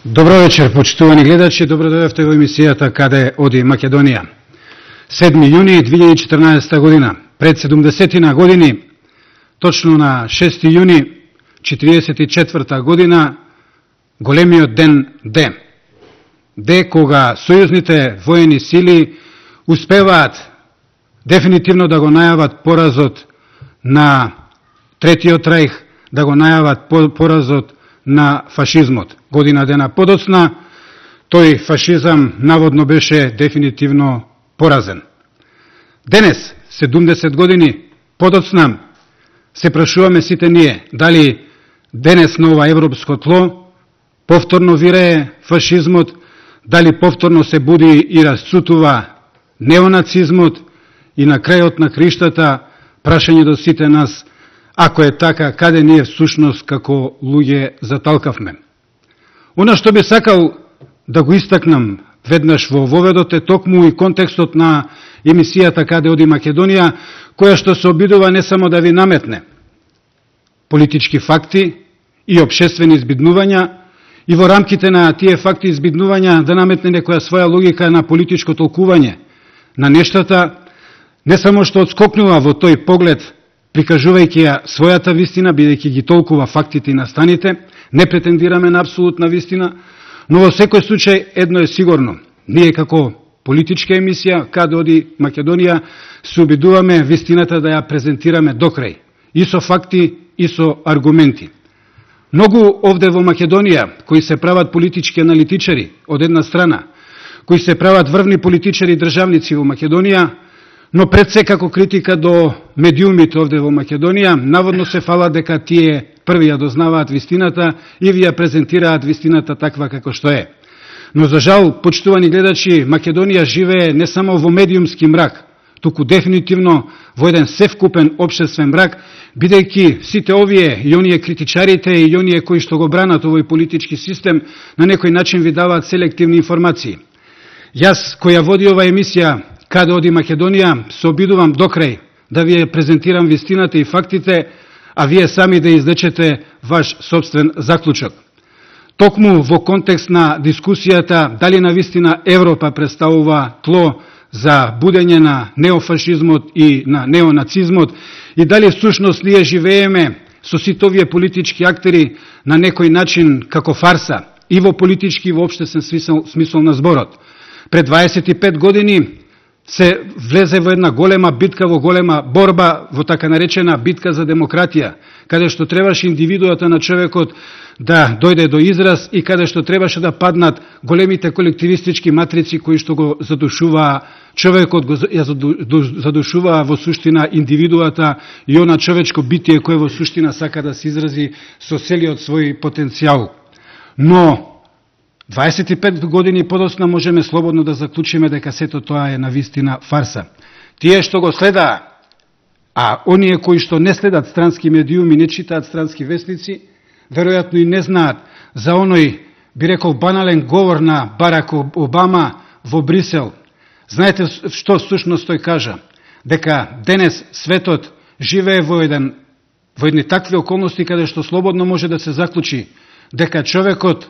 Добро вечер, почитувани гледачи, добро дојдовте во емисијата Каде оди Македонија. 7 јуни 2014 година, пред 70 години, точно на 6 јуни 44 година, големиот ден Д кога сојузните воени сили успеваат дефинитивно да го најават поразот на Третиот рајх, да го најават поразот на фашизмот. Година дена подоцна, тој фашизам наводно беше дефинитивно поразен. Денес, 70 години подоцна, се прашуваме сите ние, дали денес на ова европско тло повторно вирее фашизмот, дали повторно се буди и расцутува неонацизмот и на крајот на криштата прашање до сите нас, ако е така, каде ние всушност како луѓе заталкавме. Она што би сакал да го истакнам веднаш во воведот е токму и контекстот на емисијата Каде оди Македонија, која што се обидува не само да ви наметне политички факти и општествени избиднувања, и во рамките на тие факти и избиднувања да наметне некоја своја логика на политичко толкување на нештата, не само што отскокнува во тој поглед, прикажувајќи ја својата вистина, бидејќи ги толкува фактите и настаните, не претендираме на апсолутна вистина, но во секој случај едно е сигурно. Ние како политичка емисија, Каде оди Македонија, се обидуваме вистината да ја презентираме докрај, и со факти, и со аргументи. Многу овде во Македонија, кои се прават политички аналитичари од една страна, кои се прават врвни политичари и државници во Македонија, но пред се како критика до медиумите овде во Македонија, наводно се фала дека тие први ја дознаваат вистината и ви ја презентираат вистината таква како што е. Но за жал, почитувани гледачи, Македонија живее не само во медиумски мрак, туку дефинитивно во еден севкупен општествен мрак, бидејќи сите овие и оние критичарите и оние кои што го бранат овој политички систем на некој начин ви даваат селективни информации. Јас, која води ова емисија Каде оди Македонија, се обидувам докрај да ви презентирам вистината и фактите, а вие сами да извлечете ваш собствен заклучок. Токму во контекст на дискусијата дали на вистина Европа представува тло за будење на неофашизмот и на неонацизмот и дали всушност ние живееме со сите овие политички актери на некој начин како фарса и во политички и во општествен смисол на зборот. Пред 25 години се влезе во една голема битка, во голема борба, во така наречена битка за демократија, каде што требаше индивидуата на човекот да дојде до израз и каде што требаше да паднат големите колективистички матрици кои што го задушуваа човекот, го задушуваа во суштина индивидуата и она човечко битие кое во суштина сака да се изрази со целиот свој потенцијал. Но 25 години подоцна можеме слободно да заклучиме дека сето тоа е навистина фарса. Тие што го следаа, а оние кои што не следат странски медиуми, не читаат странски вестници, веројатно и не знаат за оној, би рекол, банален говор на Барак Обама во Брисел. Знаете што всушност тој кажа? Дека денес светот живее во едни такви околности каде што слободно може да се заклучи дека човекот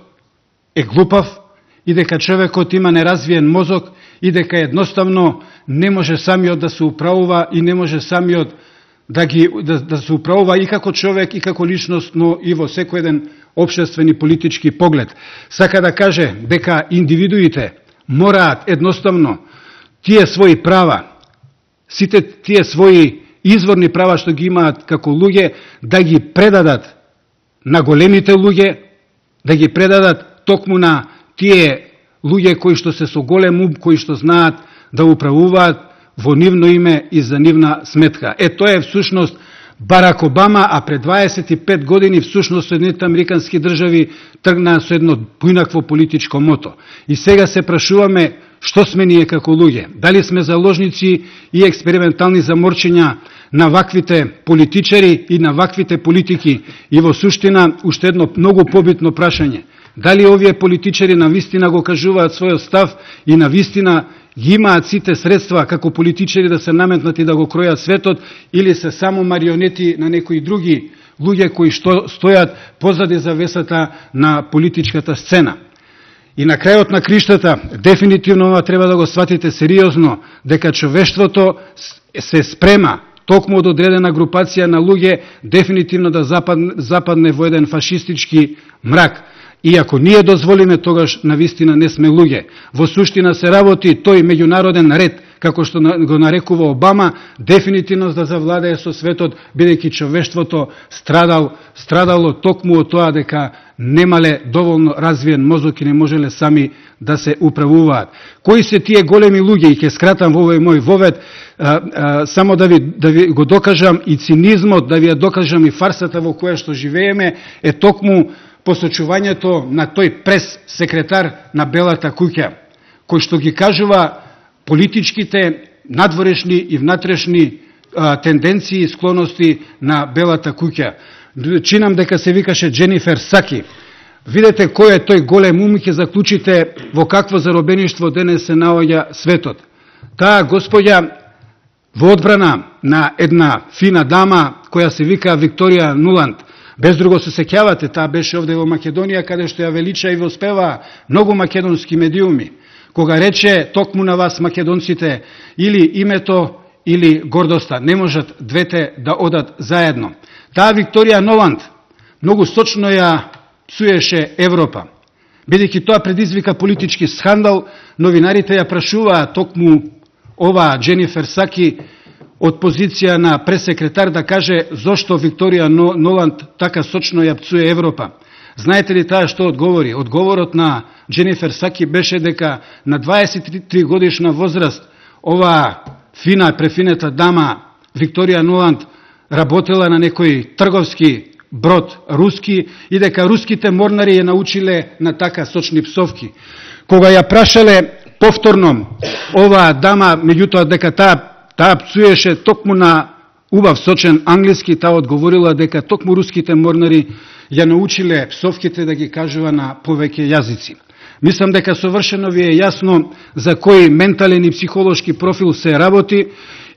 е глупав и дека човекот има неразвиен мозок и дека едноставно не може самиот да се управува и не може самиот да се управува и како човек и како личност, но и во секој еден општествен и политички поглед. Сака да каже дека индивидуите мораат едноставно тие своји права, сите тие своји изворни права што ги имаат како луѓе, да ги предадат на големите луѓе, да ги предадат токму на тие луѓе кои што се со голем ум, кои што знаат да управуваат во нивно име и за нивна сметка. Тоа е всушност Барак Обама, а пред 25 години всушност Соединетите американски држави тргнаа со едно поинакво политичко мото. И сега се прашуваме што сме ние како луѓе. Дали сме заложници и експериментални заморчења на ваквите политичари и на ваквите политики. И во суштина уште едно многу побитно прашање. Дали овие политичари на вистина го кажуваат својот став и на вистина ги имаат сите средства како политичари да се наметнат и да го кројат светот, или се само марионети на некои други луѓе кои што стојат позади завесата на политичката сцена. И на крајот на криштата, дефинитивно ова треба да го сватите сериозно, дека човештвото се спрема токму од одредена групација на луѓе дефинитивно да западне во еден фашистички мрак. И ако ние дозволиме, тогаш навистина не сме луѓе. Во суштина се работи тој меѓународен ред, како што го нарекува Обама, дефинитивно да завладее со светот, бидејќи човештвото страдало токму од тоа дека немале доволно развиен мозок и не можеле сами да се управуваат. Кои се тие големи луѓе, и ќе скратам во овој мој вовед, само да ви го докажам и цинизмот, да ви ја докажам и фарсата во која што живееме, е токму посочувањето на тој прес-секретар на Белата куќа, кој што ги кажува политичките, надворешни и внатрешни тенденции и склоности на Белата куќа. Чинам дека се викаше Дженифер Саки. Видете кој е тој голем ум и ќе заклучите во какво заробеништво денес се наоѓа светот. Таа господја во одбрана на една фина дама која се вика Викторија Нуланд. Без друго се сеќавате, таа беше овде во Македонија, каде што ја велича и воспева многу македонски медиуми, кога рече токму на вас македонците или името или гордоста, не можат двете да одат заедно. Таа Викторија Нуланд многу сочно ја псуеше Европа. Бидејќи тоа предизвика политички скандал, новинарите ја прашуваа токму ова Дженифер Саки од позиција на пресекретар да каже зошто Викторија Нуланд така сочно ја пцуе Европа. Знаете ли таа што одговори? Одговорот на Дженифер Саки беше дека на 23 годишна возраст ова фина, префинета дама Викторија Нуланд работела на некој трговски брод руски и дека руските морнари ја научиле на така сочни псовки. Кога ја прашале повторно оваа дама, меѓутоа дека таа пцуеше токму на убав сочен англиски, таа одговорила дека токму руските морнари ја научиле псовките да ги кажува на повеќе јазици. Мислам дека совршено ви е јасно за кој ментален и психолошки профил се работи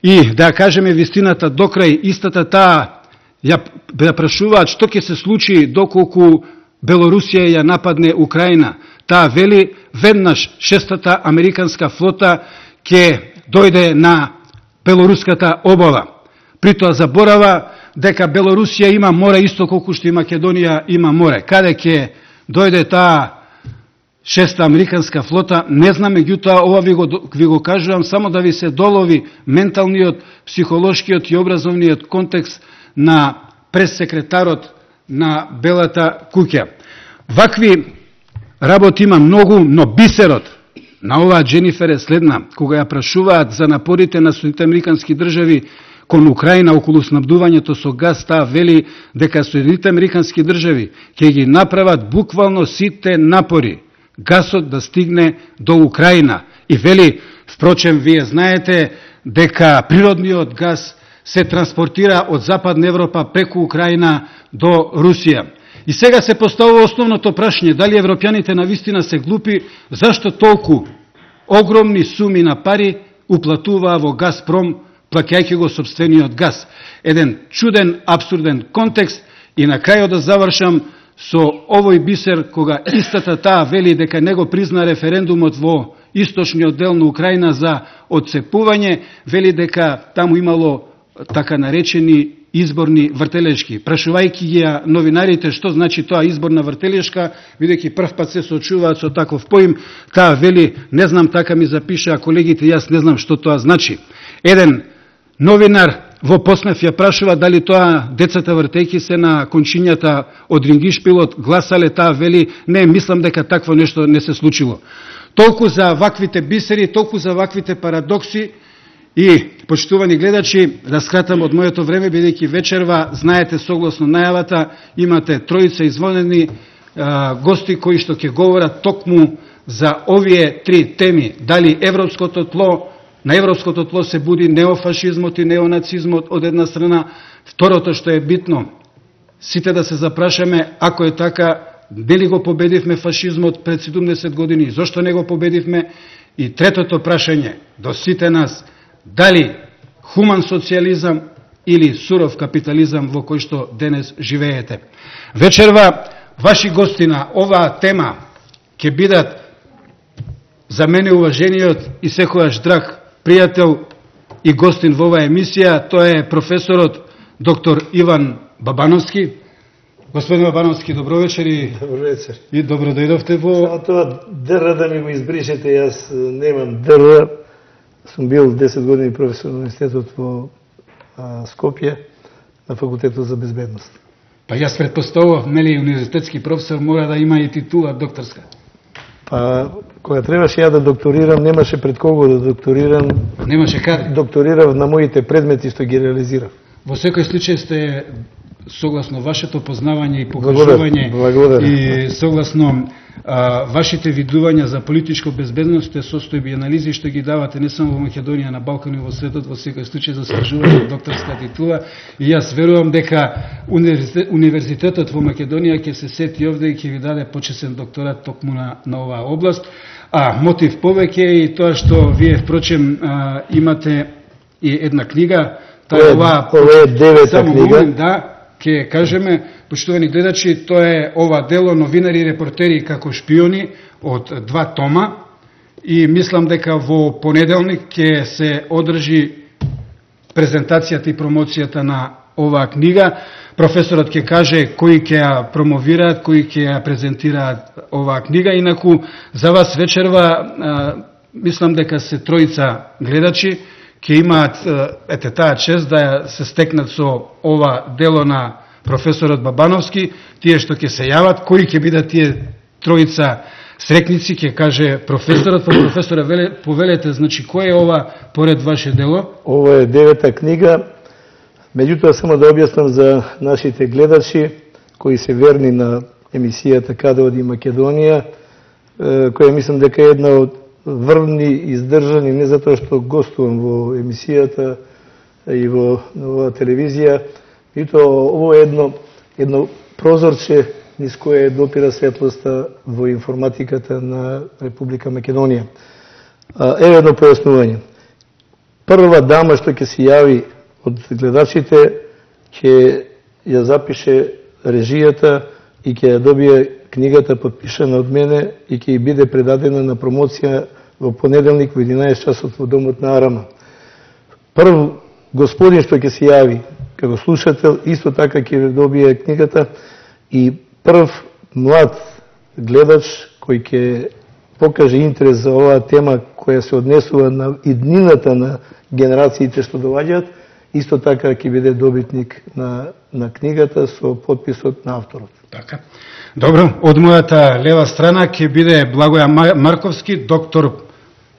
и да кажеме вистината до крај, истата таа ја прашуваат што ќе се случи доколку Белорусија ја нападне Украина. Таа вели веднаш 6-та американска флота ќе дојде на белоруската обала. Притоа заборава дека Белорусија има море исто колку што и Македонија има море. Каде ќе дојде таа 6-та американска флота, не знам, меѓутоа ова ви го кажувам само да ви се долови менталниот, психолошкиот и образовниот контекст на пресекретарот на Белата куќа. Вакви работи има многу, но бисерот на оваа Дженифер е следна. Кога ја прашуваат за напорите на Соединетите американски држави кон Украина околу снабдувањето со газ, таа вели дека Соединетите американски држави ќе ги направат буквално сите напори гасот да стигне до Украина. И вели, впрочем, вие знаете дека природниот газ се транспортира од Западна Европа преку Украина до Русија. И сега се поставува основното прашање, дали европјаните навистина се глупи, зашто толку огромни суми на пари уплатуваа во Газпром, плаќајќи го сопствениот газ. Еден чуден, абсурден контекст и на крајот да завршам со овој бисер, кога истата таа вели дека не го призна референдумот во источниот дел на Украина за отцепување, вели дека таму имало така наречени изборни вртелешки. Прашувајќи ги новинарите што значи тоа изборна вртелешка, бидејќи прв пат се соочуваат со таков поим, таа вели, не знам, така ми запиша колегите, јас не знам што тоа значи. Еден новинар во Поснев ја прашува дали тоа децата вртејќи се на кончињата од рингишпилот гласале, таа вели, не, мислам дека такво нешто не се случило. Толку за ваквите бисери, толку за ваквите парадокси. И, почитувани гледачи, да скратам од моето време, бидејќи вечерва, знаете, согласно најавата, имате тројца извонени гости кои што ќе говорат токму за овие три теми. Дали европското тло, на европското тло се буди неофашизмот и неонацизмот од една страна. Второто што е битно, сите да се запрашаме, ако е така, дали го победивме фашизмот пред 70 години, зошто не го победивме? И третото прашање до сите нас, дали хуман социализам или суров капитализам во кој што денес живеете. Вечерва, ваши гости на оваа тема ќе бидат за мене уважениот и секојаш драг пријател и гостин во оваа емисија, тоа е професорот доктор Иван Бабановски. Господин Бабановски, добро вечер и добро дојдовте во... Само тоа ДР да ми го избришете, јас немам ДР, сум бил 10 години професор на университетот во Скопје, на факултетот за безбедност. Па јас предпоставував, нели, универзитетски професор мора да има и титула докторска. Па, кога требаше ја да докторирам, немаше пред кого да докторирам. Немаше каде. Докторирав на моите предмети што ги реализирав. Во секој случај сте, согласно вашето познавање и покажување и согласно вашите видувања за политичко безбедност, состојби и анализи што ги давате не само во Македонија, на Балкан и во светот, во секој случај заслужувате докторска титула, и јас верувам дека универзитетот во Македонија ќе се сети овде и ќе ви даде почесен докторат токму на оваа област. Мотив повеќе е и тоа што вие впрочем имате и една книга. Ова е 9-та книга. Да, ќе кажеме, почитувани гледачи, тоа е ова дело новинари и репортери како шпиони од 2 тома, и мислам дека во понеделник ќе се одржи презентацијата и промоцијата на оваа книга. Професорот ќе каже кои ќе ја промовираат, кои ќе ја презентираат оваа книга. Инаку за вас вечерва мислам дека се тројца гледачи ќе имаат таа чест да се стекнат со ова дело на професорот Бабановски. Тие што ќе се јават, кои ќе бидат тие тројца срекници, ќе каже професорот. Па професоре, повелете, значи, кој е ова поред ваше дело? Ова е 9-та книга. Меѓутоа, само да објаснам за нашите гледачи, кои се верни на емисијата Каде оди Македонија, која мислам дека е една од врвни, издржани, не затоа што гостувам во емисијата и во оваа телевизија, и тоа ово е едно прозорче низ кое допира светлоста во информатиката на Република Македонија. Еве едно појаснување. Прва дама што ќе се јави од гледачите ќе ја запише режијата и ќе ја добие книгата подпишана од мене и ќе биде предадена на промоција во понеделник во 11 часот во домот на Арама. Прв господин што ќе се јави како слушател, исто така ќе добие книгата, и прв млад гледач кој ќе покаже интерес за оваа тема која се однесува на иднината на генерациите што доаѓаат, исто така ќе биде добитник на книгата со подписот на авторот. Така. Добро, од мојата лева страна ќе биде Благоја Марковски, доктор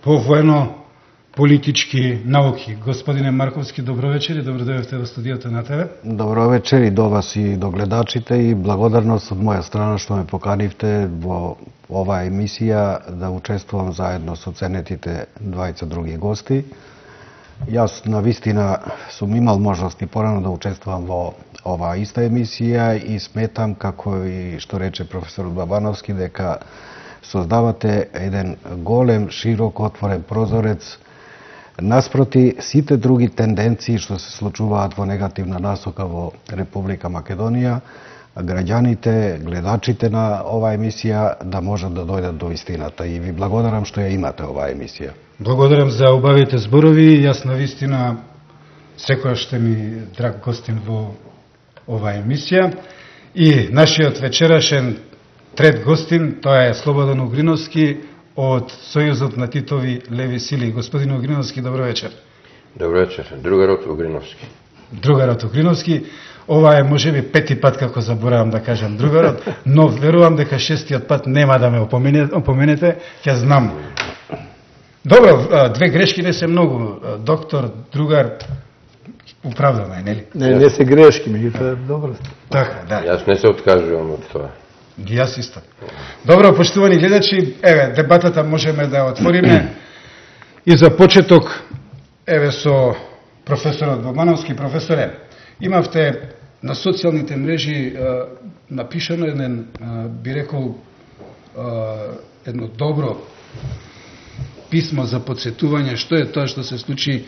по воено-политички науки. Господине Марковски, добро вечер и добро дојдовте во студиото на ТВ. Добро вечер и до вас и до гледачите, и благодарност од моја страна што ме поканивте во оваа емисија да учествувам заедно со ценетите двајца други гости. Јас навистина сум имал можност и порано да учествувам во оваа иста емисија и сметам, како и што рече професорот Бабановски, дека создавате еден голем, широк, отворен прозорец наспроти сите други тенденции што се случуваат во негативна насока во Република Македонија, граѓаните, гледачите на оваа емисија да можат да дојдат до истината. И ви благодарам што ја имате оваа емисија. Благодарам за убавите зборови. Јас навистина секојаш сте ми драг гостин во оваа емисија. И нашиот вечерашен трет гостин, тоа е Слободан Угриновски од Сојузот на Титови леви сили. Господин Угриновски, добро вечер. Добро вечер. Другарот Угриновски. Другарот Угриновски. Ова е можеби 5-ти пат како заборавам да кажам другарот, но верувам дека 6-тиот пат нема да ме опоменете, ќе знам. Добро, 2 грешки не се многу. Доктор, другар, управдано е, нели? Не се грешки, меѓутоа добро. Така, да. Јас не се откажувам од тоа. Ги јас исто. Добро, поштувани гледачи, еве, дебатата можеме да отвориме. И за почеток, еве, со професорот Бабановски. Професоре, имавте на социјалните мрежи напишано еден, би рекол, едно добро писмо за подсетување што е тоа што се случи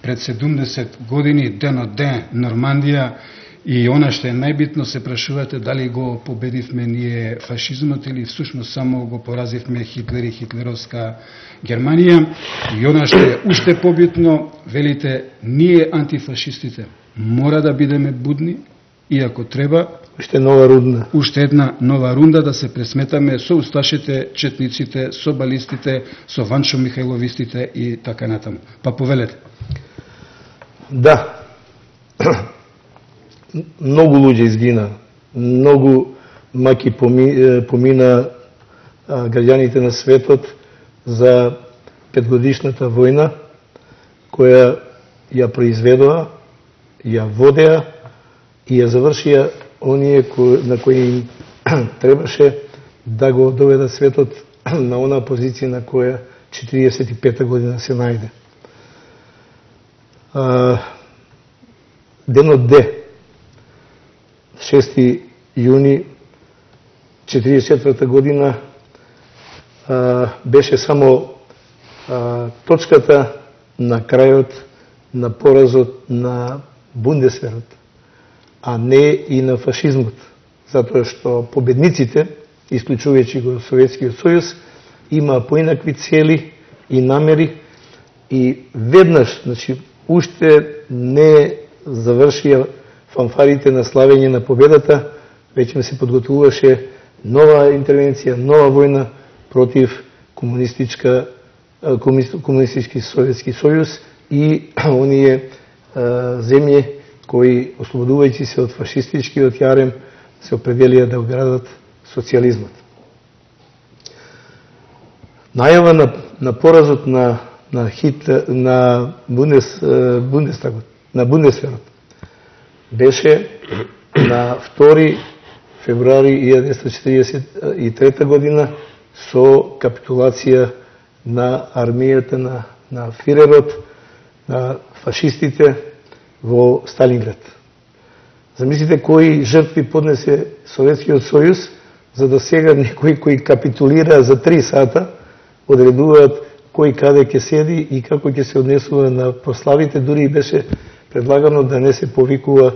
пред 70 години, ден од ден, Нормандија, и она што е најбитно, се прашувате дали го победивме ние фашизмот или всушност само го поразивме Хитлер и хитлеровска Германија. И она што е уште побитно, велите, ние антифашистите мора да бидеме будни и ако треба, уште една нова рунда да се пресметаме со усташите, четниците, со балистите, со Ванчо Михајловистите и така натаму. Па повелете. Да. Многу луѓе изгина, многу маки помина граѓаните на светот за петгодишната војна која ја произведоа, ја водеа и ја завршија оние на кои требаше да го доведат светот на она позиција на која 45 година се најде. Денот Д, 6 јуни 44 година, беше само точката на крајот на поразот на Бундесверот, а не и на фашизмот, затоа што победниците, исклучувајќи го Советскиот сојуз, има поинакви цели и намери и веднаш, значи, уште не завршија фанфарите на славење на победата, веќе се подготвуваше нова интервенција, нова војна против комунистички Советски сојуз и оние земји кои, ослободувајќи се од фашистичкиот јарем, се определија да градат социјализмот. Најава на поразот на Бундестагот, на Бундесверот, беше на 2 февруари 1943 година со капитулација на армијата на фирерот, на фашистите во Сталинград. Замислите кои жртви поднесе Советскиот сојуз, за да сега некои кои капитулира за 3 сата, одредуваат кој каде ќе седи и како ќе се однесува на прославите. Дури беше предлагано да не се повикува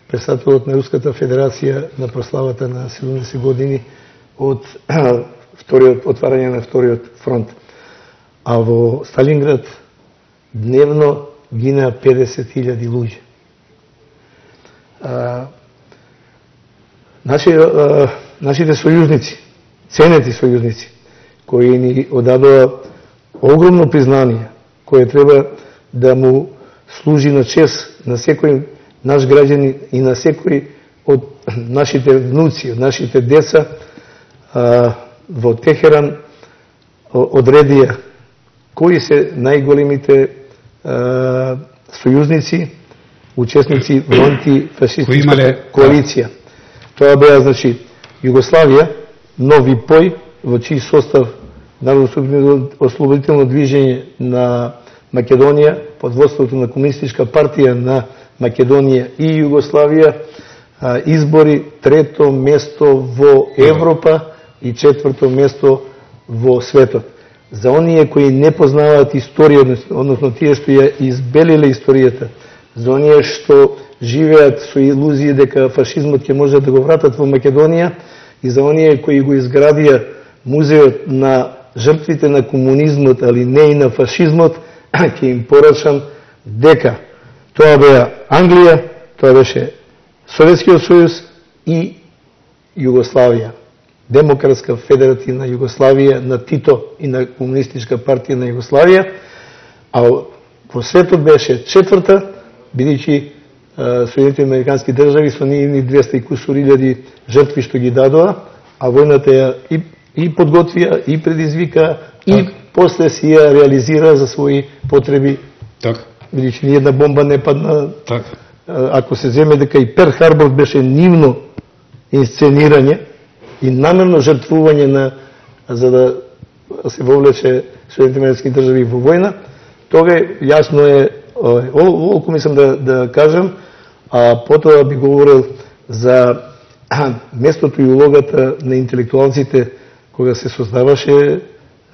председателот на Руската федерација на прославата на 70 години од отварање на вториот фронт. А во Сталинград дневно гинеа 50.000 луѓе. Нашите сојузници, ценети сојузници, кои ни одадоа огромно признание, кое треба да му служи на чест на секој наш граѓанин и на секој од нашите внуци, од нашите деца, во Техеран одредија кои се најголемите сојузници, учесници во антифашистичката коалиција. Тоа беа, значи, Југославија, Нови Пој, во чиј состав Народно-ослободително движење на Македонија, под водството на Комунистичка партија на Македонија и Југославија, избори 3-то место во Европа и 4-то место во светот. За оние кои не познаваат историја, односно тие што ја избелиле историјата, за оние што живеат со илузија дека фашизмот ќе може да го вратат во Македонија и за оние кои го изградија музеот на жртвите на комунизмот, али не и на фашизмот, ќе им порачам дека тоа беа Англија, тоа беше Советскиот сојуз и Југославија. Демократска федеративна Југославија на Тито и на Комунистичка партија на Југославија, а во светот беше 4-та, бидејќи Соединените американски држави со нивни 200 и кусур илјади жртви што ги дадоа, а војната ја и подготвија, и предизвика, и после си ја реализира за своји потреби. Бидејќи ни една бомба не падна. Ако се земе дека и Перл Харбор беше нивно инсценирање и намерно жртвување за да се вовлече Соединените американски држави во војна, тога јасно е, оволку мислам да кажам, а потоа би говорил за местото и улогата на интелектуалците кога се создаваше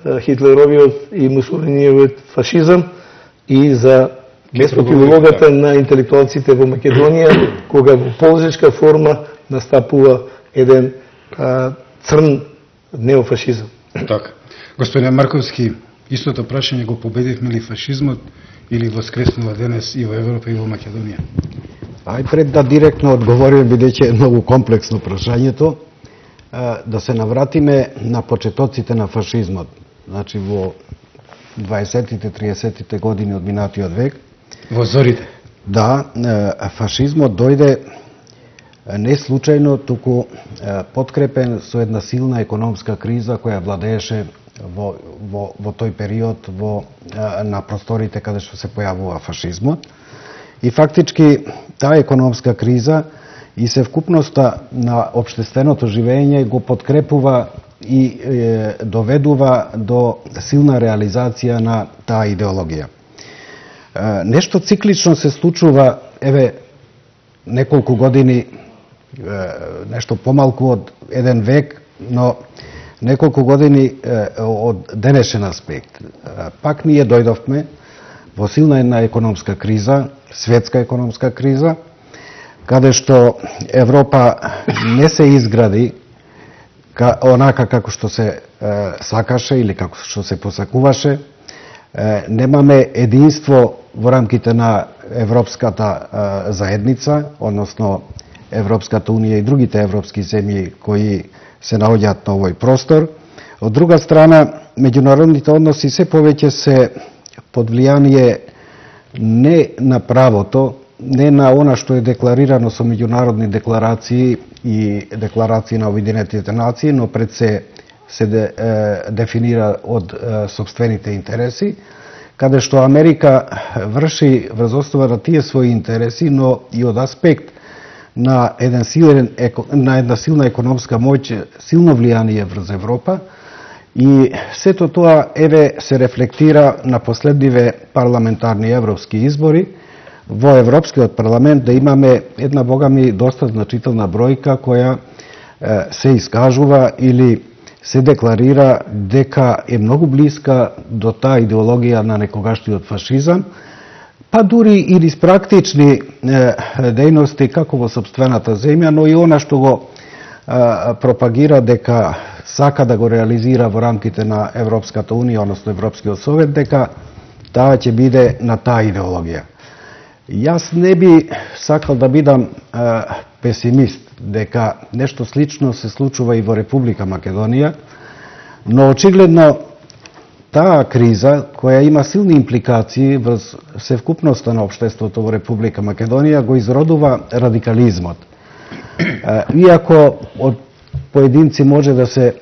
Хитлеровиот и Мусолиниевиот фашизам и за местофилологата на интелектуалците во Македонија, кога во ползичка форма настапува еден црн неофашизам. Така. Господин Марковски, истото прашање, го победивме ли фашизмот или воскреснува денес и во Европа и во Македонија? Ај пред да директно одговориме, бидејќи е многу комплексно прашањето, да се навратиме на почетоците на фашизмот. Значи во 20-тите, 30-тите години од минатиот век. Во зорите? Да, фашизмот дојде не случајно, туку подкрепен со една силна економска криза која владееше во тој период на просторите каде што се појавува фашизмот. И фактички таа економска криза и севкупноста на општественото живење го подкрепува и доведува до силна реализација на таа идеологија. Нешто циклично се случува, еве, неколку години, нешто помалку од еден век, но неколку години од денешен аспект. Пак ние дојдовме во силна една економска криза, светска економска криза, каде што Европа не се изгради онака како што се сакаше или како што се посакуваше. Немаме единство во рамките на Европската заедница, односно Европската унија и другите европски земји кои се наоѓаат на овој простор. Од друга страна, меѓународните односи се повеќе се под влијание не на правото, не на она што е декларирано со меѓународни декларации и декларации на Обединетите нации, но пред се дефинира од сопствените интереси, каде што Америка врши врз основа на тие своји интереси, но и од аспект на една силна економска моќ, силно влијание врз Европа. И сето тоа се рефлектира на последниве парламентарни европски избори. Во Европскиот парламент да имаме една, богами, доста значителна бројка која се искажува или се декларира дека е многу блиска до таа идеологија на некогашниот фашизам, па дури и низ практични дејности како во сопствената земја, но и она што го пропагира дека сака да го реализира во рамките на Европската унија, односно Европскиот совет, дека таа ќе биде на таа идеологија. Јас не би сакал да бидам песимист дека нешто слично се случува и во Република Македонија, но очигледно таа криза, која има силни импликации врз севкупноста на општеството во Република Македонија, го изродува радикализмот. Иако од поединци може да се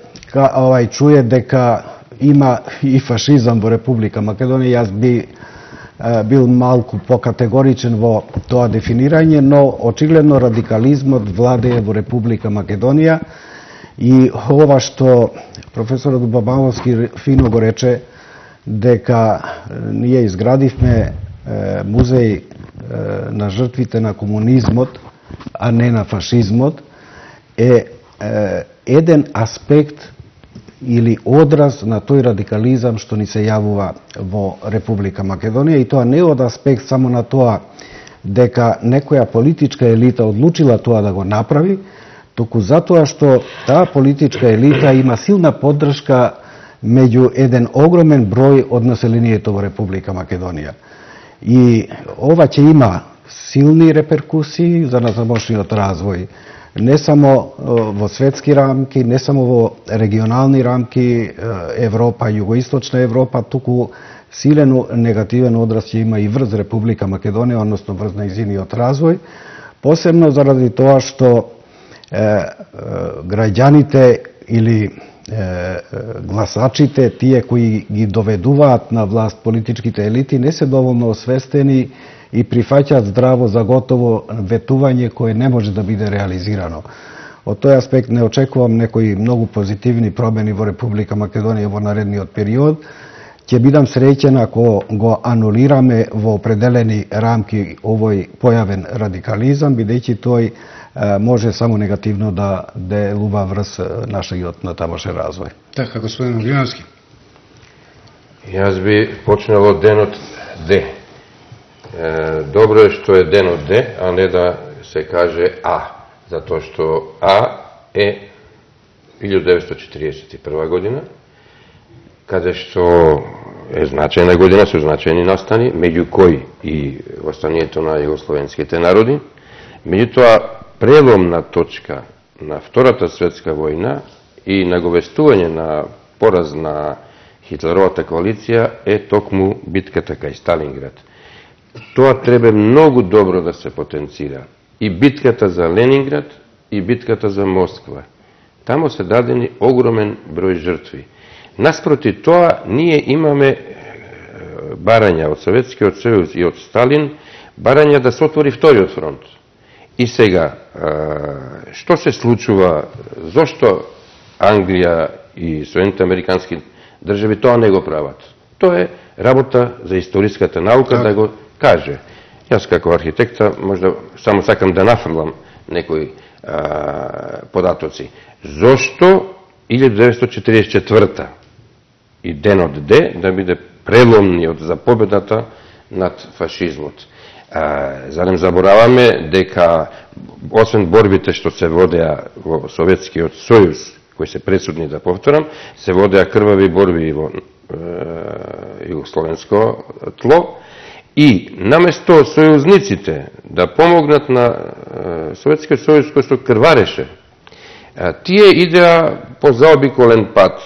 чуе дека има и фашизам во Република Македонија, јас би бил малку покатегоричен во тоа дефинирање, но очигледно радикализмот владее во Република Македонија и ова што професорот Бабановски фино го рече, дека ние изградивме музеј на жртвите на комунизмот, а не на фашизмот, е еден аспект или одраз на тој радикализам што ни се јавува во Република Македонија, и тоа не од аспект само на тоа дека некоја политичка елита одлучила тоа да го направи, туку затоа што таа политичка елита има силна поддршка меѓу еден огромен број од населението во Република Македонија. И ова ќе има силни реперкусии за назамошниот развој, не само во светски рамки, не само во регионални рамки, Европа, југоисточна Европа, туку силен негативен одраз ќе има и врз Република Македонија, односно врз нејзиниот развој, посебно заради тоа што граѓаните или гласачите, тие кои ги доведуваат на власт политичките елити, не се доволно освестени и прифаќаат здраво за готово ветување кое не може да биде реализирано. Од тој аспект не очекувам некои многу позитивни промени во Република Македонија во наредниот период. Ќе бидам среќен ако го анулираме во определени рамки овој појавен радикализам, бидејќи тој може само негативно да делува врз нашиот натамошен развој. Така, господин Огриновски. Јас би почнал од денот Д. Добро е што е денот Д, а не да се каже А, затоа што А е 1941 година, каде што е значајна година со значајни настани, меѓу кои и востанието на југословенските народи. Меѓутоа, преломна точка на Втората светска војна и наговестување на пораз на Хитлеровата коалиција е токму битката кај Сталинград. Тоа треба многу добро да се потенцира. И битката за Ленинград, и битката за Москва. Тамо се дадени огромен број жртви. Наспроти тоа, ние имаме барања од Советскиот сојуз и од Сталин, барања да се отвори вториот фронт. И сега, што се случува, зошто Англија и Соединените американски држави тоа не го прават? Тоа е работа за историската наука да го каже. Јас како архитекта можда само сакам да нафрлам некои податоци. Зошто 1944 и денот Д да биде преломниот за победата над фашизмот? Зарем забораваме дека освен борбите што се водеа во Советскиот сојуз, кои се пресудни да повторам, се водеа крвави борби и во југословенско тло, и наместо сојузниците да помогнат на Советскиот сојуз кој што крвареше, тие идеа по заобиколен пат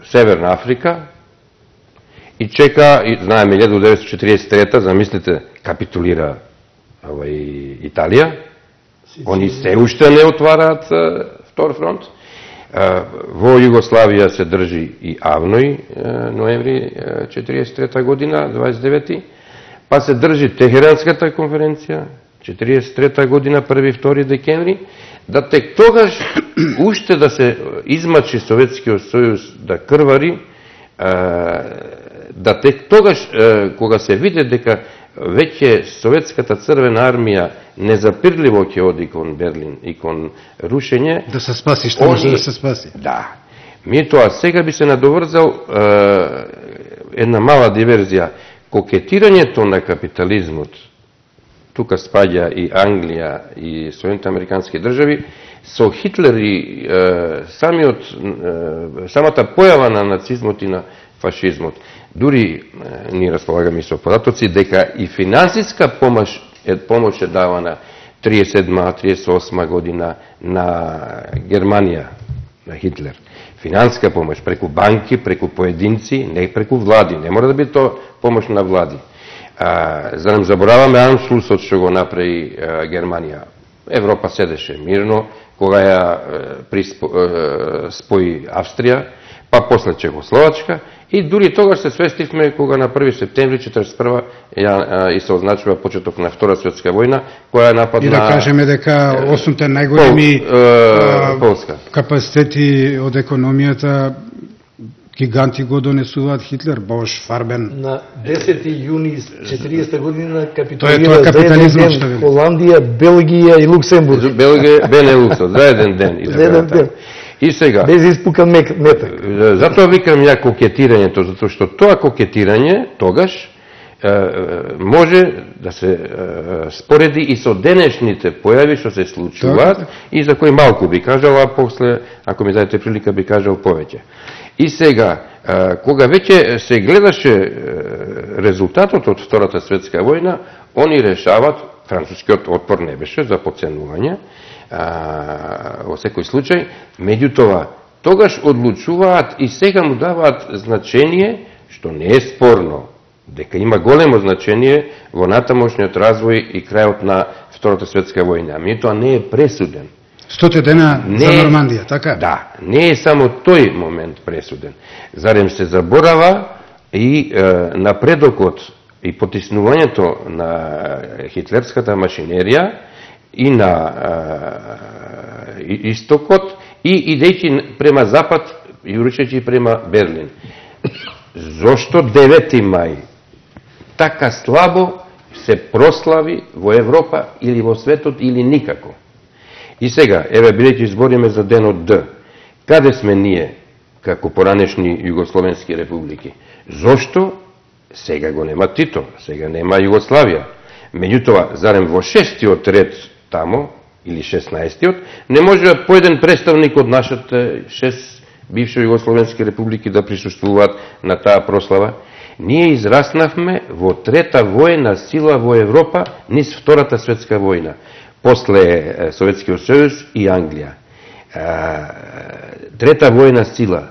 Северна Африка и чека, и знаеме 1943, замислите, капитулира Италија, они се уште не отвараат втор фронт. Во Југославија се држи и Авној, ноември 1943 година, 29. Па се држи Техеранската конференција, 1943 година, 1-2 декември, да тек тогаш уште да се измачи Советскиот сојуз да крвари, да тек тогаш, кога се виде дека веќе Советската црвена армија незапирливо ќе оди кон Берлин и кон рушење. Да се спаси, што може да се спаси. Да. Меѓутоа, сега би се надоврзал една мала диверзија. Кокетирањето на капитализмот, тука спаѓа и Англија и Соединените американски држави, со Хитлер и самата појава на нацизмот и на фашизмот. Дури ние располагаме со податоци дека и финансиска помош е давана 37-38 година на Германија, на Хитлер. Финанска помош преку банки, преку поединци, не преку влади. Не мора да биде тоа помош на влади. За да не забораваме Аншлусот што го направи Германија. Европа седеше мирно, кога ја спои Австрија, па после Чехословачка, и дури тогаш се свестивме кога на 1 септември 1941 и се означува почеток на Втора светска војна, која нападна... И да кажеме дека 8-те најголеми капацитети од економијата гиганти го донесуваат Хитлер, Бош, Фарбен. На 10 јуни 40 година капитулира за еден ден Холандија, Белгија и Луксембург. Белгија, Бенелуксот, за еден ден. И сега, без испукан метак. Затоа викам ја кокетирањето, затоа што тоа кокетирање тогаш може да се спореди и со денешните појави што се случуваат и за кои малку би кажал, а после, ако ми дадете прилика, би кажал повеќе. И сега, кога веќе се гледаше резултатот од Втората светска војна, они решават, францускиот отпор не беше за подценување, во секој случај, меѓутоа, тогаш одлучуваат и сега му даваат значение, што не е спорно, дека има големо значение во натамошниот развој и крајот на Втората светска војна. Меѓутоа не е пресуден. 100 дена за Нормандија, така? Да, не е само тој момент пресуден. Зарем се заборава и напредокот и потиснувањето на хитлерската машинерија и на истокот и идејќи према запад и уручејќи према Берлин. Зошто 9. мај така слабо се прослави во Европа или во светот или никако? И сега, еве, бидејќи избориме за денот Д, каде сме ние како поранешни југословенски републики. Зошто сега го нема Тито, сега нема Југославија? Меѓутоа, зарем во 6-тиот ред тамо, или 16-тиот, не може поеден представник од нашите 6 бивши југословенски републики да присуствуваат на таа прослава? Ние израснавме во трета војна сила во Европа низ Втората светска војна, после Советскиот сојуз и Англија. Трета војна сила,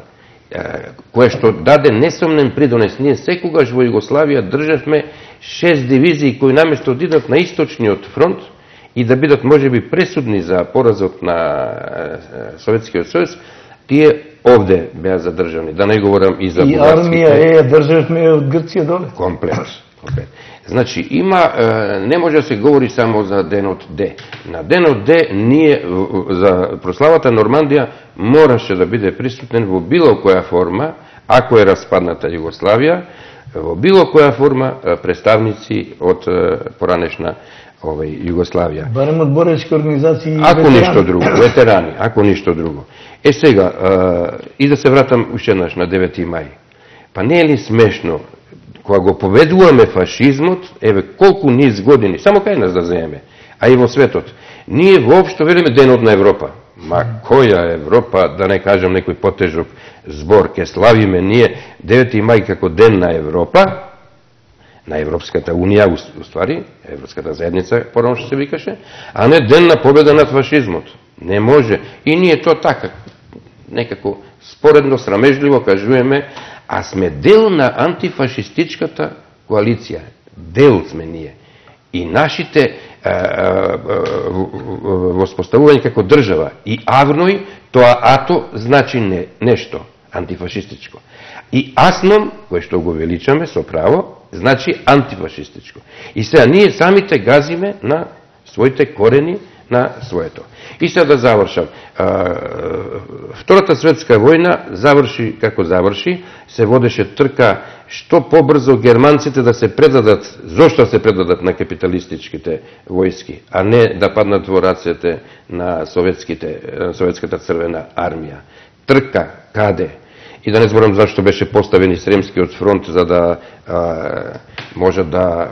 која што даде несомнен придонес. Ние секогаш во Југославија државме 6 дивизии кои наместо да идат на источниот фронт и да бидат можеби пресудни за поразот на Советскиот сојуз, тие овде беа задржани. Да не говорам и за бугарските. И армија државме од Грција доле. Комплет. Значи, не може да се говори само за денот Д. На денот Д ние за прославата Нормандија мораше да биде присутен во било која форма, ако е распадната Југославија, во било која форма представници од поранешна Југославија. Барем од боречки организации и ако ништо друго, ветерани, ако ништо друго. Сега, и да се вратам уште еднаш на 9 мај. Па не е ли смешно, кога го победуваме фашизмот, еве колку низ години, само кај нас да земеме, а и во светот, ние воопшто велиме денот на Европа. Ма која Европа, да не кажам некој потежок збор, ке славиме ние 9 мај како ден на Европа, на Европската унија, уствари, Европската заедница, порано што се викаше, а не ден на победа над фашизмот. Не може. И ние то така, некако споредно, срамежливо кажуваме, а сме дел на антифашистичката коалиција. Дел сме ние. И нашите воспоставување како држава и АВНОј, тоа АТО значи нешто антифашистичко. И АСНОМ, кој што го величаме со право, значи антифашистичко. И сега ние самите газиме на своите корени, на своето. И сега да завршам. Втората светска војна заврши како заврши, се водеше трка што побрзо германците да се предадат, зошто се предадат на капиталистичките војски, а не да паднат во рацете на советската црвена армија. Трка каде? И да не зборам зашто беше поставен и Сремскиот фронт, за да може да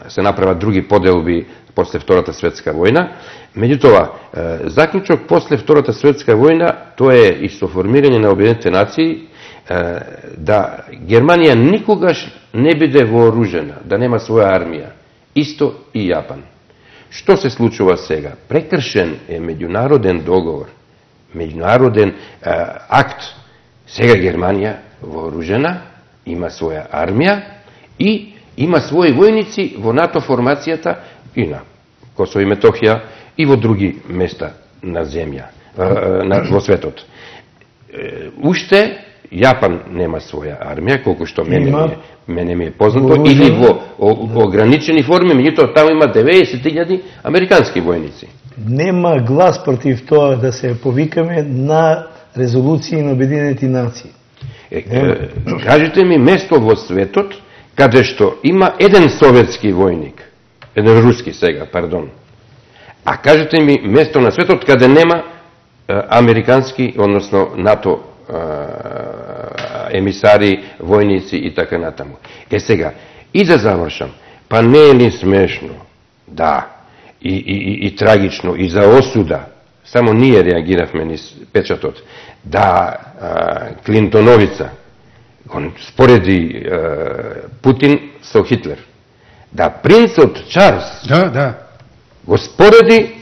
се направат други поделби после Втората светска војна. Меѓутоа, заклучок после Втората светска војна, тоа е и со формирање на Обединетите нации, да Германија никогаш не биде вооружена, да нема своја армија. Исто и Јапан. Што се случува сега? Прекршен е меѓународен договор, меѓународен акт. Сега Германија вооружена, има своја армија и има своји војници во НАТО формацијата и на Косово и Метохија и во други места на земја, во светот. Уште Јапан нема своја армија, колку што мене ми е познато, или во ограничени форми, меѓутоа таму има 90.000 американски војници. Нема глас против тоа да се повикаме на резолуции на Обединети нации. Кажете ми место во светот каде што има еден советски војник, еден руски сега, пардон. А кажете ми место на светот каде нема американски, односно НАТО емисари, војници и така натаму. Сега, и да завршам, па не е ли смешно, да, и трагично, и за осуда, само ние реагиравме низ печатот, да Клинтоновица спореди Путин со Хитлер, да принцот Чарлс го спореди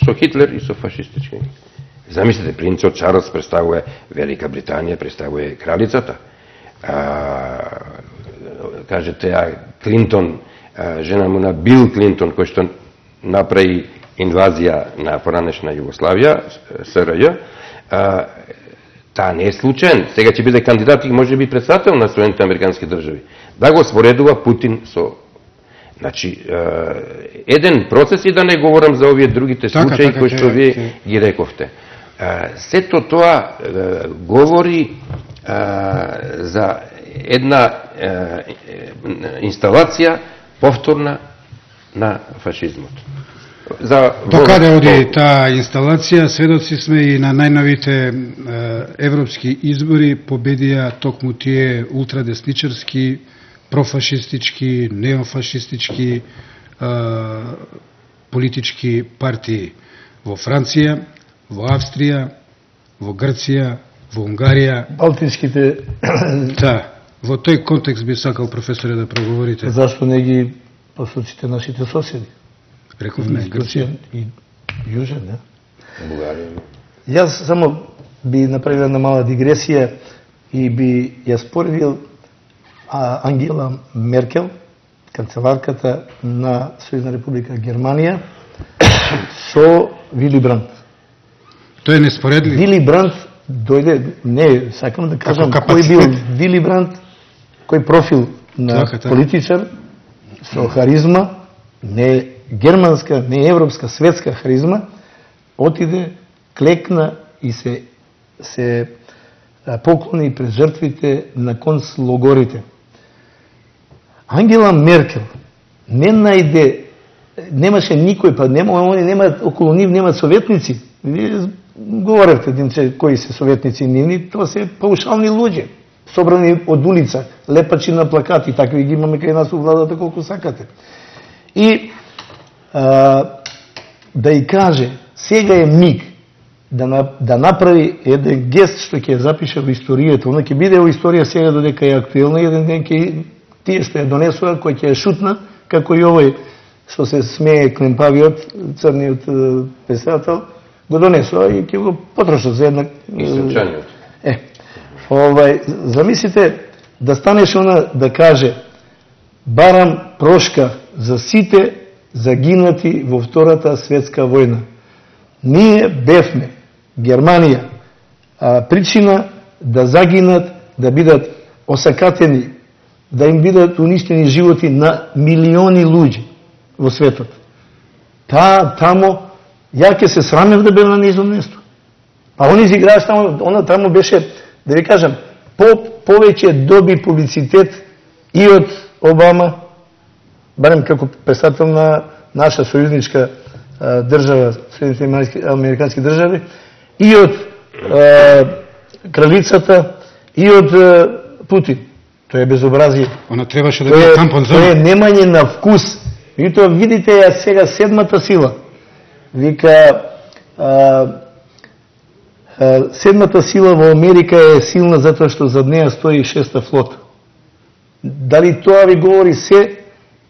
со Хитлер и со фашистички. Замислите, принцот Чарлс представува Велика Британија, представува кралицата. Кажете, Клинтон, жена му на Бил Клинтон, кој што направи инвазија на поранешна Југославија, СРЈ, таа не е случаен. Сега ќе биде кандидат и може би председател на Соединетите американски држави. Да го споредува Путин со... Значи, еден процес, и да не говорам за овие другите случаи кои што вие ги рековте. Сето тоа говори за една инсталација повторна на фашизмот. До каде оди таа инсталација? Сведоци сме и на најновите европски избори победија токму тие ултрадесничарски, профашистички, неофашистички политички партии во Франција, во Австрија, во Грција, во Унгарија. Балтиските... Да, во тој контекст би сакал професоре да проговорите. Зашто не ги посочите нашите соседи? Рековме Грција и Јужен, не? Бугарија. Јас само би направил една мала дигресија и би ја споредил Ангела Меркел, канцеларката на Сојузна република Германија, со Вили Бранд. Тој е неспоредливо. Вили Бранд дојде, не, сакам да кажам кој бил Вили Бранд, кој профил на политичар со харизма, не германска, не европска, светска харизма, отиде, клекна и се поклони пред жртвите на концлогорите. Ангела Меркел не најде, немаше никој, па они нема околу нив нема советници. Вие говоревте единче кои се советници нивни, тоа се паушални луѓе, собрани од улица, лепачи на плакати, такви ги имаме кај нас у владата колку сакате. И да и каже, сега е миг да направи еден гест што ќе запише во историјата, она ќе биде во историја сега додека е актуелна, еден ден ќе тие што ја донесува, кој ќе ја шутна, како и овој што се смее клемпавиот, црниот писател, го донесува и ќе го потрошат за една... Источаниот. Замислите да станеш она да каже барам прошка за сите загинати во Втората светска војна. Ние бевме, Германија, причина да загинат, да бидат осакатени, да им бидат уништени животи на милиони луѓе во светот. Тамо, ја ќе се срамев да бев на низо место. А они изиграат тамо, она тамо беше, да ви кажам, повеќе доби публицитет и од Обама, барем како представител на наша сојузничка држава, Соединените американски држави, и од кралицата, и од Путин. Тоа е безобразие. Она требаше да биде тампон за. Тоа е немање на вкус. И тоа видите ја сега седмата сила. Вика седмата сила во Америка е силна затоа што зад неа стои шеста флота. Дали тоа ви говори се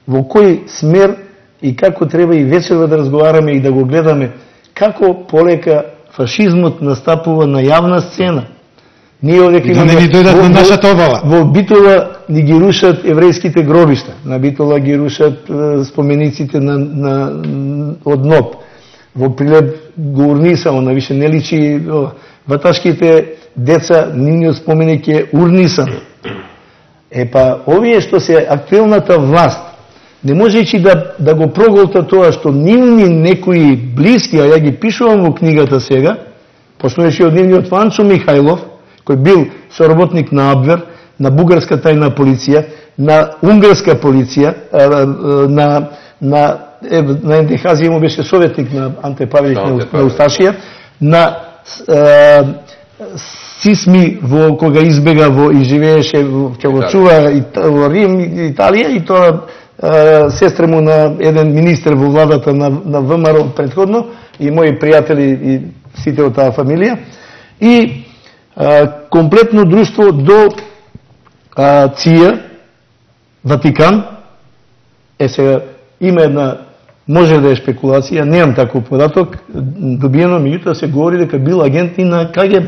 во кој смер и како треба и вечерва да разговараме и да го гледаме како полека фашизмот настапува на јавна сцена. Ние овде да не ни дојдат на нашата обала. Во Битола ни ги рушат еврејските гробишта. На Битола ги рушат спомениците од НОП. Во Прилеп го урниса, она више не личи. Ваташките деца, нивниот споменик е урнисан. Овие што се актуелната власт, не можејќи да го проголта тоа што нивни некои блиски, а ја ги пишувам во книгата сега, почнуваше од нивниот Ванчо Михајлов, кој бил соработник на Абвер, на бугарска тајна полиција, на унгарска полиција, на НДХ му беше советник на Анте Павелич на Усташија, на Сисми кога избега и живееше ќе го чува во Рим, Италија, и тоа сестра му на еден министер во владата на ВМРО претходно, и мои пријатели и сите од таа фамилија, и комплетно друштво до ЦИА, Ватикан. Сега има една, може да е шпекулација, немам таков податок добиено, меѓутоа се говори дека бил агент и на КГБ,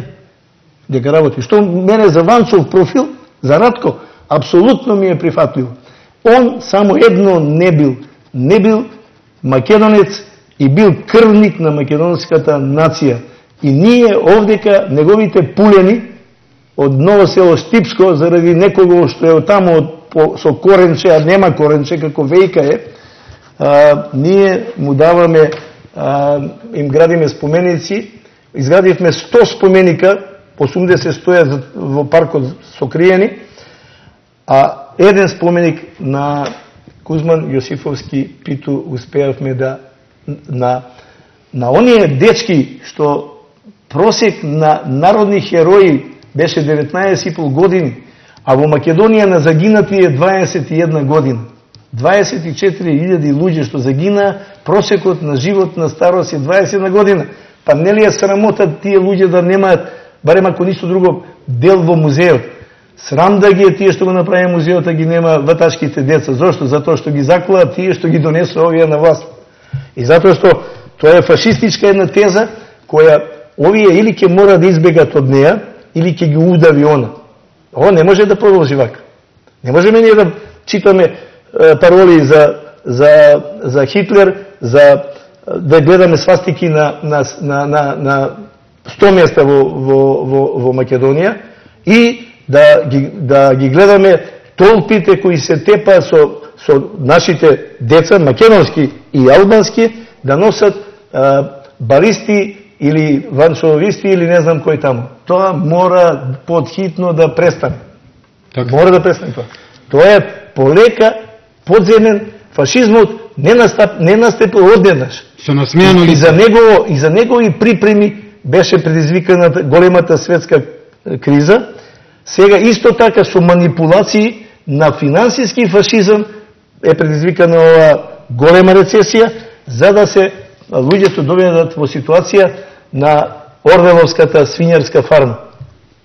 дека работи. Што мене за Ванчов профил, за Радко, апсолутно ми е прифатливо. Он само едно не бил македонец и бил крвник на македонската нација. И ние овдека неговите пулени од Ново село Штипско заради некого што е таму со коренче, а нема коренче, како Вејка е, ние му даваме, им градиме споменици, изградивме 100 споменика, 80 стојат во паркот сокриени, а еден споменик на Кузман Јосифовски Питу успеавме да на оние дечки што просек на народни херои беше 19,5 години, а во Македонија на загинати е 21 година. 24.000 луѓе што загина, просекот на живот на старост е 21 година. Па нели е срамота тие луѓе да немаат, барем ако ништо друго, дел во музеот? Срам да ги е тие што го направи музеот, а ги нема ваташките деца. Зошто? Затоа што ги заклаа тие што ги донесоа овие на власт. И затоа што тоа е фашистичка една теза која овие или ќе мора да избегат од неа, или ќе ги удави она. Ова не може да продолжи вака. Не можеме ние да читаме пароли за Хитлер, да гледаме свастики на 100 места во Македонија и да ги гледаме толпите кои се тепа со нашите деца, македонски и албански, да носат балисти или ваншовисти или не знам кој таму. Тоа мора подхитно да престане. Така. Мора да престане тоа. Тоа е полека, подземен, фашизмот не настапил однеднаш. Со насмејано лице. И за негови припреми беше предизвикана големата светска криза. Сега исто така со манипулации на финансиски фашизам е предизвикана ова голема рецесија, за да се луѓето доведат во ситуација на Орвеловската свинјарска фарма.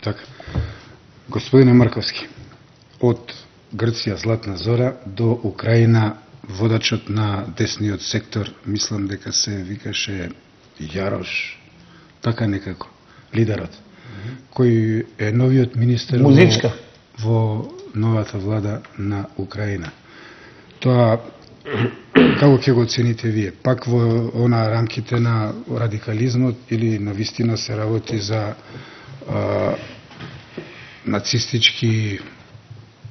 Така. Господине Марковски, од Грција Златна Зора до Украина водачот на десниот сектор, мислам дека се викаше Јарош, така некако, лидерот, кој е новиот министер во новата влада на Украина. Тоа како ќе го оцените вие? Пак во она рамките на радикализмот или навистина се работи за нацистички,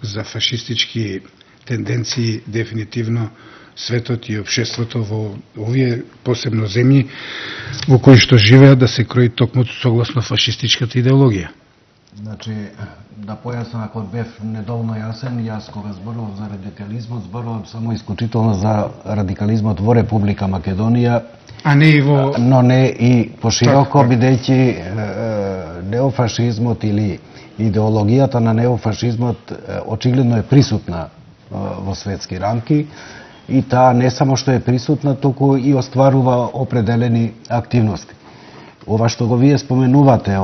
за фашистички тенденции? Дефинитивно светот и општеството во овие посебно земји во кои што живеат да се крои токму согласно фашистичката идеологија. Значи, да појаснам ако бев недоволно јасен, јас кога зборувам за радикализмот, зборувам само исклучително за радикализмот во Република Македонија, а не и во... но не и пошироко, бидејќи неофашизмот или идеологијата на неофашизмот очигледно е присутна во светски рамки и таа не само што е присутна, туку и остварува определени активности. Ова што го вие споменувате,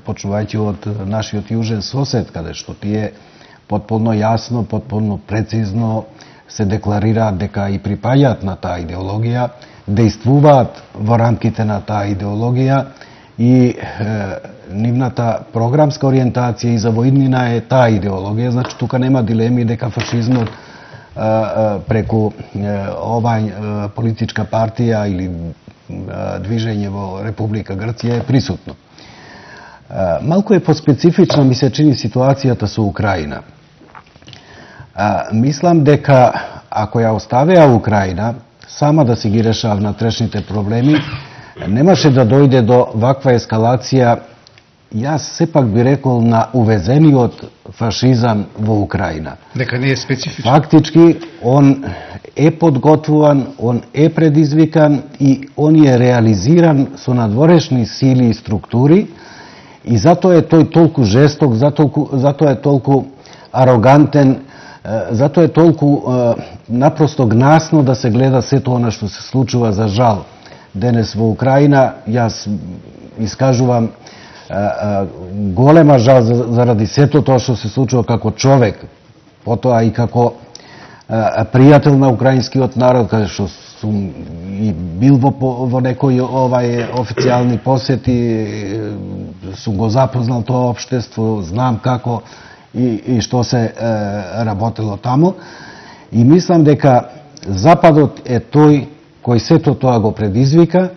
почнувајќи од нашиот јужен сосед, каде што тие потполно јасно, потполно прецизно се декларираат дека и припаѓаат на таа идеологија, дејствуваат во рамките на таа идеологија и нивната програмска ориентација и за воиднина е таа идеологија, значи тука нема дилеми дека фашизмот преку оваа политичка партија или движење во Република Грција е присутно. Малку е поспецифична ми се чини ситуацијата со Украина. Мислам дека ако ја оставеа Украина сама да си ги решава внатрешните проблеми, немаше да дојде до ваква ескалација, јас сепак би рекол, на увезениот фашизам во Украина. Дека не е специфичен. Фактички, он е подготвуван, он е предизвикан и он е реализиран со надворешни сили и структури и затоа е тој толку жесток, затоа е толку арогантен, затоа е толку напросто гнасно да се гледа сето она што се случува, за жал. Денес во Украина јас искажувам голема жал заради сето тоа што се случува како човек, потоа и како пријател на украинскиот народ, каде што сум и бил во некои официјални посети, сум го запознал тоа општество, знам како и што се работело таму. И мислам дека Западот е тој кој сето тоа го предизвика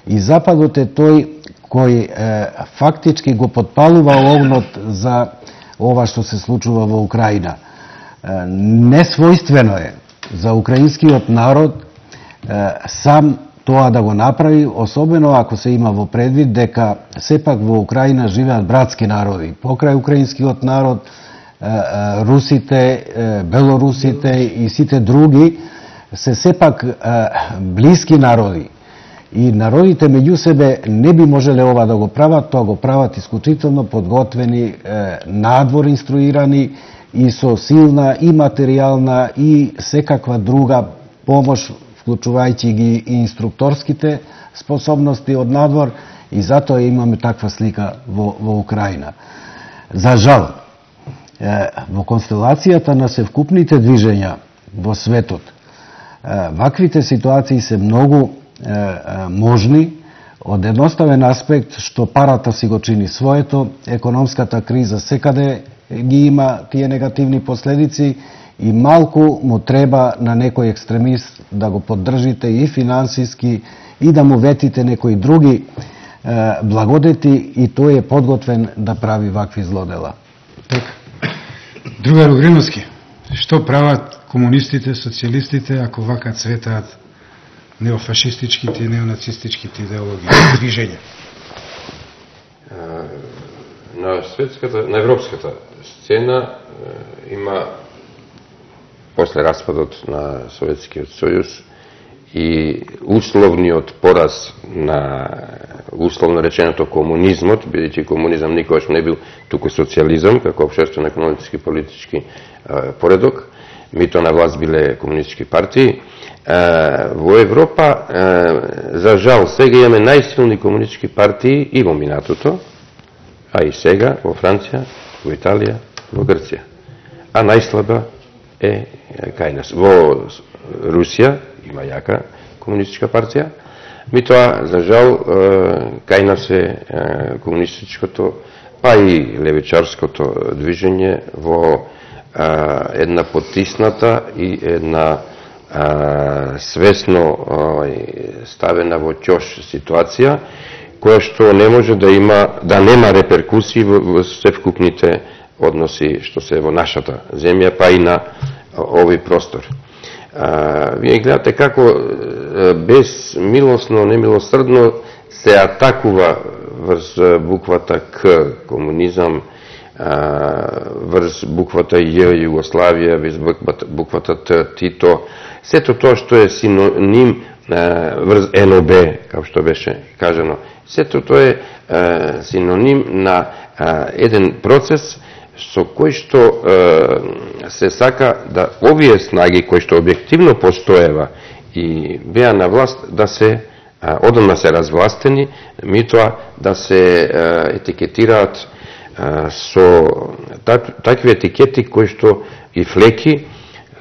и Западот е тој кој фактички го подпалува огнот за ова што се случува во Украина. Несвојствено е за украинскиот народ сам тоа да го направи, особено ако се има во предвид дека сепак во Украина живеат братски народи. Покрај украинскиот народ, русите, белорусите и сите други се сепак блиски народи. И народите меѓу себе не би можеле ова да го прават, тоа го прават исклучително подготвени, надвор инструирани и со силна и материјална и секаква друга помош, вклучувајќи ги и инструкторските способности од надвор, и затоа имаме таква слика во Украина. За жал, во констелацијата на севкупните движења во светот, ваквите ситуации се многу можни, од едноставен аспект што парата си го чини своето, економската криза секаде ги има тие негативни последици и малку му треба на некој екстремист да го поддржите и финансиски и да му ветите некои други благодети, и тој е подготвен да прави вакви злодела. Така. Другар Угриновски, што прават комунистите, социјалистите ако вака цветаат неофашистичките и неонацистичките идеологии и движења? На европската сцена има, после распадот на Советскиот сојуз и условниот пораз на, условно реченото, комунизмот, бидејќи комунизам никогаш не бил туку социјализам, како општествено-економски и политички поредок, мито на власт биле комунистички партии. Во Европа, за жал, сега имаме најсилни комунистички партии и во минатото, а и сега во Франција, во Италија, во Грција. А најслаба е кај нас. Во Русија има јака комунистичка партија, митоа, за жал, кај нас е комунистичкото, па и левичарското движење во една потисната и една свесно ставена во ќош ситуација, која што не може да нема реперкусии во севкупните односи што се во нашата земја, па и на овој простор. Вие гледате како безмилосно, немилосрдно се атакува врз буквата К, комунизам, врз буквата Ј, Југославија, врз буквата Т, Тито, сето тоа што е синоним врз НОБ, како што беше кажано, сето тоа е синоним на еден процес со кој што се сака да овие снаги кои што објективно постоева и беа на власт да се одамна се развластени, митоа да се етикетираат со такви етикети кои што и флеки,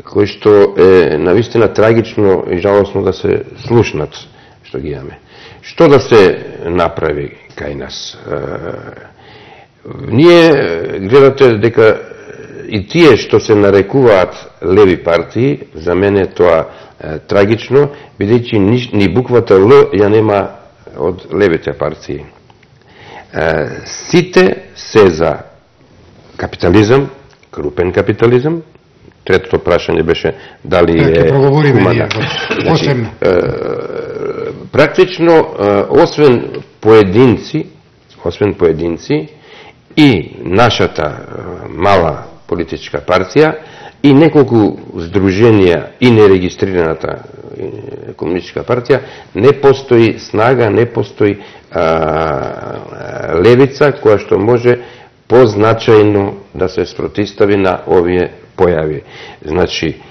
кои што е навистина трагично и жалосно да се слушнат што ги имаме. Што да се направи кај нас? Ние гледате дека и тие што се нарекуваат леви партии, за мене тоа трагично, бидејќи ни буквата Л ја нема од левите партии. Сите се за капитализам, крупен капитализам. Третото прашање беше дали е хумана. Посебно. Практично, освен поединци и нашата мала политичка партија и неколку здруженија и нерегистрираната комунистичка партија, не постои снага, не постои левица која што може позначајно да се спротистави на овие појави. Значи,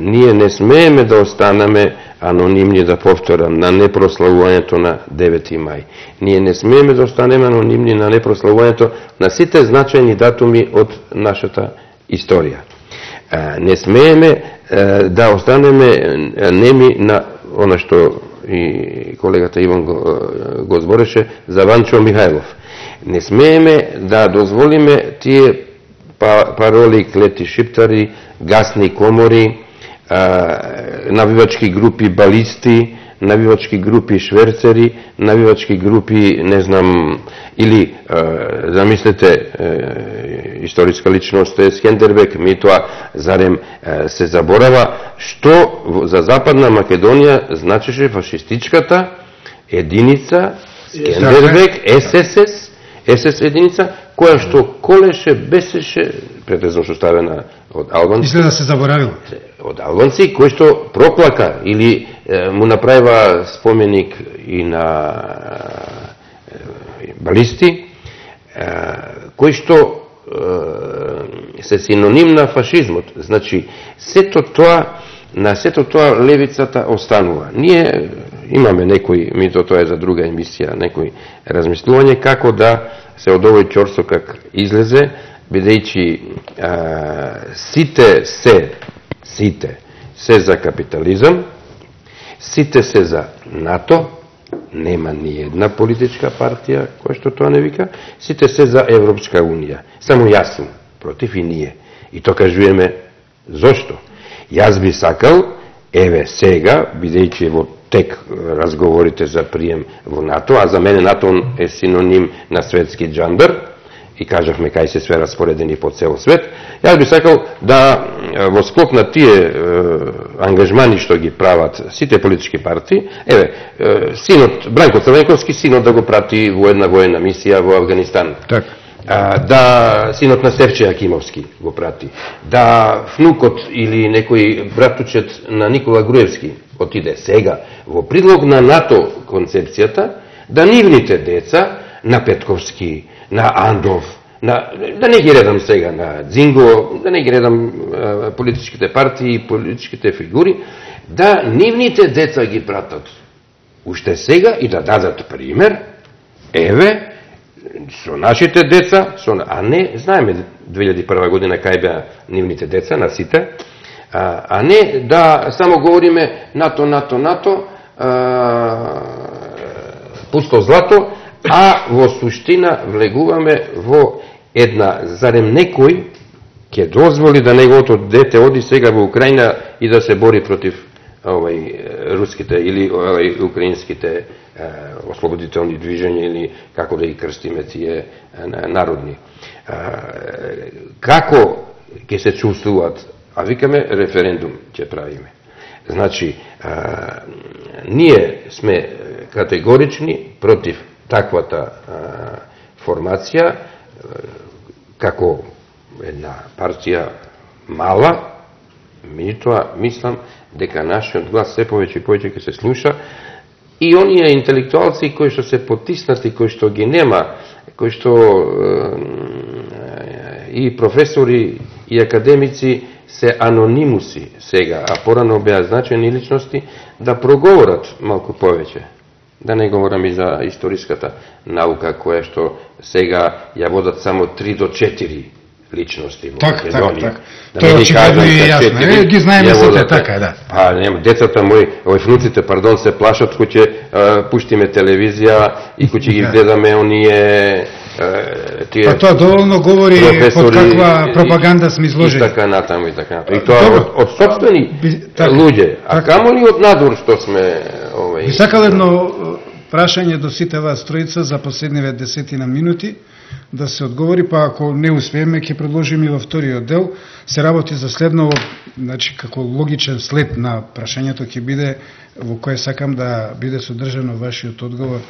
ние не смееме да останеме анонимни, да повторам, на непрославувањето на 9. мај. Ние не смееме да останеме анонимни на непрославувањето на сите значајни датуми од нашата историја. Не смееме да останеме неми на она што и колегата Иван го збореше за Ванчо Михајлов. Не смееме да дозволиме тие пароли, клети шиптари, гасни комори, навивачки групи балисти, навивачки групи шверцери, навивачки групи, не знам, или, замислете, историска личност е Скендербек, митоа, зарем се заборава, што за Западна Македонија значеше фашистичката единица, Скендербек, СС единица, која што колеше, бесеше, претезно што ставена од албанци. Изгледа се заборавило. од албанци кои што проплака или му направива споменик и на балисти, кои што се синоним на фашизмот. Значи, на сето тоа левицата останува. Ние имаме некои, тоа е за друга емисија, некои размислување како да се од овој ќорсокак излезе, бидејќи сите се за капитализам, сите се за НАТО, нема ни една политичка партија која што тоа не вика, сите се за Европска унија. Само јас сум против и ние. И тоа кажуваме зошто. Јас би сакал, еве сега, бидејќи во тек разговорите за прием во НАТО, а за мене НАТО е синоним на светски джандар, и кажавме кај се све распоредени по цел свет, јас би сакал да во склоп на тие ангажмани што ги прават сите политички партии, еве, синот Бранко Црвенковски, синот да го прати во една воена мисија во Афганистан. Так. Да синот на Севче Акимовски го прати, да внукот или некој братучет на Никола Груевски отиде сега во предлог на НАТО концепцијата, да нивните деца на Петковски, на Андов, да не ги редам сега на Дзинго, да не ги редам политичките партии и политичките фигури, да нивните деца ги пратат уште сега и да дадат пример, еве, со нашите деца, а не, знаеме 2001 година кај беа нивните деца, на сите, а не да само говориме НАТО, пусто злато, а во суштина влегуваме во една, зарем некој ќе дозволи да неговото дете оди сега во Украина и да се бори против руските или украинските ослободителни движења или како да ги крстиме тие народни. Како ќе се чувствуваат? А викаме референдум ќе правиме. Значи, ние сме категорични против таквата формација, како една партија мала, меѓутоа мислам дека нашиот глас се повеќе и повеќе ќе се слуша и оние интелектуалци кои што се потиснати, кои што ги нема, кои што и професори и академици се анонимуси сега, а порано беа значени личности, да проговорат малку повеќе. Да не говорам и за историската наука, која што сега ја водат само 3 до 4 личности во Македонија. Так. Тоа е очигледно и јасно. Ги знаеме сите, така, да. Па, нема, децата мои, внуците, се плашат кој ќе пуштиме телевизија и кој ќе ги гледаме оние тие. Па тоа доволно говори под каква пропаганда сме изложени. И така натаму. И тоа од сопствени луѓе, а камо ли од надвор што сме Би сакал едно прашање до сите вас тројца за последниве 10 минути да се одговори, па ако не успееме ќе предложиме и во вториот дел. Се работи за следново, значи како логичен след на прашањето ќе биде во кое сакам да биде содржано вашиот одговор.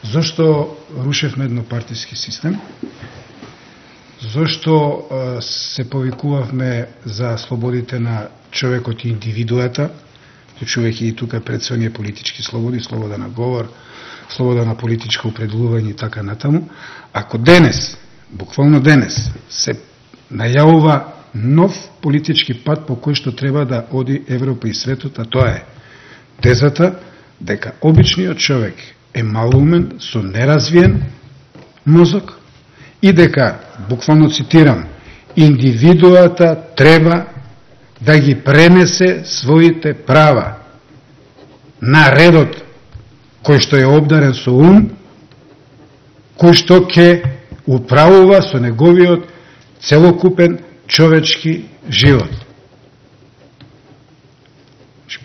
Зошто рушевме еднопартиски систем? Зошто се повикувавме за слободите на човекот и индивидуата, вклучувајќи и тука пред се оние политички слободи, слобода на говор, слобода на политичко определување и така натаму. Ако денес, буквално денес, се најавува нов политички пат по кој што треба да оди Европа и светот, а тоа е тезата дека обичниот човек е малумен, со неразвиен мозок и дека, буквално цитирам, индивидуата треба да ги пренесе своите права на редот кој што е обдарен со ум, кој што ќе управува со неговиот целокупен човечки живот.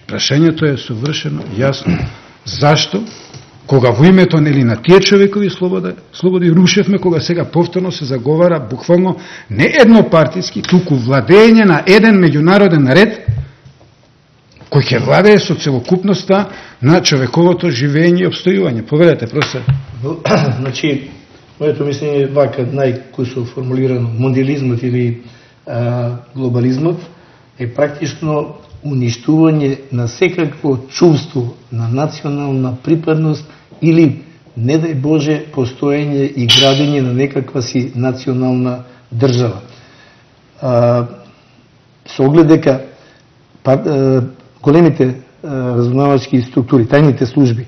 Прашањето е совршено јасно. Зашто? Кога во името нели на тие човекови слободи рушевме, кога сега повторно се заговара буквално не еднопартиски, туку владење на еден меѓународен ред кој ќе владее со целокупноста на човековото живење и обстојување. Поведете, професор. Значи, моето мислење е вака, најкусо формулирано, мондиализмот или глобализмот е практично уништување на секакво чувство на национална припадност или, не дај Боже, постоење и градење на некаква си национална држава. Со оглед дека големите разузнавачки структури, тајните служби,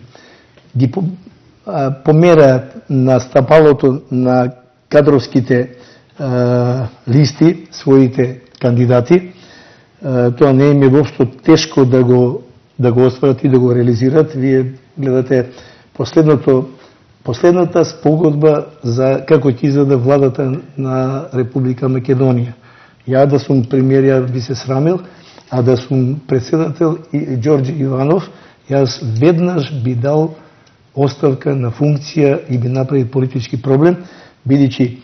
ги помераат на стапалото на кадровските листи своите кандидати, тоа не им е воопшто тешко да го остварат и да го реализират. Вие гледате последната спогодба за како ќе изгледа владата на Република Македонија. Ја да сум премиер, ја би се срамил, а да сум председател и Ѓорѓе Иванов, јас веднаш би дал оставка на функција и би направил политички проблем, бидејќи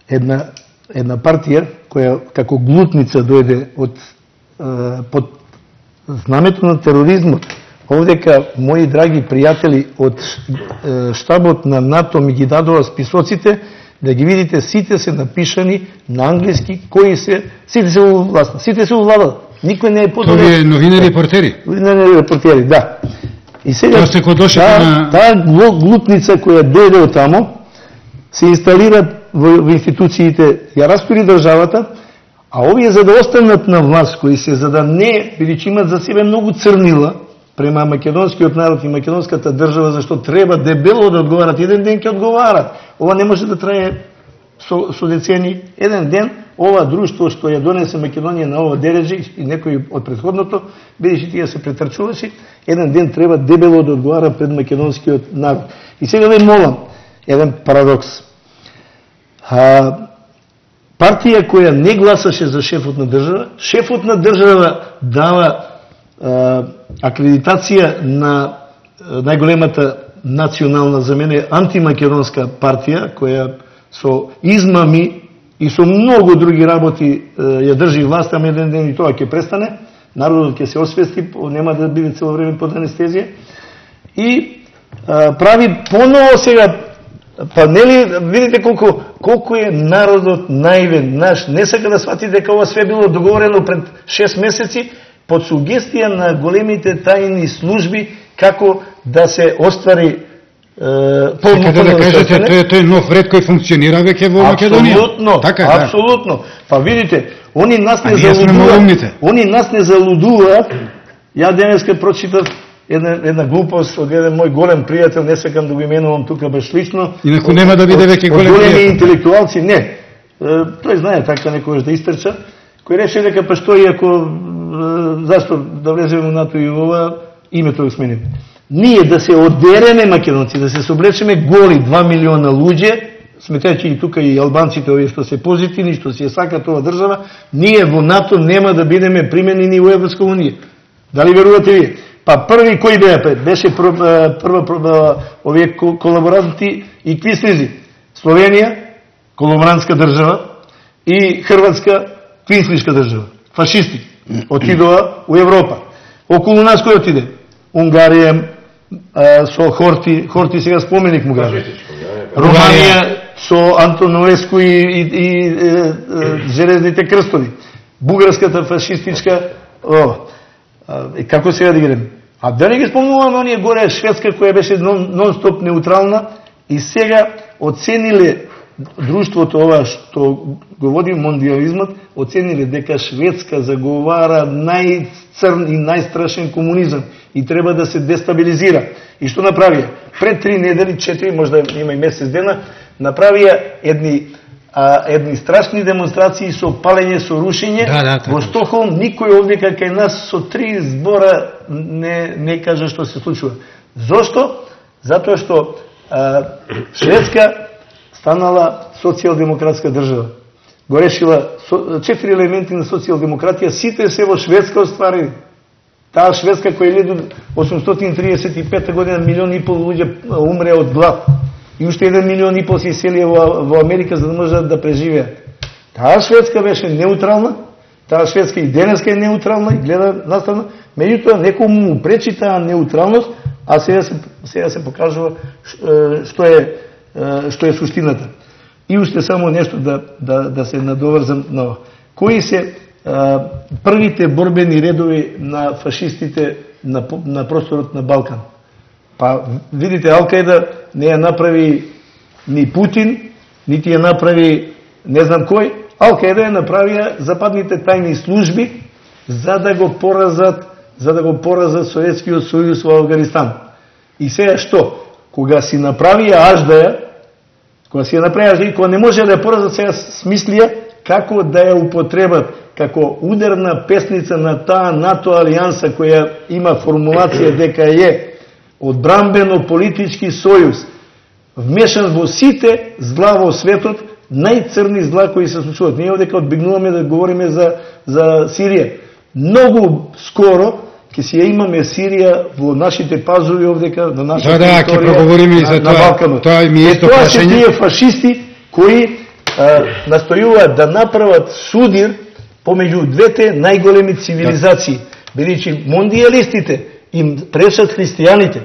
една партија која како глутница дојде под знамето на тероризмот. Овдека мои драги пријатели од штабот на НАТО ми ги дадоа списоците, да ги видите, сите се напишани на англиски, кои се, сите се власни, сите се увладат. Никој не е подоле. Тоа е новинари репортери. Новинари репортери, да. И сега таа глутница која дојде од тамо се инсталира во институциите, ја растури државата, а овие за да останат на власт, кои се за да не, бидејќи имат за себе многу црнила према македонскиот народ и македонската држава, зашто треба дебело да одговарат, еден ден ќе одговарат. Ова не може да трае со децени. Еден ден ова друштво што ја донесе Македонија на ова дереже и некој од претходното, бидејќи тие се претрчуваше, еден ден треба дебело да одговара пред македонскиот народ. И сега ве молам, еден парадокс. Партија која не гласаше за шефот на држава дава акредитација на најголемата национална, за мене, антимакедонска партија, која со измами и со многу други работи ја држи власт, ама еден ден и тоа ќе престане, народот ќе се освести, нема да биде цело време под анестезија, и прави поново сега, па нели, видите колку е народот наивен, наш, не сака да свати дека ова све било договорено пред 6 месеци, под сугестија на големите тајни служби, како да се оствари Сакате да кажете, тој е нов ред кој функционира веќе во Македонија. Апсолутно, така, апсолутно. Па видите, они нас не залудуваат. Ја денеска прочитав една глупост од еден мој голем пријател, не сакам да го именувам тука баш лично. Инаку нема да биде веќе голем пријател. Големи интелектуалци, не. Тој знае така некојаш да истрча, кој рече дека па што и ако зашто да влеземе во НАТО и ова, името го сменим. Ние да се одереме македонци, да се соблечеме голи 2 милиона луѓе, сметајќи и тука и албанците овие што се позитивни, што се сакат ова држава, ние во НАТО нема да бидеме применени во Европска унија. Дали верувате вие? Па први кој беа? Беше прва овие колаборанти и квислизи. Словенија, колаборантска држава, и Хрватска, квислишка држава. Фашисти. Отидоа у Европа. Околу нас кој отиде? Унгарија, со Хорти сега споменик му граде. Романија со Антоновеску и железните крстови. Бугарската фашистичка, како сега да ги рем? А да не ги спомнуваме оние горе Шведска која беше нон-стоп неутрална и сега оцениле друштвото ова што го води мондиализмот, оцениле дека Шведска заговара најцрн и најстрашен комунизам и треба да се дестабилизира. И што направија? Пред 3 недели, 4, можда има и месец дена, направија едни страшни демонстрации со палење, со рушење. Во Стокхолм никој овдека кај нас со 3 збора не кажа што се случува. Зошто? Затоа што Шведска станала социјалдемократска држава. Го решила 4 елементи на социјалдемократија, сите се во Шведска остварени. Таа Шведска која 1835 година 1,5 милион луѓе умре од глад. И уште 1,5 милион се иселија во Америка за да можат да преживеат. Таа Шведска беше неутрална, таа Шведска и денеска е неутрална и гледа наставна, меѓутоа некој му пречи таа неутралност, а сега се покажува што е суштината. И уште само нешто да се надоврзам на ова. Кои се првите борбени редови на фашистите на просторот на Балкан. Па видите, Ал-Каида не ја направи ни Путин, нити ја направи не знам кој. Ал-Каида ја направија западните тајни служби за да го поразат Советскиот сојуз во Афганистан. И сега што? Кога си направија аждаја, и кога не може да ја поразат, сега смислија како да ја употребат како ударна песница на таа НАТО алијанса која има формулација дека е одбранбено-политички сојуз, вмешан во сите зла во светот, најцрни зла кои се случуваат. Ние овдека одбегнуваме да говориме за Сирија. Многу скоро ќе си ја имаме Сирија во нашите пазови овдека, на нашата територија, на Балканот. Тоа ми е исто Тоа се прашање. тие фашисти кои настојуваат да направат судир помеѓу двете најголеми цивилизации, бидејќи мондијалистите им пречат христијаните.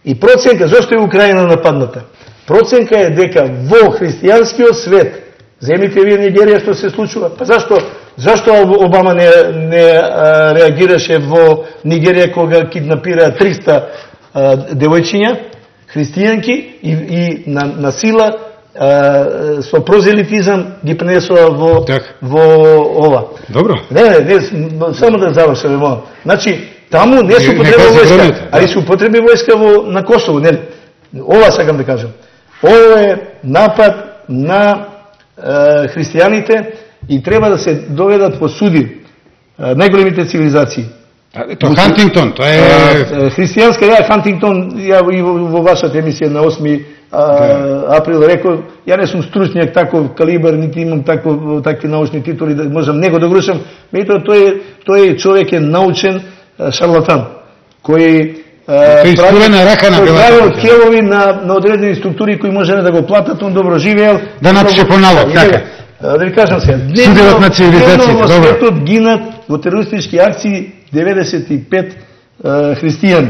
И проценка, зашто е Украина нападната? Проценка е дека во христијанскиот свет, земите вие Нигерија што се случува, па зашто Обама не реагираше во Нигерија кога киднапира 300 девојчиња, христијанки и на сила со прозелитизам ги пренесува во ова. Добро. Не, само да завршам, молам. Значи, таму не се употреби војска, али се употреби војска на Косово, нели? Ова сакам да кажам. Ова е напад на христијаните и треба да се доведат по суди најголемите цивилизации. Тоа Хантингтон, тоа е христијанска, Хантингтон, ја и во вашата емисија на 8 април рекол, ја не сум стручњак таков калибар, нити имам такви научни титули да можам него да грушам, меѓутоа тој човек е научен шарлатан, кој прави келови на одредени структури кои може да го платат, он добро живеел. Да напише по налог, така. Да ви кажам сега, судирот на цивилизациите, во светот гинат во терористички акции 95 христијани.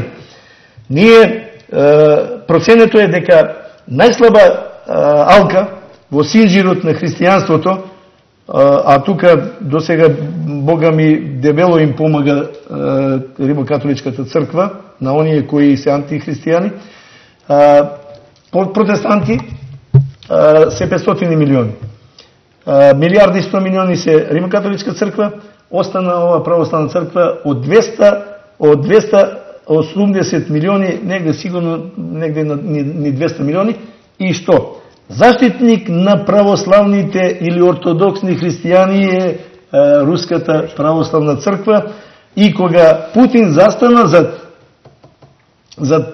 Ние проценето е дека најслаба алка во синџирот на христијанството, а тука до сега Бога ми дебело им помага Римокатоличката црква на оние кои се антихристијани, протестанти се 500 милиони. Милиарди 100 милиони се Римокатоличка црква, остана ова православна црква од 280 милиони, негде сигурно негде ни 200 милиони. И што? Заштитник на православните или ортодоксни христијани е Руската православна црква, и кога Путин застана за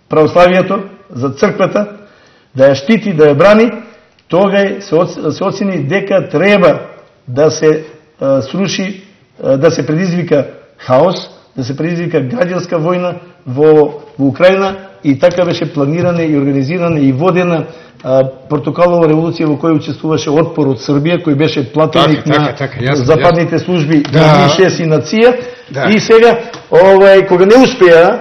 православието, за црквата, да ја штити, да ја брани, тогаш се оцени дека треба да се сруши, да се предизвика хаос, да се предизвика граѓанска војна во Украина, и така беше планирана и организирана и водена портокалова револуција во која учествуваше отпор од Србија, кој беше платеник на западните служби на МИ-6 и на ЦИА. И сега, кога не успеа,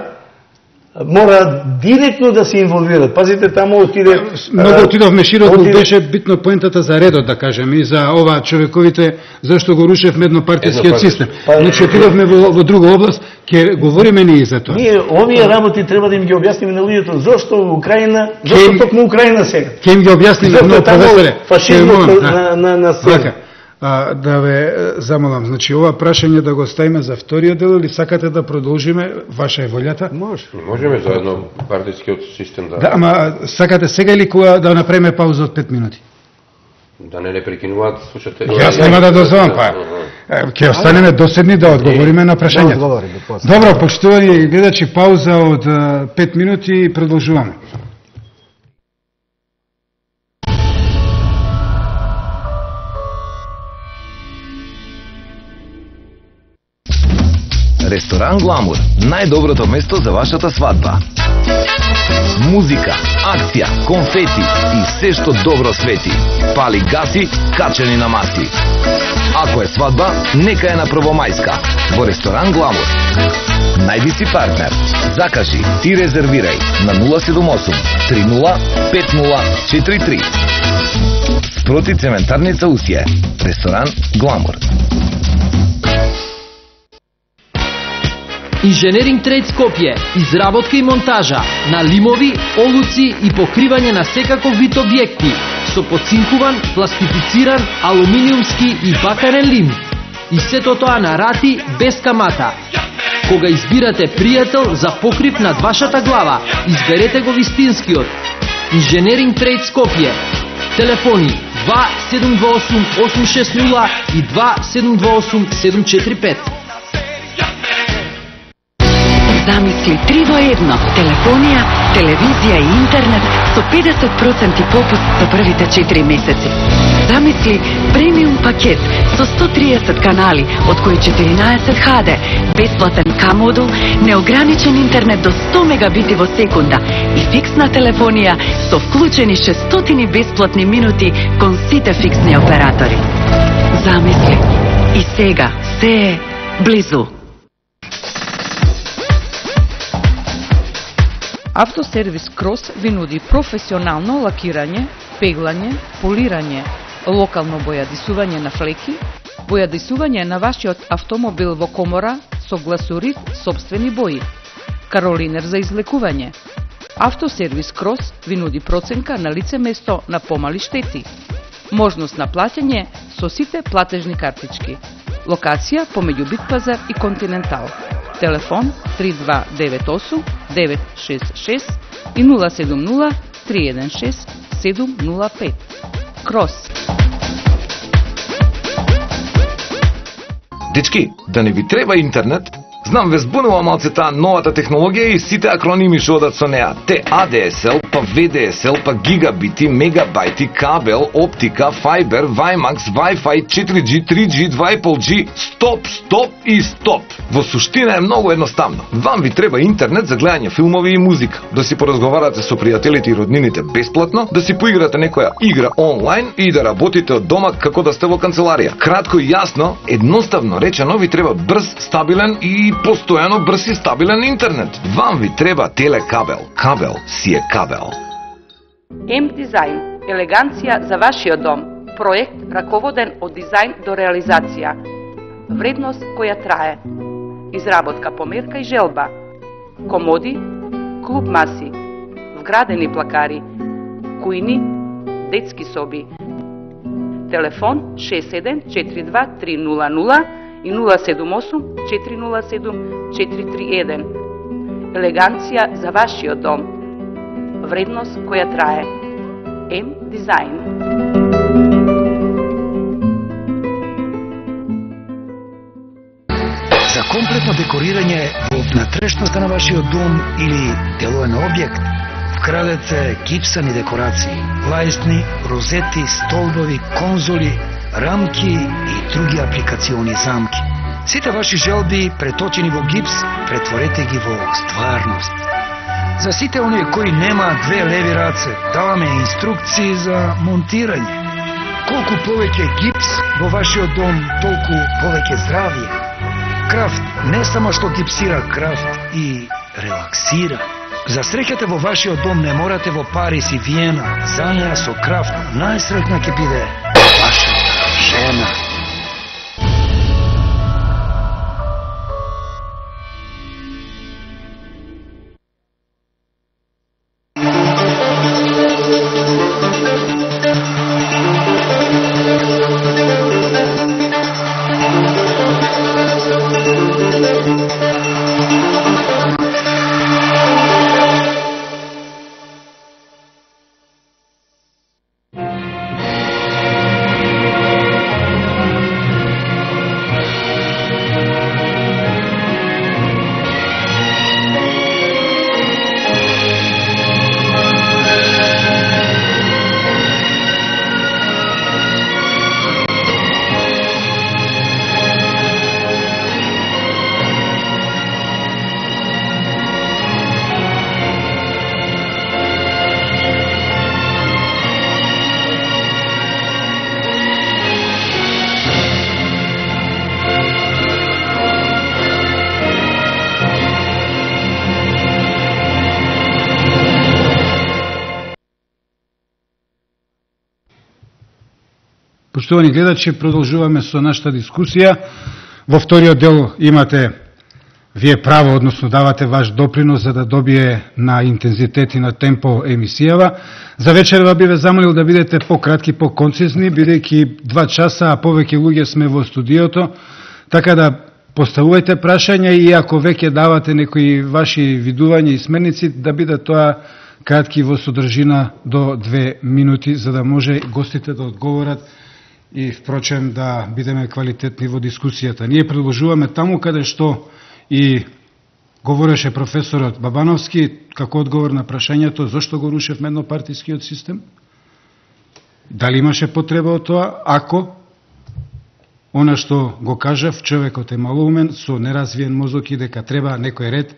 мора директно да се инволвират. Пазите, таму отиде... Многу отидовме широко, беше битно поентата за редот, да кажем, и за ова човековите, зашто го рушевме еднопартијскиот систем. Значи, отидовме во друга област, ќе говориме ние за тоа. Ние овие работи треба да им ги објасниме на луѓето, зашто Украина, зашто токму Украина сега. Ќе им ги објасниме, но професоре. Фашизмот на сега. Да ве замолам, значи ова прашање да го ставиме за вториот дел или сакате да продолжиме, ваша е волјата? Можеме за еднопартијскиот систем да... Да, ама сакате сега или кога да направиме пауза од 5 минути? Да не прекинуваат слушате. Јас нема да дозволам, ќе останеме доседни да одговориме на прашањето. Добро, почитувани гледачи, пауза од 5 минути и продолжуваме. Ресторан Гламур, најдоброто место за вашата свадба. Музика, акција, конфети и се што добро свети. Пали гаси, качени на масли. Ако е свадба, нека е на Првомајска, во Ресторан Гламур. Најди си партнер, закажи и резервирај на 078 30 5043. Спроти цементарница Усие. Ресторан Гламур. Инженеринг Трейд Скопје, изработка и монтажа на лимови, олуци и покривање на секаков вид објекти со поцинкуван, пластифициран, алуминиумски и бакарен лим. И сето тоа на рати без камата. Кога избирате пријател за покрив над вашата глава, изберете го вистинскиот. Инженеринг Трейд Скопје. Телефони 2728-860 и 2728-745. Замисли 3 во 1. Телефонија, телевизија и интернет со 50% попуст за првите 4 месеци. Замисли премиум пакет со 130 канали, од кои 14 HD, бесплатен К-модул, неограничен интернет до 100 мегабити во секунда и фиксна телефонија со вклучени 600 бесплатни минути кон сите фиксни оператори. Замисли. И сега се е близу. Автосервис Крос ви нуди професионално лакирање, пеглање, полирање, локално бојадисување на флеки, бојадисување на вашиот автомобил во комора со гласурит собствени бои, каролинер за излекување. Автосервис Крос ви нуди проценка на лице место на помали штети, можност на плаќање со сите платежни картички. Локација помеѓу Битпазар и Континентал. Телефон 3298 966 и 070 316 705. Крос. Дечки, да не ви треба интернет? Знам, ве збунува малце таа новата технологија и сите акроними што одат со неа. Те ADSL, па VDSL, па гигабити, мегабајти, кабел, оптика, фајбер, WiMAX, Wi-Fi, 4G, 3G, 2,5G, стоп и стоп. Во суштина е многу едноставно. Вам ви треба интернет за гледање филмови и музика, да си поразговарате со пријателите и роднините бесплатно, да си поиграте некоја игра онлайн и да работите од дома како да сте во канцеларија. Кратко и јасно, едноставно речено ви треба брз, стабилен и постојано брз и стабилен интернет. Вам ви треба телекабел. Кабел си е кабел. М-дизајн. Елеганција за вашиот дом. Проект раководен од дизајн до реализација. Вредност која трае. Изработка по мерка и желба. Комоди, клуб маси, вградени плакари, кујни, детски соби. Телефон 6742 300 и 078 407 431. Елеганција за вашиот дом. Вредност која трае. М-дизајн. За комплетно декорирање во внатрешноста на вашиот дом или делоен објект, вкрадете гипсани декорации, лајсни, розети, столбови, конзоли, рамки и други апликациони замки. Сите ваши желби, преточени во гипс, претворете ги во стварност. За сите оние кои немаат две леви раце, даваме инструкции за монтирање. Колку повеќе гипс во вашиот дом, толку повеќе здравје. Крафт не само што гипсира, крафт и релаксира. За среќата во вашиот дом не морате во Париз и Виена. За неа со крафт најсреќна ќе биде вашата жена. Поштовани гледачи, продолжуваме со нашата дискусија. Во вториот дел имате вие право, односно давате ваш допринос за да добие на интензитет и на темпо емисијава. За вечерва би ве замолил да бидете пократки, поконцизни, бидејќи 2 часа, а повеќе луѓе сме во студиото, така да поставувајте прашања и ако веќе давате некои ваши видувања и смерници, да биде тоа кратки во содржина до 2 минути, за да може гостите да одговорат и впрочем да бидеме квалитетни во дискусијата. Ние предложуваме таму каде што и говореше професорот Бабановски, како одговор на прашањето зошто го рушевме еднопартискиот систем? Дали имаше потреба од тоа? Ако она што го кажав, човекот е малоумен, со неразвиен мозок и дека треба некој ред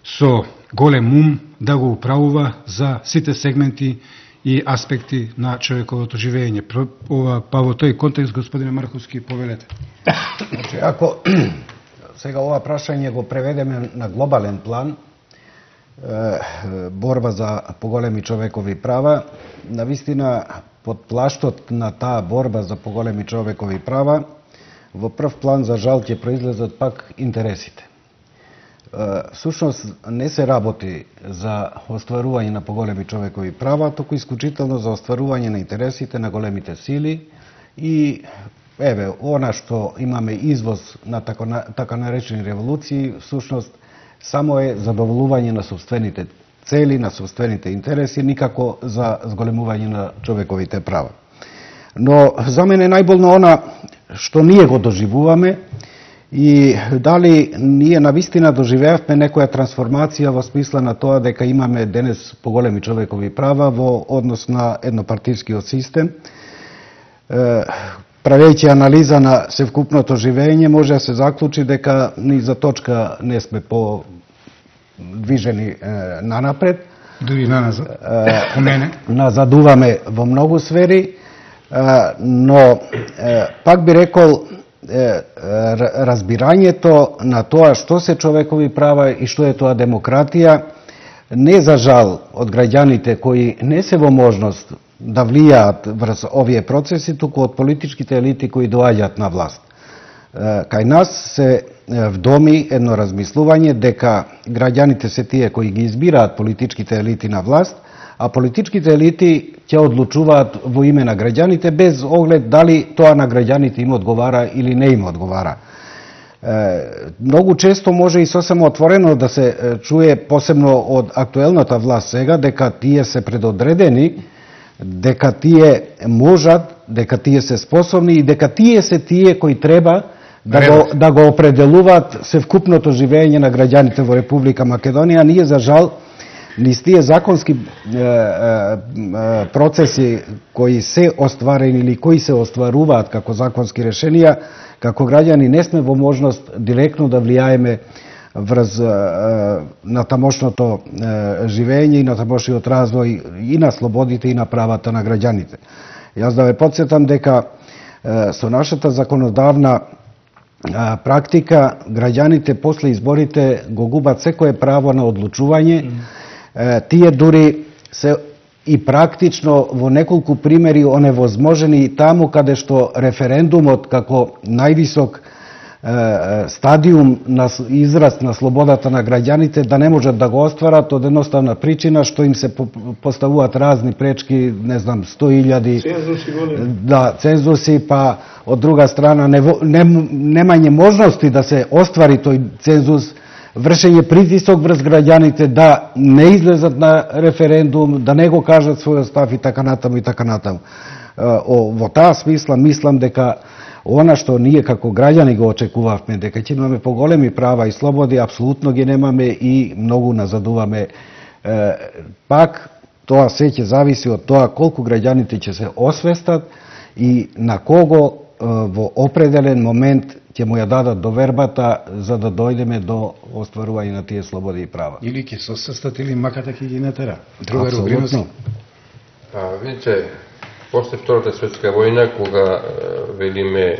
со голем ум да го управува за сите сегменти и аспекти на човековото живење. Па во тој контекст, господине Марковски, повелете. Значи, ако сега ова прашање го преведеме на глобален план, борба за поголеми човекови права, навистина под плаштот на таа борба за поголеми човекови права, во прв план, за жал, ќе произлезат пак интересите. Всушност, не се работи за остварување на поголеми човекови права, току исклучително за остварување на интересите на големите сили и еве, она што имаме извоз на така наречени револуции, всушност, само е задоволување на собствените цели, на собствените интереси, никако за зголемување на човековите права. Но за мене најболно она што ние го доживуваме и дали ние навистина доживеавме некоја трансформација во смисла на тоа дека имаме денес поголеми човекови права во однос на еднопартискиот систем. Правејќи анализа на севкупното живење, може да се заклучи дека ни за точка не сме движени нанапред. Дури наназад, по мене. Назадуваме во многу сфери, но пак би рекол разбирањето на тоа што се човекови права и што е тоа демократија, не за жал од граѓаните кои не се во можност да влијаат врз овие процеси, туку од политичките елити кои доаѓаат на власт. Кај нас се вдоми едно размислување дека граѓаните се тие кои ги избираат политичките елити на власт, а политичките елити ќе одлучуваат во име на граѓаните без оглед дали тоа на граѓаните им одговара или не им одговара. Многу често може и сосем отворено да се чуе, посебно од актуелната власт сега, дека тие се предодредени, дека тие можат, дека тие се способни и дека тие се тие кои треба да го определуваат севкупното живење на граѓаните во Република Македонија. Ние, за жал, низ тие законски процеси кои се остварени или кои се остваруваат како законски решенија, како граѓани не сме во можност директно да влијаеме врз на тамошното живење и на тамошниот развој и на слободите и на правата на граѓаните. Јас да ве потсетам дека со нашата законодавна практика граѓаните после изборите го губат секое право на одлучување. Тие дури се и практично во неколку примери оневозможени и таму каде што референдумот како највисок стадиум на израз на слободата на граѓаните да не можат да го остварат од едноставна причина што им се поставуваат разни пречки, не знам, 100.000 цензуси, па од друга страна немање можности да се оствари тој цензус, вршење притисок врз граѓаните да не излезат на референдум, да не го кажат својот став и така натаму и така натаму. Во таа смисла мислам дека она што ние како граѓани го очекувавме, дека ќе имаме поголеми права и слободи, апсолутно ги немаме и многу назадуваме. Пак, тоа се ќе зависи од тоа колку граѓаните ќе се освестат и на кого во определен момент ќе му ја дадат довербата за да дојдеме до остварување на тие слободи и права. Или ќе се освестат или маката ќе ги натера. Друга рубрина. Видите, после Втората светска војна, кога велиме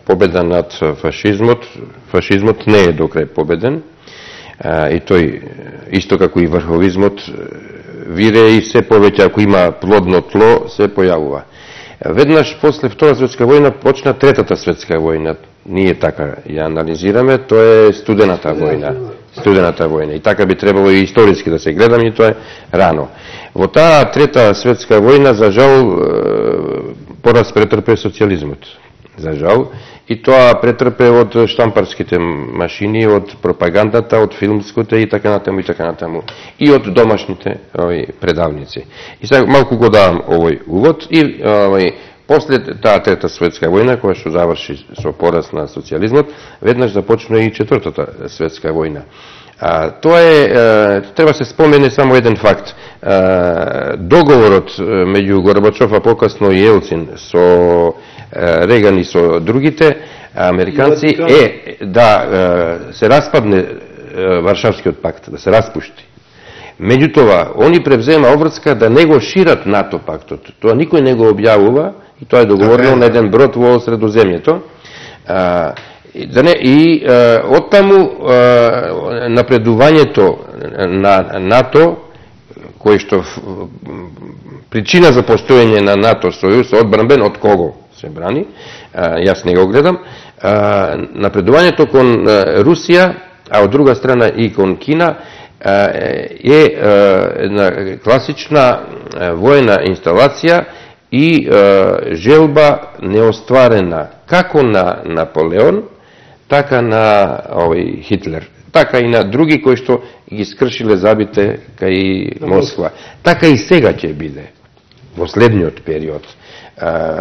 победа над фашизмот, фашизмот не е до крај победен, и тој, исто како и врховизмот, вире и се повеќе, ако има плодно тло, се појавува. Веднаш после Втора светска војна почна Третата светска војна. ние така ја анализираме, тоа е студената војна. Студената војна. И така би требало и историски да се гледаме, и тоа е рано. Во таа трета светска војна, за жал, пораз претрпе социјализмот. За жал. И тоа претрпе од штампарските машини, од пропагандата, од филмското и така натаму, и така натаму. И од домашните предавници. И сега малку го давам овој увод и после таа трета светска војна, која што заврши со пораз на социјализмот, веднаш започна и четвртата светска војна. Тоа е, треба се спомене само еден факт. Договорот меѓу Горбачов, а покасно и Елцин со Реган и со другите американци е да се распадне Варшавскиот пакт, да се распушти. Меѓутоа, они превзема обврска да не го шират НАТО пактот. Тоа никој не го објавува и тоа е договорено на еден брод во Средоземјето. И оттаму напредувањето на НАТО, кој што причина за постоење на НАТО сојуз одбранбен од кого се брани, јас не го гледам, напредувањето кон Русија, а од друга страна и кон Кина, е една класична војна инсталација и желба неостварена како на Наполеон, така на Хитлер, така и на други кои што ги скршиле забите кај Москва. Така и сега ќе биде, во следниот период.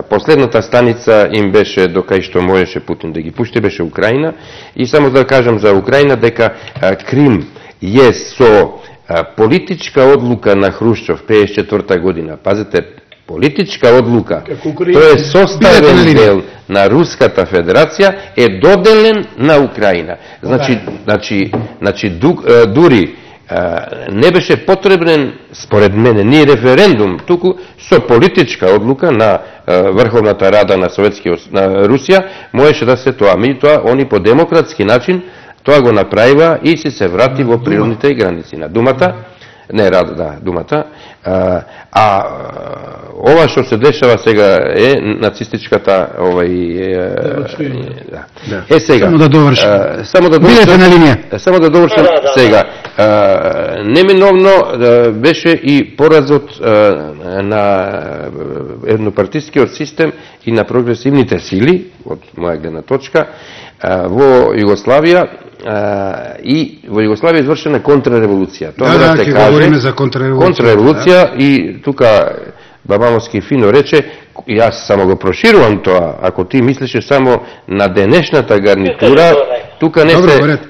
Последната станица им беше до кај што можеше Путин да ги пушти, беше Украина. И само да кажам за Украина дека Крим е со политичка одлука на Хрушчов 54 година. Пазете, политичка одлука, тој е составен дел на Руската Федерација, е доделен на Украина. Значи, дури не беше потребен, според мене, ни референдум, туку со политичка одлука на Врховната Рада на Русија, можеше да се тоа. Меѓутоа, они по демократски начин тоа го направива и се врати во природните граници на Думата. Не, Думата. Ова што се дешава сега е нацистичката сега. Само да довршим. Само да довршим сега. Неминовно беше и поразот на еднопартискиот систем и на прогресивните сили, од моја гледна точка, во Југославија, и во Југославија извршена контрреволуција. Тоа ќе говориме за контрреволуција. Контрреволуција и тука Бабановски фино рече, јас само го проширувам тоа, ако ти мислиш само на денешната гарнитура, тука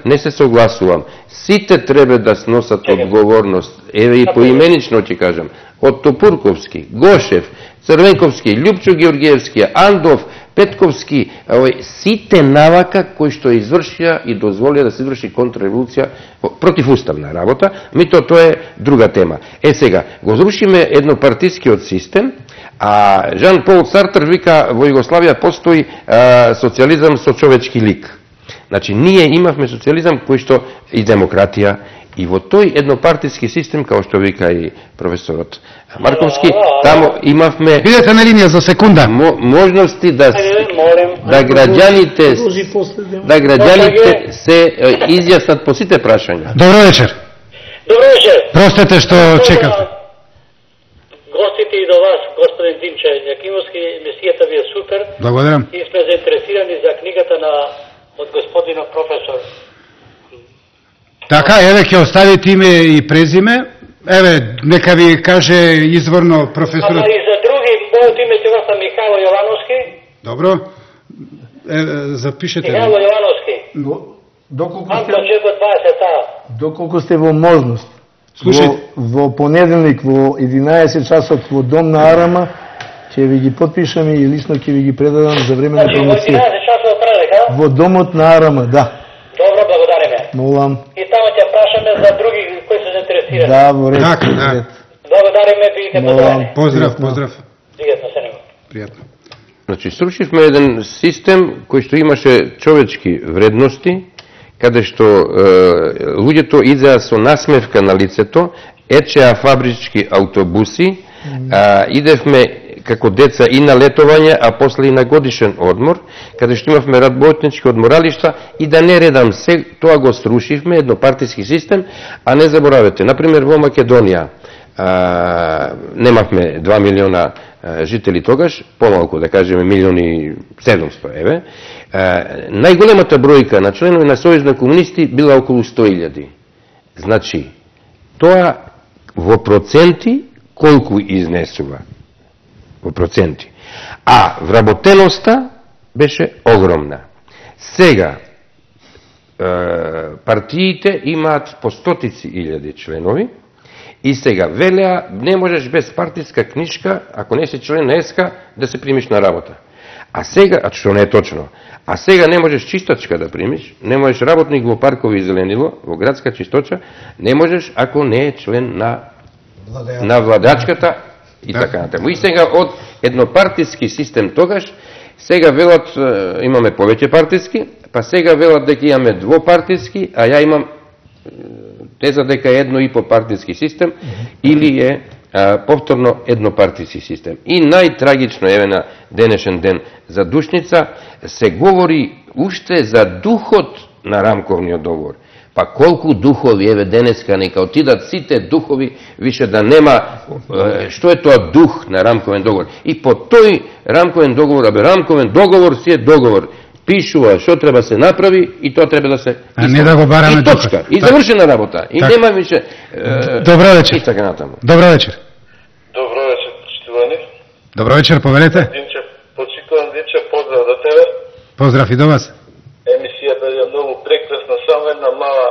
не се согласувам. Сите треба да сносат одговорност, еве и поименично ќе кажам, од Топурковски, Гошев, Црвенковски, Љупчо Георгиевски, Андов, Петковски, сите навака кои што извршија и дозволија да се изврши контрреволуција противуставна работа, тоа е друга тема. Сега, го зрушиме еднопартискиот систем, а Жан Пол Сартр вика во Југославија постои социјализам со човечки лик. Значи, ние имавме социјализам кој што и демократија, и во тој еднопартиски систем, како што вика и професорот Марковски, таму имавме... Бидете на линија за секунда. Можности да граѓаните се изјаснат по сите прашања. Добро вечер. Добро вечер. Простете што чекавте. Гостите и до вас, господин Димче Јакимовски, емисијата ви е супер. Благодарам. И сме заинтересирани за книгата од господинот професор. Така, еве ќе оставите име и презиме. Еве, нека ви каже изворно професорот. Ама и за други, моето име сега са Михајло Јовановски. Добро. Запишете. Михајло Јовановски. Доколку сте во можност. Слушајте. Во понеделник во 11 часот во Дом на Арама ќе ви ги подпишам и лично ќе ви ги предадам за време на промоција. Во 11 часот предадам, Во Домот на Арама, да. Добро, благодариме. Молам. И таму ќе прашаме за други кои се заинтересирани. Да, во ред. Благодариме, бидете подобрени. Поздрав. Пријатно се него. Пријатно. Значи, срушивме еден систем кој што имаше човечки вредности, каде што луѓето идеа со насмевка на лицето, ечеа фабрички автобуси, идевме како деца и на летовање, а после и на годишен одмор, каде што имавме работнички одморалишта и да не редам се, тоа го срушивме, еднопартиски систем, а не заборавете, например во Македонија немавме 2 милиона жители тогаш, помалку да кажеме 1.700.000, еве, најголемата бројка на членови на Сојуз на комунисти била околу 100.000. Значи, тоа во проценти колку изнесува? Во проценти. А вработеноста беше огромна. Сега, партиите имаат по стотици илјади членови и сега велеа не можеш без партиска книжка, ако не си член на ЕСКА, да се примиш на работа. А сега, што не е точно, а сега не можеш чистачка да примиш, не можеш работник во паркови и зеленило, во градска чисточа, не можеш ако не е член на владачката и така натаму. И сега од еднопартиски систем тогаш, сега велат имаме повеќе партиски, па сега велат дека имаме двопартиски, а ја имам теза дека е 1,5 партиски систем или е повторно еднопартиски систем. И најтрагично еве на денешен ден за Душница се говори уште за духот на рамковниот договор. Па колку духови еве денеска нека отидат сите духови, више да нема што е тоа дух на рамковен договор. И по тој рамковен договор, рамковен договор си е договор. Пишува што треба се направи и тоа треба да се а не да го бараме и точка. И завршена работа. И нема више Добро вечер. И така натаму. Добро вечер. Добро вечер, почитувани. Добро вечер, повелете. Динче, почитуван Динче, поздрав до тебе. Поздрав и до вас. Емисијата е многу прекрасна, само една мала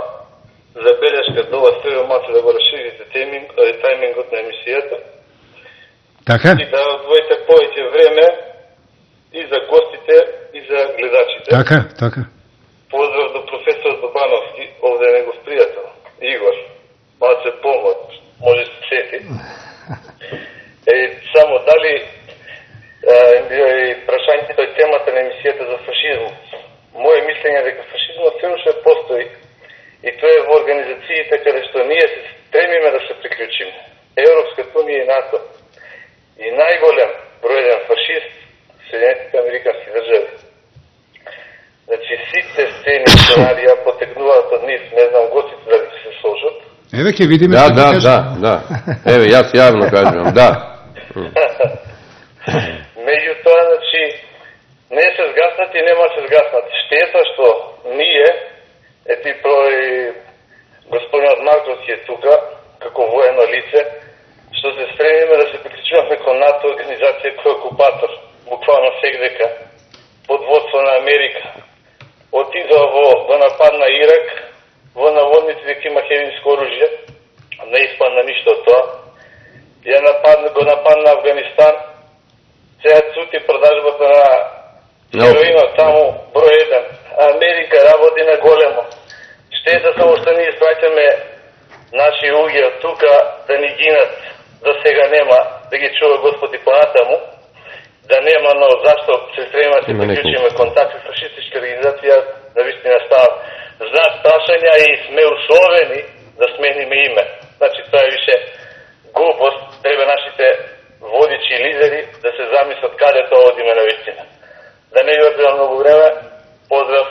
забелешка до вас, треба малку да го расширите тајмингот на емисијата. Така? И да одвоите повеќе време и за гостите и за гледачите. Така. Поздрав до професор Добановски, овде е негов пријател, Игор. Малце помот, може се сети. Само дали прашањето е темата на емисијата за фашизмот. Моје мислење е дека фашизмот се уште постои и тоа е во организациите каде што ние се стремиме да се приклучиме. Европската унија и НАТО. И најголем бројен фашист Соединетите американски држави. Значи, сите сцени сценарија потекнуваат од нив, не знам гостите дали се сложат. Еве ќе видиме што ќе кажат. Да. Еве, јас јавно кажувам, да. Меѓутоа, значи, не се згаснат и нема се згаснат. Штета што ние, господинот Марковски е тука, како воено лице, што се стремиме да се приклучуваме кон НАТО организација кој е окупатор, буквално сегдека, под водство на Америка. Отидоа го нападна Ирак, во наводници дека има хемиско оружје, не испадна ништо од тоа. Го нападна Афганистан, сега цути продажбата на хероинот таму број 1. Америка работи на големо. Штета само што ние испраќаме наши уги од тука да ни гинат, да сега нема, да ги чува Господи понатаму, да нема, но зашто се стремиме да се приклучиме контакт со фашистичка организација, да вистина ставам знак прашања и сме условени да смениме име. Значи, тоа е више глупост, треба нашите водичи и лидери да се замислат каде тоа одиме на вистина. Да не ви одбирам многу време, поздрав.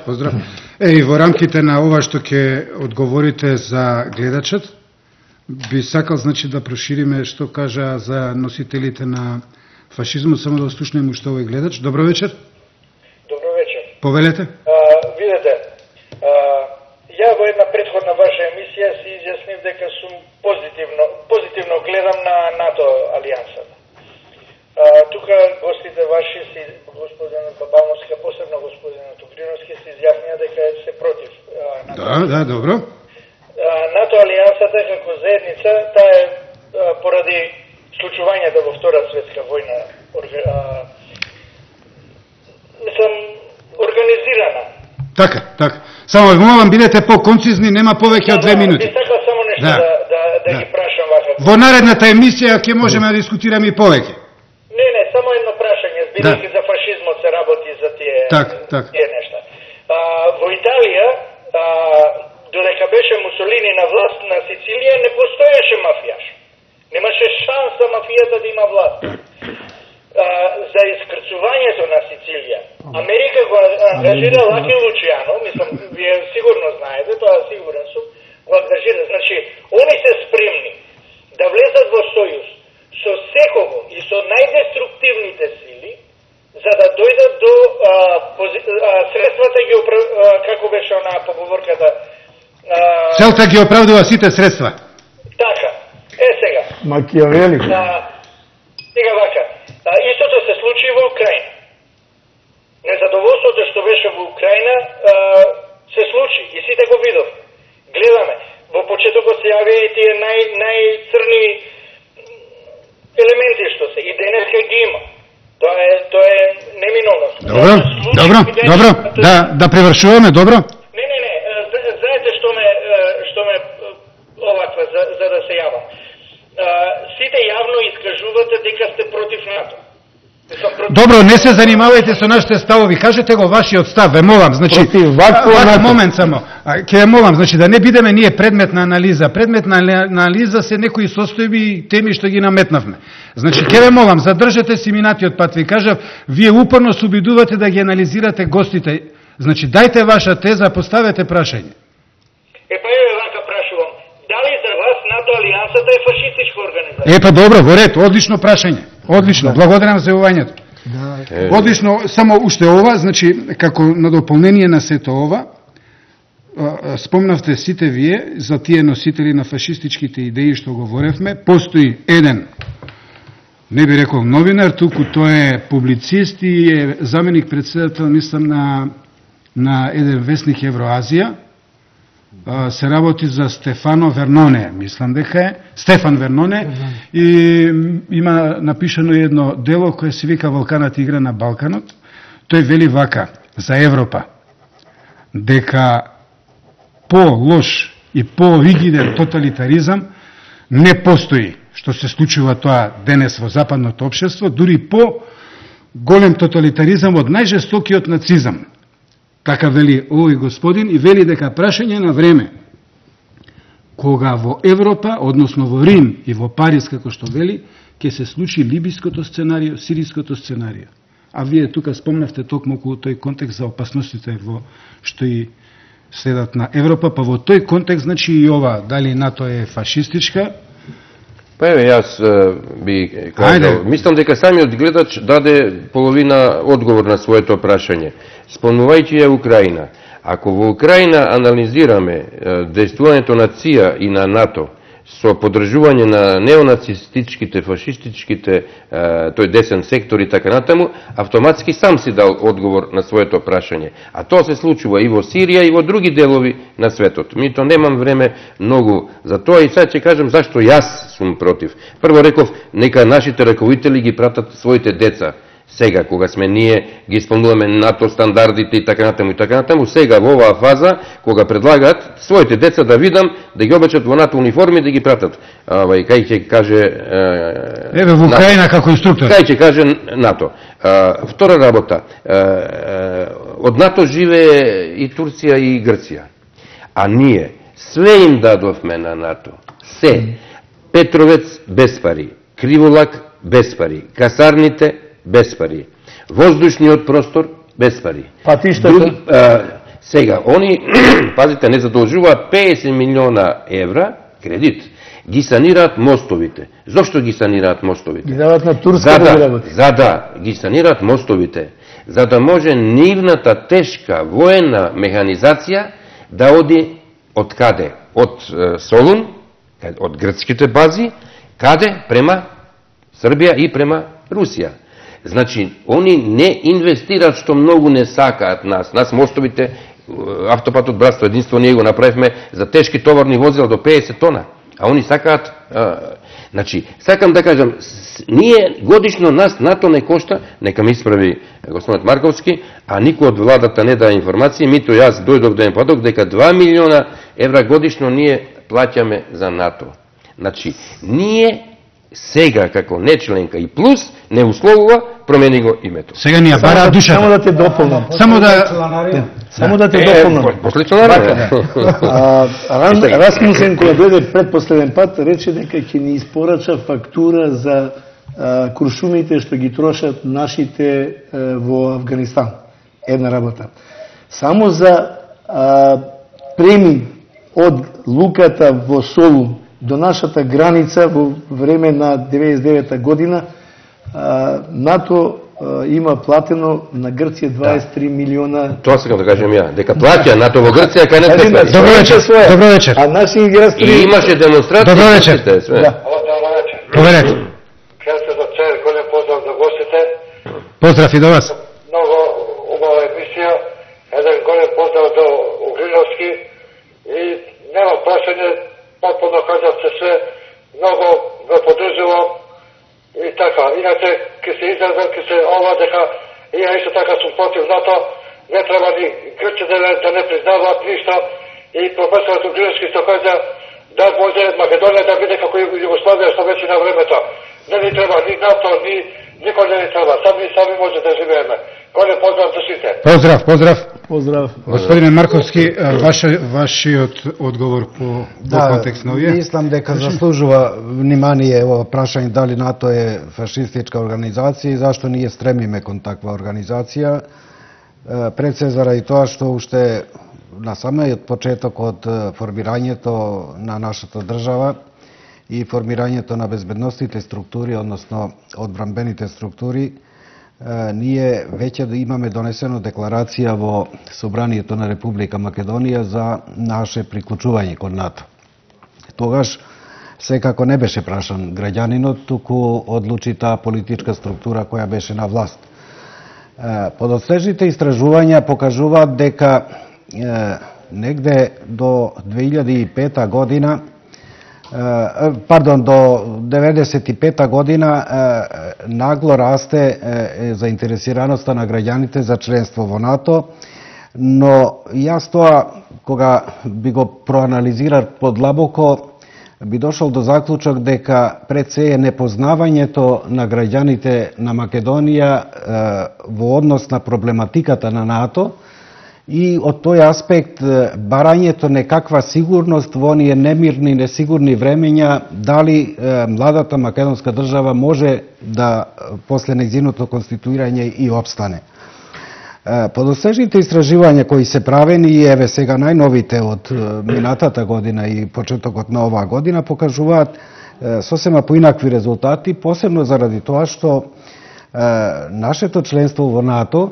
Поздрав. И во рамките на ова што ќе одговорите за гледачот, би сакал значи да прошириме што кажа за носителите на фашизмот, само да слушнеме што овој гледач. Добро вечер. Добро вечер. Повелете. Видете, ја во една претходна ваша емисија си изјаснив дека сум позитивно гледам на НАТО алијансата. Тука гостите ваши си, господинот Бабановски, посебно господинот Угриновски, се изјаснија дека се против НАТО. Да, добро. НАТО алијансата како заедница, таа е поради случувањето во Втората светска војна организирана. Така. Само ве молам, бидете по-концизни, нема повеќе од 2 минути. Би сакал само нешто да ги прашам вака. Во наредната емисија ќе можеме да дискутираме и повеќе. Не, само едно прашање, бидејќи за фашизмот се работи за тие нешта. Во Италија, додека беше Мусолини на власт на Сицилија, не постоеше мафијаш. Немаше шанса мафијата да има власт. За искрцувањето на Сицилија, Америка го ангажира Лаки Лучијано, мислам, вие сигурно знаете, тоа сигурен сум, го ангажира. Значи, они се спремни да влезат во сојуз со секого и со најдеструктивните сили, за да дојдат до средствата ги како беше онаа поговорката. Целта ги оправдува сите средства. Така. Сега. Макиавели. Сега вака. Истото се случи во Украина. Незадоволството што беше во Украина се случи и сите го видов. Гледаме. Во почетокот се јавија и тие најцрни елементи што се. И денеска ги има. Тоа е неминовно. Добро. Да превршуваме, добро? Не. Знаете што ме оваква за да се јавам. Сите јавно искажувате дека сте против НАТО. Добро, не се занимавајте со нашите ставови, кажете го вашиот став, ве молам, значи, момент само, ќе ве молам, значи да не бидеме ние предмет на анализа. Предмет на анализа се некои состојби и теми што ги наметнавме. Значи, ќе ве молам, задржете си минатиот пат, ви кажав, вие упорно се обидувате да ги анализирате гостите. Значи, дајте ваша теза, поставете прашање. Па ја вака прашувам, дали за вас НАТО алијансата е фашистичка организација? Добро, во ред, одлично прашање. Одлично, благодарам за јавањето. Одлично, само уште ова, значи, како на дополнение на сето ова, спомнавте сите вие за тие носители на фашистичките идеи што говоревме, постои еден, не би рекол новинар, туку тој е публицист и е заменик председател, мислам, на еден вестник Евроазија, се работи за Стефано Верноне, мислам дека е, Стефан Верноне, и има напишано едно дело кое се вика Валканат игра на Балканот. Тој вели вака за Европа, дека по-лош и по-ригиден тоталитаризам не постои, што се случува тоа денес во западното општество, дури по-голем тоталитаризам од најжестокиот нацизам. Така вели овој господин и вели дека прашање на време кога во Европа, односно во Рим и во Париз, како што вели, ќе се случи либиското сценарио, сириското сценарио. А вие тука спомнавте токму околу тој контекст за опасностите во што и следат на Европа, па во тој контекст, значи и ова, дали НАТО е фашистичка? Па еве, јас би кажал, мислам дека самиот гледач даде половина одговор на своето прашање. Спомнувајќи ја Украина. Ако во Украина анализираме дејствувањето на ЦИА и на НАТО со поддржување на неонацистичките, фашистичките, тој десен сектор и така натаму, автоматски сам си дал одговор на своето прашање. А тоа се случува и во Сирија и во други делови на светот. Мито немам време многу за тоа и сега ќе кажам зашто јас сум против. Прво реков, нека нашите раководители ги пратат своите деца. Сега, кога сме ние, ги исполнуваме НАТО стандардите и така натаму, сега во оваа фаза, кога предлагаат своите деца да видам, да ги обечат во НАТО униформи, да ги пратат. Кај ќе каже... Еве во Украина како инструктор. Кај ќе каже НАТО. Втора работа. Од НАТО живее и Турција и Грција. А ние све им дадовме на НАТО. Се. Петровец без пари. Криволак без пари. Касарните без пари. Воздушниот простор без пари. Патиштата? Сега, они, пазите, не задолжуваат 50 милиона евра кредит. Ги санираат мостовите. Зошто ги санираат мостовите? Ги дават на турска да работи. За да ги санираат мостовите, за да може нивната тешка воена механизација да оди од каде? Од Солун, од грцките бази, каде? Према Србија и према Русија. Значи, они не инвестираат што многу не сакаат нас. Нас мостовите, автопатот Братство единство, ние го направивме за тешки товарни возила до 50 тона. А они сакаат... Значи, сакам да кажам, ние годишно нас НАТО не кошта, нека ми исправи господинот Марковски, а никој од владата не дава информации, мито јас дојдов да им подок дека 2 милиона евра годишно ние плаќаме за НАТО. Значи, ние сега како нечленка и плюс не условува промени го името. Сега ни ја бара душата. Само да те дополнам. Само да те дополнам. После членарија. Расмусен, која дојде предпоследен пат, рече дека ќе ни испорача фактура за куршумите што ги трошат нашите во Афганистан. Една работа. Само за премин од луката во Солун до нашата граница во време на 99 година, НАТО има платено на Грција 23 милиона. Тоа сакам да кажем ја, дека плаќа НАТО во Грција, кај не се плаќа. Добро вечер. А наши граѓани И имаше демонстрации. Добро вечер. Проверете. Кажете за цел, голем поздрав за гостите. Поздрав и до вас. Много убава емисија. Еден голем поздрав до Угриновски. И нема прашање, потpuno кажавте се, много ве поддржувам. И така, иначе, ке се изразам, ке се ова дека, и ја исто така сум против НАТО, не треба ни Грците да не признаваат ништо. И професорот Угриновски што кажа, да може Македонија да биде како Југославија што беше на времето. Не ни треба ни НАТО, ни никој не ни треба. Сами може да живееме. Голем поздрав за сите. Поздрав. Поздрав. Господине Марковски, вашиот одговор по контекст на овие? Мислам дека заслужува внимание ова прашање дали НАТО е фашистичка организација и зашто ние стремиме кон таква организација. Пред се заради тоа што уште на самиот почеток од формирањето на нашата држава и формирањето на безбедностните структури, односно одбранбените структури, ние веќе да имаме донесено декларација во Собранието на Република Македонија за наше приклучување кон НАТО. Тогаш секако не беше прашан граѓанинот, туку одлучи таа политичка структура која беше на власт. Подоцнежните истражувања покажуваат дека негде до 2005 година, до 95 година нагло расте заинтересираноста на граѓаните за членство во НАТО, но јас тоа, кога би го проанализирал подлабоко, би дошол до заклучок дека пред се е непознавањето на граѓаните на Македонија во однос на проблематиката на НАТО и од тој аспект барањето некаква сигурност во оние немирни, несигурни времења, дали младата македонска држава може да после нејзиното конституирање и опстане. Подосежните истражувања кои се правени и еве сега најновите од минатата година и почетокот на оваа година покажуваат сосема поинакви резултати, посебно заради тоа што нашето членство во НАТО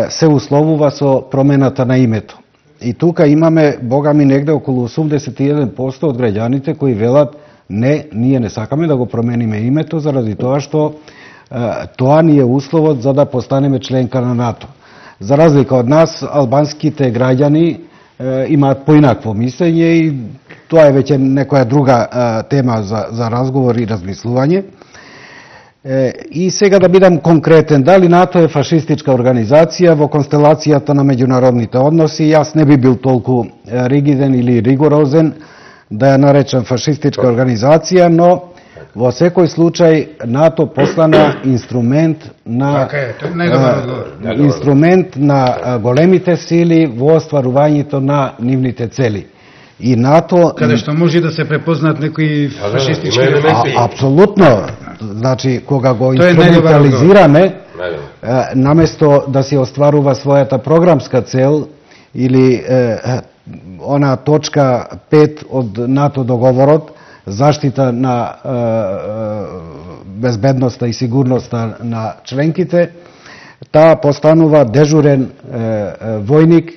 се условува со промената на името. И тука имаме, богами, негде околу 81% од граѓаните кои велат не, ние не сакаме да го промениме името заради тоа што тоа ни е условот за да постанеме членка на НАТО. За разлика од нас, албанските граѓани имаат поинакво мислење и тоа е веќе некоја друга тема за разговор и размислување. И сега да бидам конкретен, дали НАТО е фашистичка организација во констелацијата на меѓународните односи, јас не би бил толку ригиден или ригорозен да ја наречам фашистичка организација, но во секој случај НАТО постана инструмент на големите сили во остварувањето на нивните цели. И НАТО каде што може да се препознаат некои фашистички елементи. Апсолутно. Значи кога го инструментализираме, наместо да се остварува својата програмска цел или она точка 5 од НАТО договорот, заштита на безбедноста и сигурноста на членките, таа постанува дежурен војник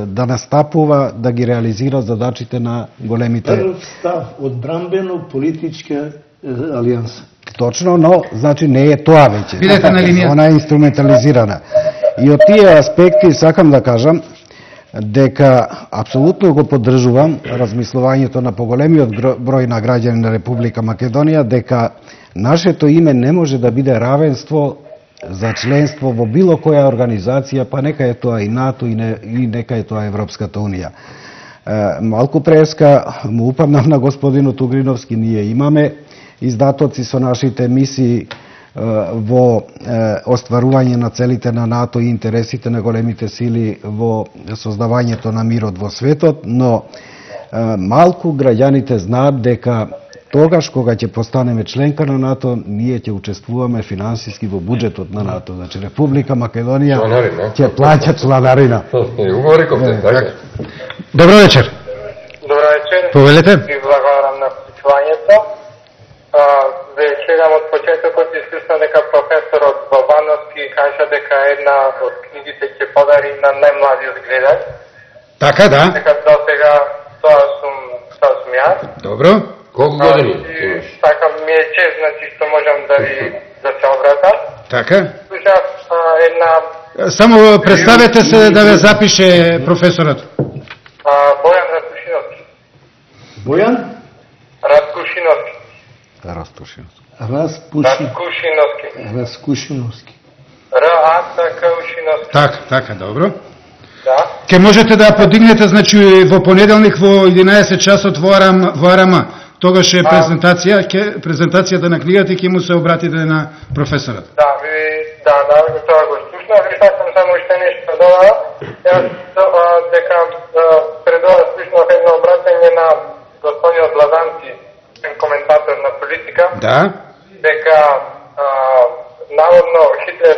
да настапува, да ги реализира задачите на големите... Став одбранбено политичка алијанса. Точно, но значи не е тоа веќе. Бидете на линија. Она е инструментализирана. И од тие аспекти сакам да кажам дека апсолутно го поддржувам размислувањето на поголемиот број на граѓани на Република Македонија дека нашето име не може да биде равенство за членство во било која организација, па нека е тоа и НАТО и нека е тоа Европската Унија. Малку преска му упаднав на господинот Угриновски, ние имаме издатоци со нашите мисии во остварување на целите на НАТО и интересите на големите сили во создавањето на мирот во светот, но малку граѓаните знаат дека тогаш кога ќе постанеме членка на НАТО, ние ќе учествуваме финансиски во буџетот на НАТО. Значи Република Македонија ќе плаќа чланарина. Добро вечер. Добро вечер. Повелете. И благодарам на вклучувањето. Веќе гледам од почетокот и слушнав дека професорот Бабановски кажа дека една од книгите ќе подари на најмладиот гледач. Така, да. Дека до сега тоа сум јас. Добро. Колку години? Така ми е чест, значи, што можам да се обратам. Така. Слушав една... Само представете се да ве запише професорот. Бојан Раскушиновски. Бојан? Раскушиновски. Раскушиновски. Така, така, добро. Да. Ке можете да подигнете, значи, во понеделник во 11 часот во Арама. Тогаш е презентацијата на книгата и ќе му се обратите на професорот. Да, тоа го слушнав и сакам само уште нешто да додам. Јас дека пред ова слушнав едно обраќање на господинот Лазанци, коментатор на политика. Да. Дека наводно Хитлер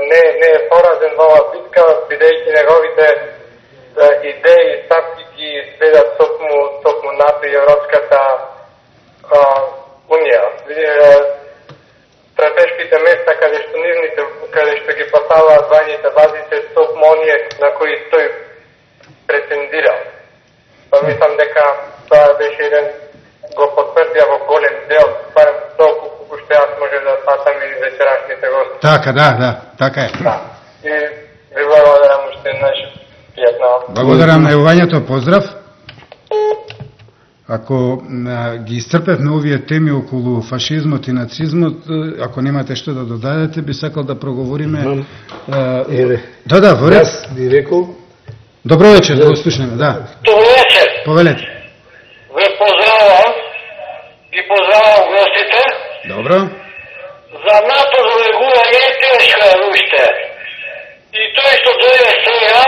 не е поразен во оваа битка, бидејќи неговите идеи и стапки ги следат токму НАТО и Европската Унија. Стратешките места каде што ги поставаат војните бази се токму оние на кои тој претендира. Па мислам дека тоа беше еден го потврдија во голем дел, барем толку колку што јас може да сватам и вечерашните гости. Така, да, така е. Да. И ви благодарам уште еднаш. Благодарам на јавувањето, поздрав. Ако ги исцрпевме овие теми околу фашизмот и нацизмот, ако немате што да додадете, би сакал да проговориме... Да, во ред. Јас би рекол... Добро вечер, да го слушнеме, да. Добро вечер. Повелете. Ве поздравам, ги поздравам гостите. Добро. За НАТО влегување е тешка уште. И тој што дојде сега,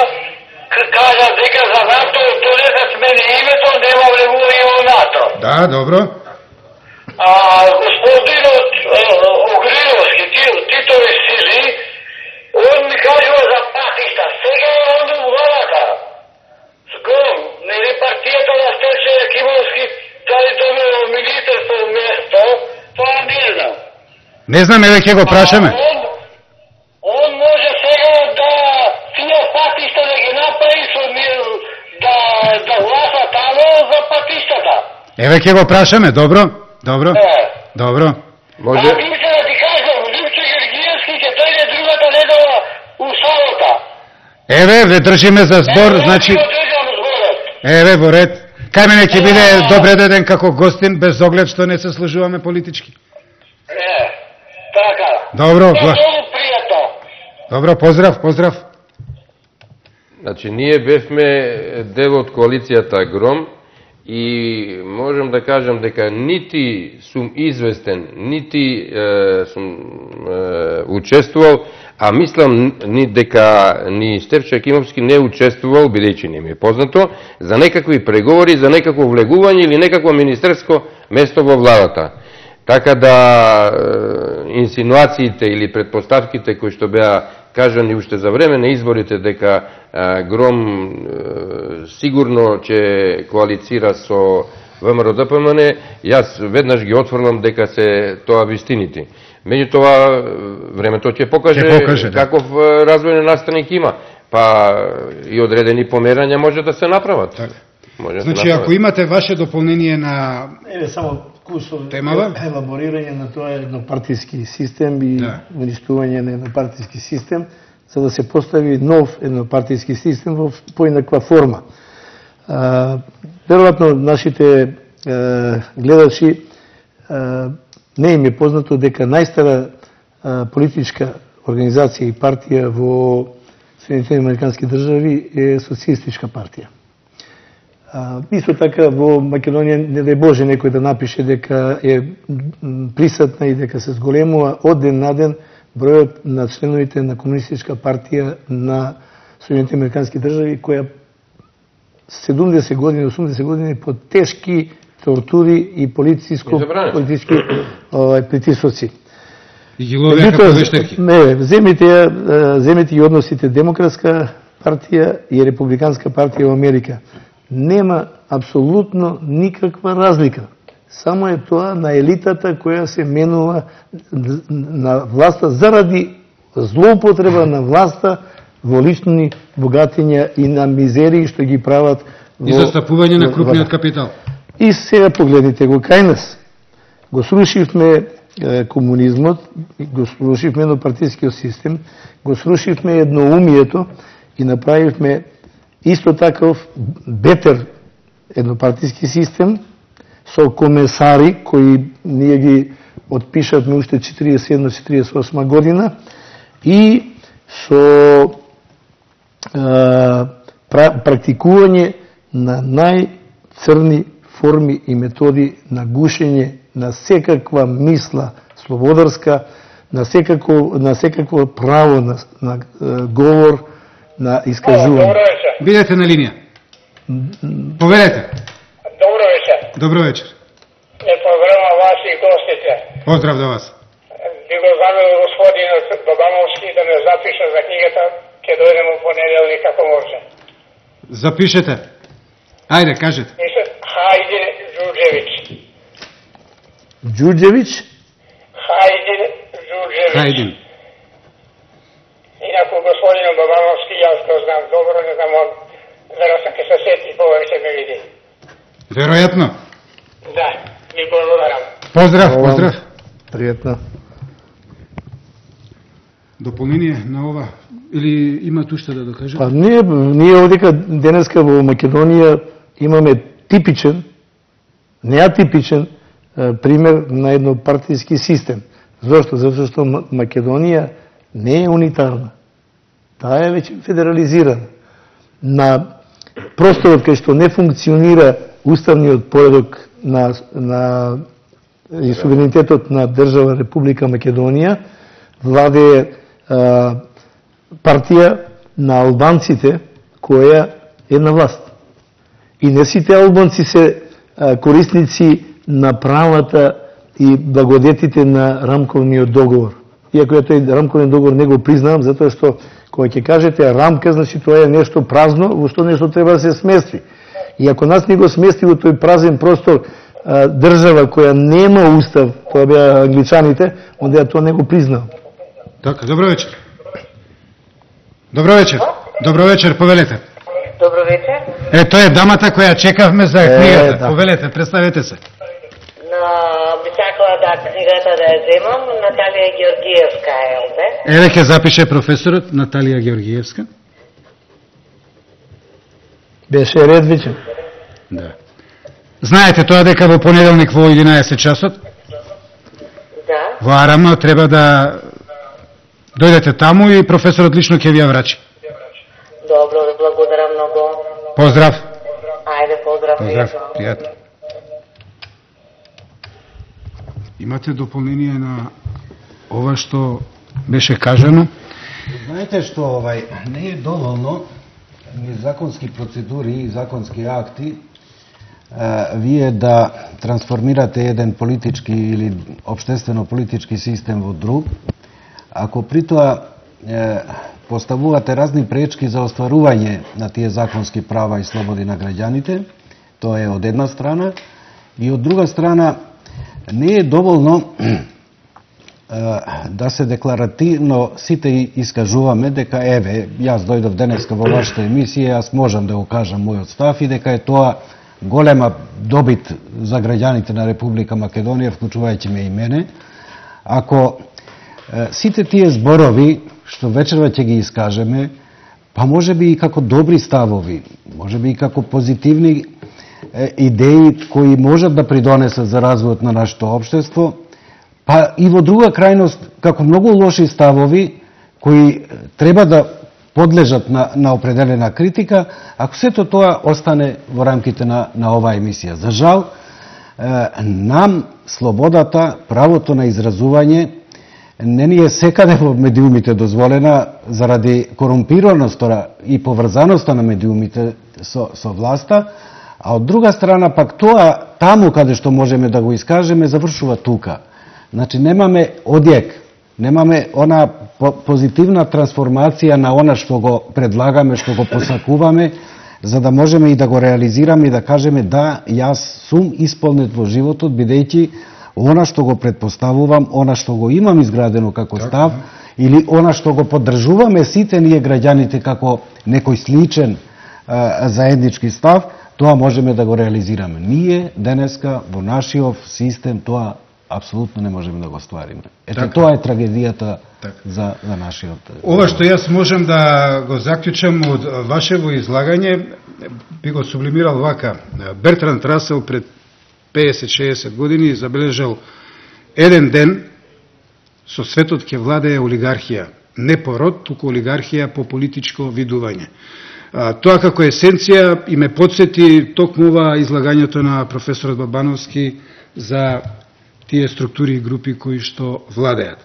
кажа дека за НАТО, додека смени името, нема влегување во НАТО. Да, добро. Господинот Огриновски, Титови сили, он ми кажува за патишта. Сега е он у владата. Сгом, нели партијата на Стефче Јакимовски, дали добило министерство место, тоа не знам. Не знам, еве ќе го прашаме. Он може сега да тие патишта да ги направи со да гласа тамо за патиштата. Еве ќе го прашаме, добро? Добро. Може. Димче да ти кажам, Димче Георгиевски ќе дојде другата недела у Сабота. Еве, ве држиме за збор, значи... Еве, во ред. Кај мене ќе биде добре деден како гостин, без оглед што не се служуваме политички. Така. Добро, Добро, поздрав. Значи, ние бевме дел од коалицијата Гром и можам да кажам дека нити сум известен, нити сум учествувал, а мислам дека ни Стефче Јакимовски не учествувал, бидејќи не ми е познато, за некакви преговори, за некакво влегување или некакво министерско место во владата. Така да инсинуациите или предпоставките кои што беа кажани уште за време на изборите дека Гром сигурно ќе коалицира со ВМРО-ДПМН, јас веднаш ги отфрлам дека се тоа вистините. Меѓутоа, времето ќе покаже каков развојен настаник има, па и одредени померања може да се направат. Значи, ако имате ваше дополнение на само кусов темава, елаборирање на тоа еднопартиски систем и уништување на еднопартиски систем, за да се постави нов еднопартиски систем во поинаква форма. Веројатно нашите гледачи не им е познато дека најстара политичка организација и партија во Соединетите Американски држави е Социјалистичка партија. Исто така во Македонија не дај Боже некој да напише дека е присатна и дека се зголемува од ден на ден бројот на членовите на Комунистичка партија на Соединените Американски држави, која 70 години, 80 години под тешки тортури и политички притисоци. И ги ловеа како вештерки. Не, земете и односите Демократска партија и Републиканска партија во Америка. Нема апсолутно никаква разлика. Само е тоа на елитата која се менува на власта заради злоупотреба на власта во лични богатења и на мизерии што ги прават и застапување на крупниот капитал. И сега погледнете го кај нас. Го срушивме комунизмот, го срушивме еднопартискиот систем, го срушивме едноумието и направивме исто таков бетер еднопартиски систем со комесари кои ние ги отпишавме уште 47-48 година и со практикување на најцрни форми и методи на гушење на секаква мисла слободарска, на секакво право на говор, на искажување. Бидете на линија. Повелете. Добро вечер. Добро вечер. Не поздравам вас и гостите. Поздрав до вас. Би го замел господинот Бабановски да ме запиша за книгата, ќе дојдем у понеделник како може. Запишете. Ајде, кажете. Хајдин Ѓурѓевиќ. Ѓурѓевиќ? Хајдин Ѓурѓевиќ. Хајдин. Инаку господинот Бабановски, јас го знам добро, не знам он, веројатно ќе се сети повеќе ме види. Веројатно. Да, ви благодарам. Поздрав, поздрав. Пријатно. Дополнение на ова или има уште да докажете? Па ние овдека денеска во Македонија имаме типичен, неатипичен пример на еднопартиски систем. Зошто? Затоа што Македонија не е унитарна. Таа е веќе федерализирана. На просторот кај што не функционира уставниот поредок на и суверенитетот на држава Република Македонија, владее партија на албанците која е на власт. И не сите албанци се корисници на правата и благодетите на рамковниот договор. Иако ја тој рамковниот договор не го признавам, затоа што кога ќе кажете рамка, значи тоа е нешто празно, во што нешто треба да се смести. И ако нас не го смести во тој празен простор држава која нема устав, тоа беа англичаните, онда ја тоа не го признавам. Така, добро вечер. Добро вечер. Добро вечер, повелете. Добро вечер. Тоа е дамата која чекавме за книгата. Да. Повелете, представете се. Би сакала да книгата да ја земам, Наталија Ѓоргиевска е овде. Еве ќе запише професорот Наталија Ѓоргиевска. Беше ред веќе. Да. Знаете тоа дека во понеделник во 11 часот? Да. Во Арама треба да дојдете таму и професорот лично ќе ви ја врачи. Добро, ви благодарам многу. Поздрав. Ајде, поздрав. Поздрав, пријатно. Имате дополнение на ова што беше кажано? Знаете што не е доволно ни законски процедури и законски акти вие да трансформирате еден политички или општествено-политички систем во друг, ако при тоа поставувате разни пречки за остварување на тие законски права и слободи на граѓаните, тоа е од една страна, и од друга страна не е доволно да се декларативно сите искажуваме дека еве, јас дојдов денеска во вашата емисија, јас можам да го кажам мојот став и дека е тоа голема добит за граѓаните на Република Македонија, вклучувајќи ме и мене. Ако сите тие зборови што вечерва ќе ги искажеме, па може би и како добри ставови, може би и како позитивни идеи кои можат да придонесат за развојот на нашето општество, па и во друга крајност, како многу лоши ставови кои треба да подлежат на определена критика, ако сето тоа остане во рамките на оваа емисија. За жал, нам слободата, правото на изразување не ни е секаде во медиумите дозволена заради корумпираноста и поврзаноста на медиумите со власта, а од друга страна пак тоа таму каде што можеме да го искажеме завршува тука. Значи немаме одјек, немаме она позитивна трансформација на она што го предлагаме, што го посакуваме, за да можеме и да го реализираме и да кажеме да, јас сум исполнет во животот, бидејќи она што го предпоставувам, она што го имам изградено како став, или она што го поддржуваме сите ние граѓаните како некој сличен заеднички став, тоа можеме да го реализираме. Ние денеска во нашиот систем тоа апсолутно не можеме да го ствариме. Ето тоа е трагедијата за нашиот. Ова што јас можам да го заклучам од вашево излагање, би го сублимирал вака. Бертранд Расел пред 50-60 години забележал еден ден со светот ќе владее олигархија, не по род, туку олигархија по политичко видување. Тоа како есенција и ме подсети токму ова излагањето на професорот Бабановски за тие структури и групи кои што владеат.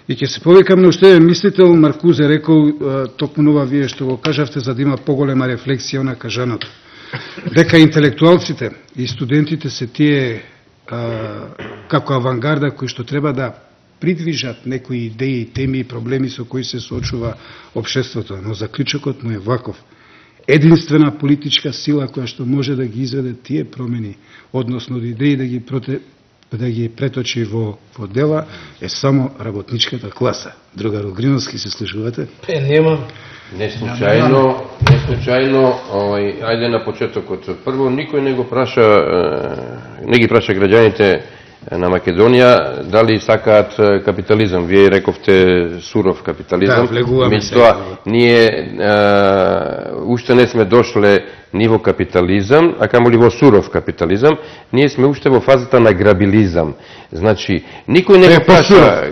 И ќе се повикам на уште еден мислител, Маркузе рекол, токму ова вие што го кажавте, за да има поголема рефлексија на кажаното. Дека интелектуалците и студентите се тие како авангарда кои што треба да придвижат некои идеи, теми и проблеми со кои се соочува општеството. Но заклучокот му е ваков. Единствена политичка сила која што може да ги изведе тие промени, односно идеи да ги преточи во дела, е само работничката класа. Другар Огриновски, се слушувате? Нема. Не случајно, ајде на почетокот. Прво, никој не ги праша граѓаните на Македонија дали сакаат капитализам. Вие рековте суров капитализам. Да, влегуваме. Меѓутоа, ние уште не сме дошле ниво капитализам, а камоли во суров капитализам, ние сме уште во фазата на грабилизам. Значи, никој не го праша,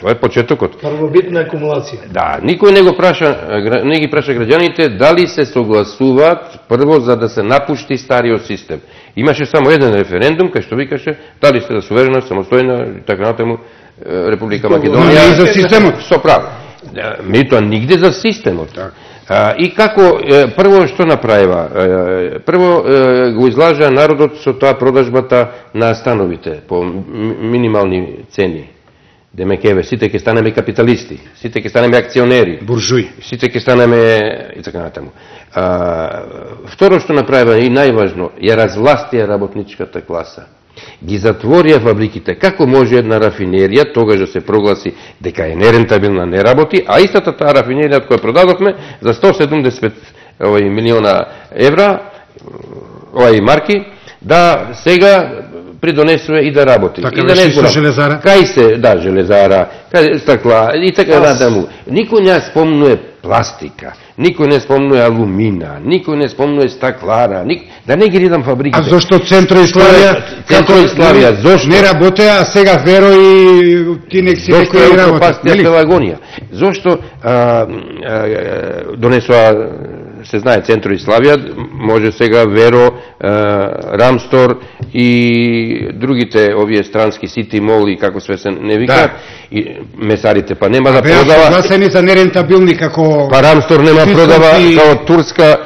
тоа е почетокот. Првобитна акумулација. Да, никој не ги праша граѓаните дали се согласуваат прво за да се напушти стариот систем. Имаше само еден референдум кај што викаше дали сте да суверена, самостојна и така натаму Република Македонија. И за системот. Со право. Меѓутоа нигде за системот. И како прво што направива? Прво го излажа народот со тоа продажбата на становите по минимални цени. Демекеве, сите ќе станеме капиталисти, сите ќе станеме акционери, буржуи, сите ќе станеме и така натаму. Второ што направива и најважно, ја развластија работничката класа. Ги затворија фабриките. Како може една рафинерија тогаш да се прогласи дека е нерентабилна, не работи, а истата таа рафинерија која продадовме за 170 милиона евра, марки, да сега придонесува и да работи. Така и да не со железара? Кај се, да, железара, кај стакла и така натаму. Никој не спомнува пластика, никој не спомнува алумина, никој не спомнува стаклара, да не ги ридам фабриките. А зошто Центроиславија зошто не работеа, а сега Веро и ти нек си некој работа? Пелагонија. Зошто донесоа, се знае, Центроиславија, може сега Веро, Рамстор и другите овие странски Сити Мол и како све се не викаат, и месарите па нема да продава. Беа согласени за нерентабилни како па Рамстор нема продава како турска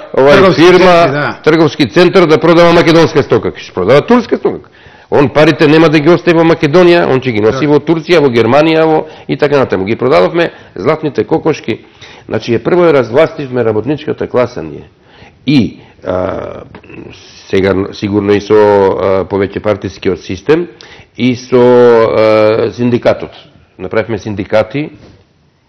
фирма, трговски центар да продава македонска стока, ќе продава турска стока. Он парите нема да ги остави во Македонија, он ќе ги носи во Турција, во Германија, и така натаму. Ги продадовме златните кокошки. Значи, прво развластивме работничката класа ние. И сега сигурно и со повеќе партискиот систем и со синдикатот. Направивме синдикати,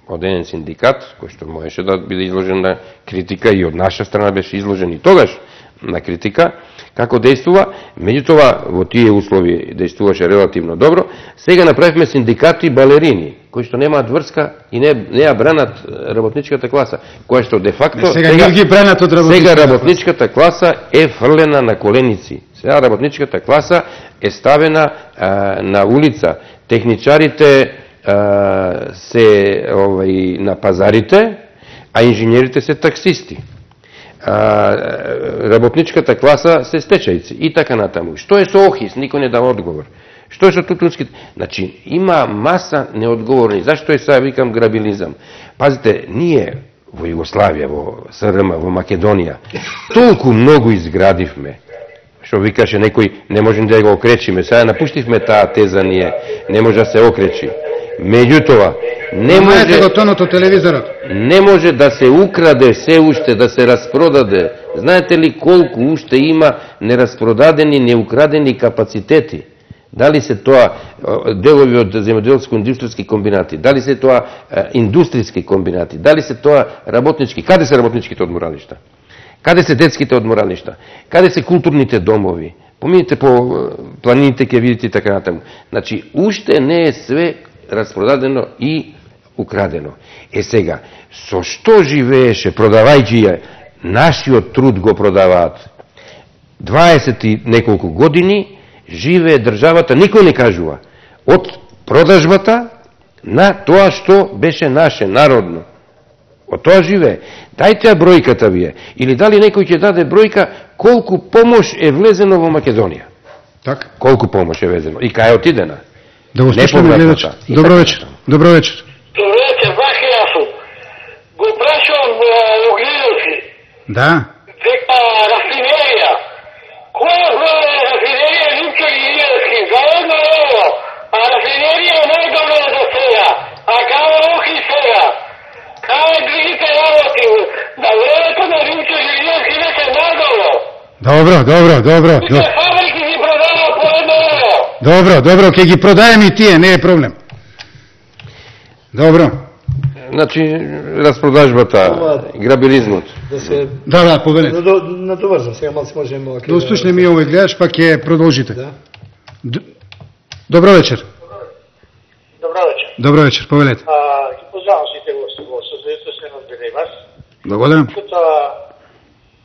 од еден синдикат, кој што можеше да биде изложен на критика и од наша страна беше изложен и тогаш на критика, како действува, меѓутоа во тие услови действуваше релативно добро. Сега направивме синдикати балерини, кои што немаат врска и не ја бранат работничката класа, која што де факто сега работничката класа е фрлена на коленици. Сега работничката класа е ставена на улица. Техничарите се на пазарите, а инженерите се таксисти. Работничката класа се стечајци и така натаму. Што е со ОХИС? Никој не дава одговор. Што е со тутунските? Значи, има маса неодговорни. Зашто е сега викам грабилизам? Пазите, ние во Југославија, во СРМ, во Македонија, толку многу изградивме, што викаше некој, не можем да го окречиме. Сега напуштивме таа теза ние, не може да се окречи. Меѓутоа, не може го тонот од телевизорот. Не може да се украде се уште, да се распродаде. Знаете ли колку уште има нераспродадени, неукрадени капацитети? Дали се тоа делови од земјоделско-индустријски комбинати, дали се тоа индустријски комбинати, дали се тоа работнички, каде се работничките одморалишта? Каде се детските одморалишта? Каде се културните домови? Поминете по планините, ќе видите така натаму. Значи, уште не е све распродадено и украдено. Сега, со што живееше, продавајќи ја, нашиот труд го продаваат. 20 и неколку години живее државата, никој не кажува, од продажбата на тоа што беше наше, народно. Од тоа живее. Дајте ја бројката вие. Или дали некој ќе даде бројка колку помош е влезено во Македонија? Така. Колку помош е влезено? И кај е отидена? Да го слушаме гледачот. Добро вечер. Добро вечер. Добро вечер, баш јасу. Го прашувам Огниловски. Да. Дека рафинерија. Која броја рафинерија Римчар и Илиевски? Заедно е ово. А рафинерија е најдобро за сега. А кај охи сега? Кај другите работи? На времето на Римчар и Илиевски веќе најдобро. Добро. Тие фабрики ги продава по едно евро. Добро, ќе ги продаеме и тие, не е проблем. Добро. Значи, распродажбата, грабилизмот. Да, повелете. Натоврзам, сега малце можеме... Да услушнеме и овој гледач, па ќе продолжите. Да. Добро вечер. Добро вечер, повелете. Ги поздравам сите во созвездие, се разбере вас. Благодарам.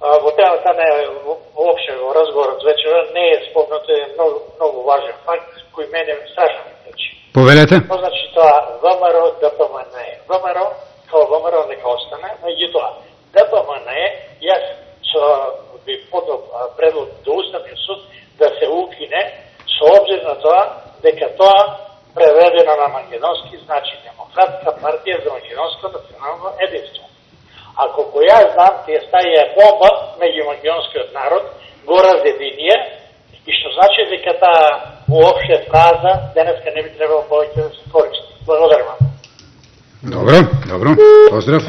Во темата не воопште во разговорот вечера не е спомнато, е многу важен факт кој мене страшно ме тече. Повелете. Значи тоа ВМРО, ДПМН. ВМРО, као ВМРО нека остане, меѓутоа ДПМН, јас би подал предлог до Уставниот суд да се укине со обзир на тоа дека тоа преведено на македонски значи Демократска партија за македонско национално единство. А колко јас знам, тие стаја бомба меѓу македонскиот народ, го разединија, и што значи дека таа уопште фраза денеска не би требало повеќе да се користи. Благодарам вам. Добро. Поздрав.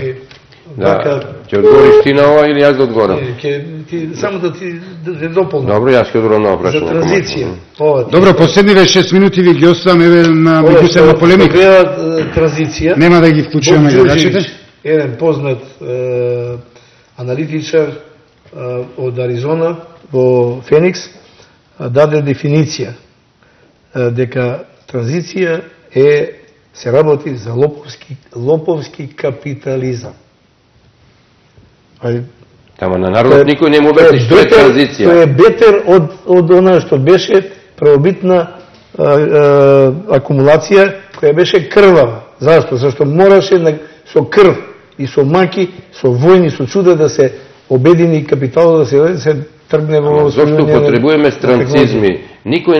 Да, ќе одговориш ти на ова или јас да одговорам? Само да ти дополнам. Добро, јас ќе одговорам на прашање. За транзиција. Добро, последниве 6 минути ви ги оставам еве на меѓусебна полемика. Транзиција. Нема да ги вклучуваме гледачите. Еден познат аналитичар од Аризона во Феникс даде дефиниција дека транзиција се работи за лоповски капитализам. Тама на народот никој не му објасни што е транзиција. Тоа е бетер од она што беше правобитна акумулација која беше крвава. Зашто? Зашто мораше со крв и со маки, со војни, со чуда да се обедини капиталот, да се тргне во... Зошто потребуваме странцизми? Никој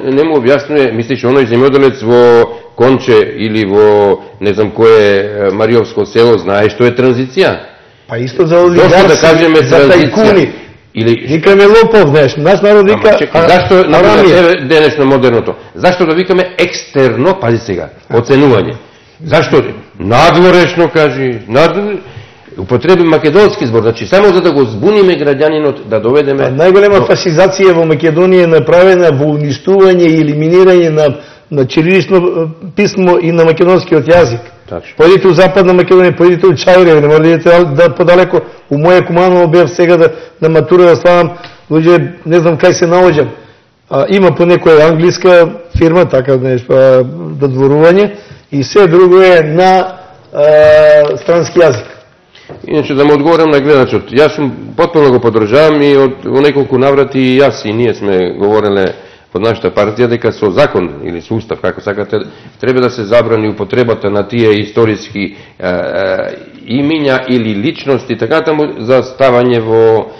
не му објаснува, мислиш, оној земјоделец во Конче или во, не знам кој Мариовско село, знае што е транзиција? Па исто за олигарси, за тајкуни. Викаме лопов, знаеш, наш народ вика... Зашто, например, денешно модерното, зашто да викаме екстерно, пази сега, оценување? Зашто? Надворешно, кажи, употреби македонски збор, значи само за да го збуниме граѓанинот, да доведеме... Најголема фасизација во Македонија е направена во уништување и елиминирање на чирилично писмо и на македонскиот јазик. Појдите у Западна Македонија, појдите у Чајрево, не може да идете да подалеко. У моје Куманово бев сега да матура да ставам, луѓе, не знам кај се наоѓам. Има по некоја англиска фирма, така нешто, додворување, и се друго е на странски јазик. Иначе да му одговорам на гледачот, јас сум потpuno го поддржавам и во неколку наврати и јас и ние сме говореле под нашата партија дека со закон или со устав, како сакате, треба да се забрани употребата на тие историски имиња или личности, така таму за ставање во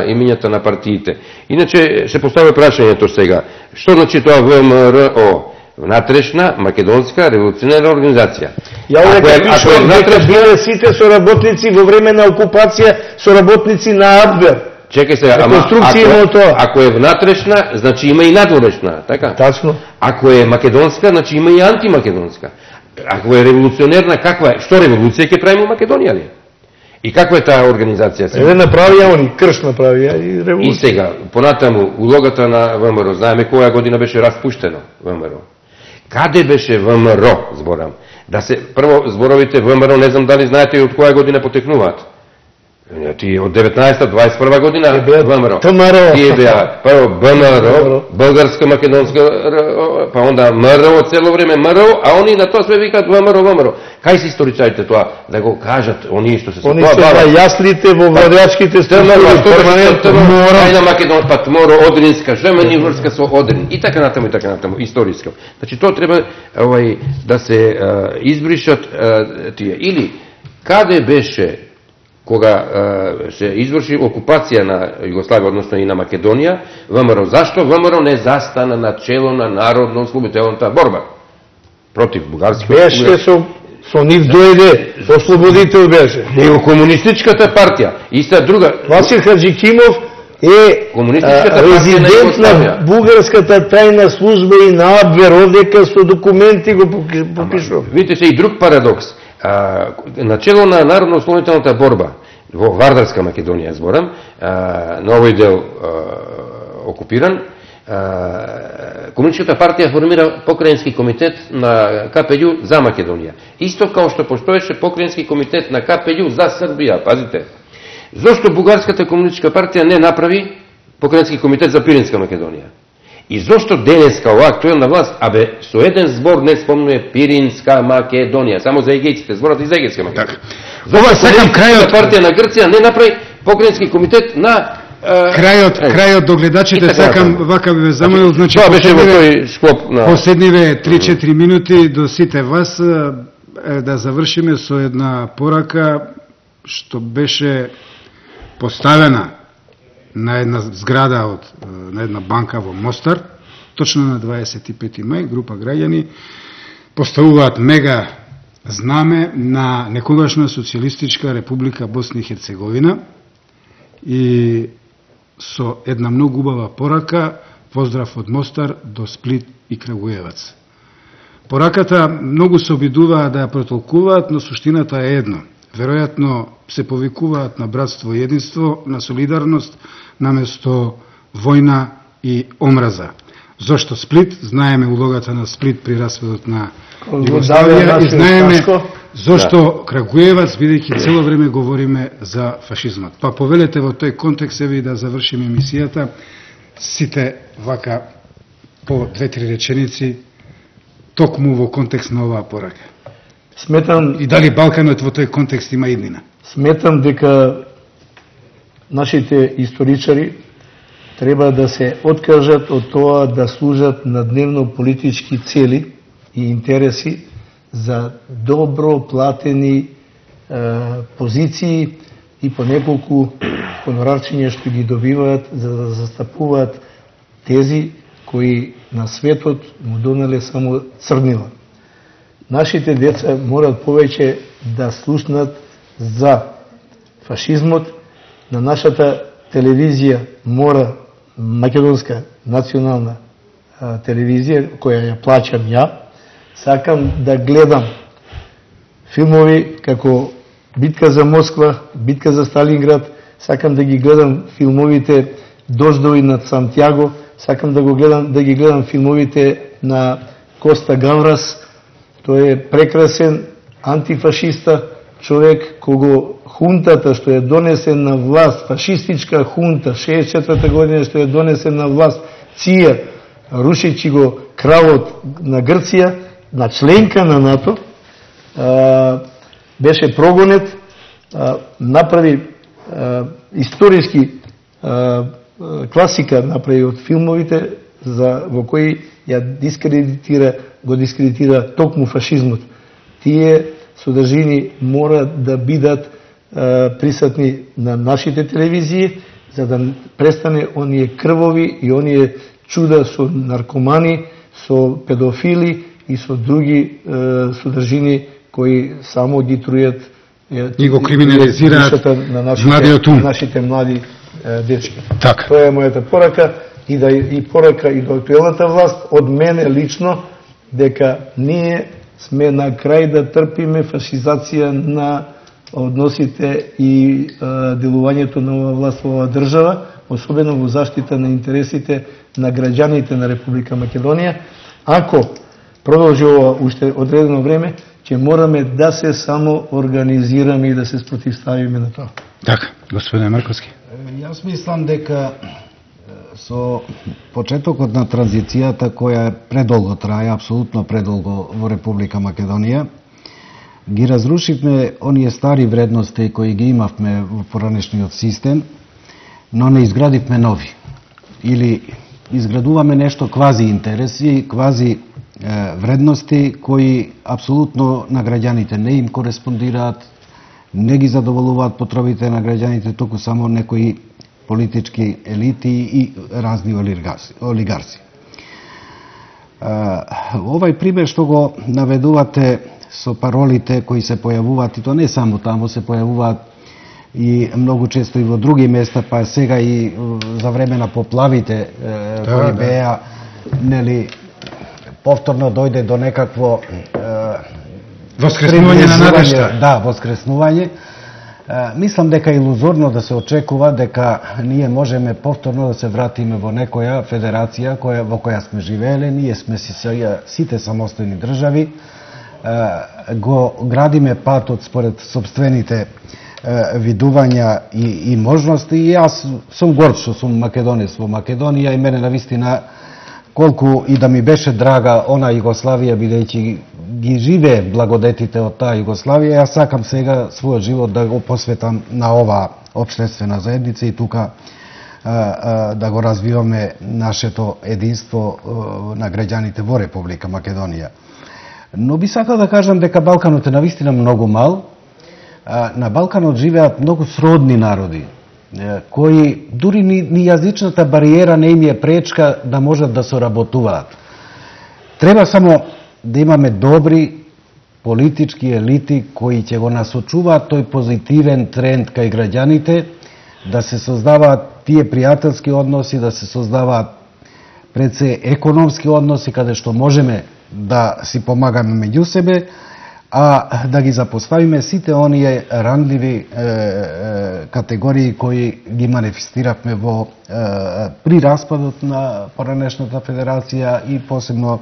имињата на партиите. Иначе се поставя прашањето сега, што значи тоа ВМРО? Внатрешна македонска револуционерна организација. Ја дека пишувам дека биле сите соработници во време на окупација, соработници на Абвер. Чекај се, ако е внатрешна, значи има и надворешна, така? Тачно. Ако е македонска, значи има и антимакедонска. Ако е револуционерна, каква е? Што револуција ќе правиме во Македонија ли? И каква е таа организација сега? Направија они, крш направија и револуција. И сега, понатаму, улогата на ВМРО, знаеме која година беше распуштено ВМРО. Каде беше ВМРО, зборам? Да се, прво, зборовите ВМРО, не знам дали знаете и од која година потекнуваат. Тие од 19-21 година ВМРО. Тие беа прво ВМРО, Българска македонска, па онда МРО цело време МРО, а они на тоа све викаат ВМРО. Кај се историчарите тоа да го кажат, оние што се тоа бават? Они се јаслите во владеачките структури, перманентно МРО. На Македонија пат МРО, Одринска, жемени врска со Одрин и така натаму, историска. Значи тоа треба да се избришат тие. Или каде беше кога се изврши окупација на Југославија, односно и на Македонија, ВМРО. Зашто ВМРО не застана на чело на народно-ослободителната борба против бугарски? Беше со нив дојде, ослободител беше. Него комунистичката партија, иста друга. Васил Хаджикимов е резидент на бугарската тајна служба и на Абвер, овдека со документи го попишува. Видите се и друг парадокс. Начело на народно-ослободителната борба во Вардарска Македонија, зборам, на овој дел окупиран, Комунистичката партија формира покрајински комитет на КПљ за Македонија. Исто као што постоеше покрајински комитет на КПљ за Србија, пазите. Зошто Бугарската комунистичка партија не направи покрајински комитет за Пиринска Македонија? И зошто денеска ова актуелна власт, со еден збор не спомнува Пиринска Македонија, само за егејците, зборат и за Егејска Македонија. Ова сакам крајот партија на Грција не направи покрајински комитет на крајот до гледачите сакам вака би ве замолил, значи тоа беше во тој склоп на последниве 3-4 минути до сите вас да завршиме со една порака што беше поставена на една зграда на една банка во Мостар, точно на 25 мај, група граѓани поставуваат мега знаме на некогашна социјалистичка република Босна и Херцеговина и со една многу убава порака, поздрав од Мостар до Сплит и Крагуевац. Пораката многу се обидуваат да ја протолкуваат, но суштината е едно. Веројатно се повикуваат на братство и единство, на солидарност, наместо војна и омраза. Зошто Сплит? Знаеме улогата на Сплит при распадот на Југославија и знаеме зошто Крагуевац, бидејќи цело време говориме за фашизмот. Па повелете во тој контекст еви да завршиме емисијата сите вака по 2-3 реченици токму во контекст на оваа порака. Сметам и дали Балканот во тој контекст има иднина? Сметам дека нашите историчари треба да се откажат од тоа да служат на дневно политички цели и интереси за добро платени позиции и по неколку хонорарчиња што ги добиваат за да застапуваат тези кои на светот му донале само црнила. Нашите деца морат повеќе да слушнат за фашизмот. На нашата телевизија мора, македонска национална телевизија, која ја плаќам ја, сакам да гледам филмови како Битка за Москва, Битка за Сталинград, сакам да ги гледам филмовите Дождови над Сантјаго, сакам да ги гледам филмовите на Коста Гаврас. Тој е прекрасен антифашиста, човек кого хунтата што е донесен на власт, фашистичка хунта, 64 година што е донесен на власт, ција, рушичи го кралот на Грција, на членка на НАТО, беше прогонет, направи историски класика направи од филмовите во кој ја го дискредитира токму фашизмот. Тие содржини мора да бидат присутни на нашите телевизии, за да престане оние крвови и оние чуда со наркомани, со педофили и со други содржини кои само ги трујат и го криминализираат на нашите млади дечки. Така. Тоа е мојата порака и порака и до актуелната власт од мене лично, дека ние сме на крај да трпиме фашизација на односите и делувањето на оваа власт во оваа држава, особено во заштита на интересите на граѓаните на Република Македонија. Ако продолжи ова уште одредено време, ќе мораме да се само организираме и да се спротивставиме на тоа. Така, господин Марковски. Јас мислам дека со почетокот на транзицијата, која предолго трае, апсолутно предолго во Република Македонија, ги разрушивме оние стари вредности кои ги имавме во поранешниот систем, но не изградивме нови. Или изградуваме нешто квази интереси, квази вредности кои апсолутно на граѓаните не им кореспондираат, не ги задоволуваат потребите на граѓаните, туку само некои политички елити и разни олигарси. Овај пример што го наведувате со паролите кои се појавуваат, и то не само таму, се појавуваат и многу често и во други места, па сега и за време на поплавите кои беа, нели, повторно дојде до некакво воскреснување на надежта. Да, воскреснување. Мислам дека е илузорно да се очекува дека ние можеме повторно да се вратиме во некоја федерација во која сме живееле. Ние сме сите самостојни држави, го градиме патот според собствените видувања и можности. И јас сум горд што сум македонец во Македонија и мене навистина колку и да ми беше драга она Југославија, бидејќи ги живее благодетите од таа Југославија, јас сакам сега својот живот да го посветам на оваа општествена заедница и тука да го развиваме нашето единство на граѓаните во Република Македонија. Но би сакал да кажам дека Балканот е навистина многу мал. На Балканот живеат многу сродни народи, кои дури ни јазичната бариера не им е пречка да можат да соработуваат. Треба само да имаме добри политички елити кои ќе го насочуваат тој позитивен тренд кај граѓаните, да се создаваат тие пријателски односи, да се создаваат пред се економски односи каде што можеме да си помагаме меѓу себе, а да ги запоставиме сите оние рандливи категории кои ги манифестиравме при распадот на поранешната федерација и посебно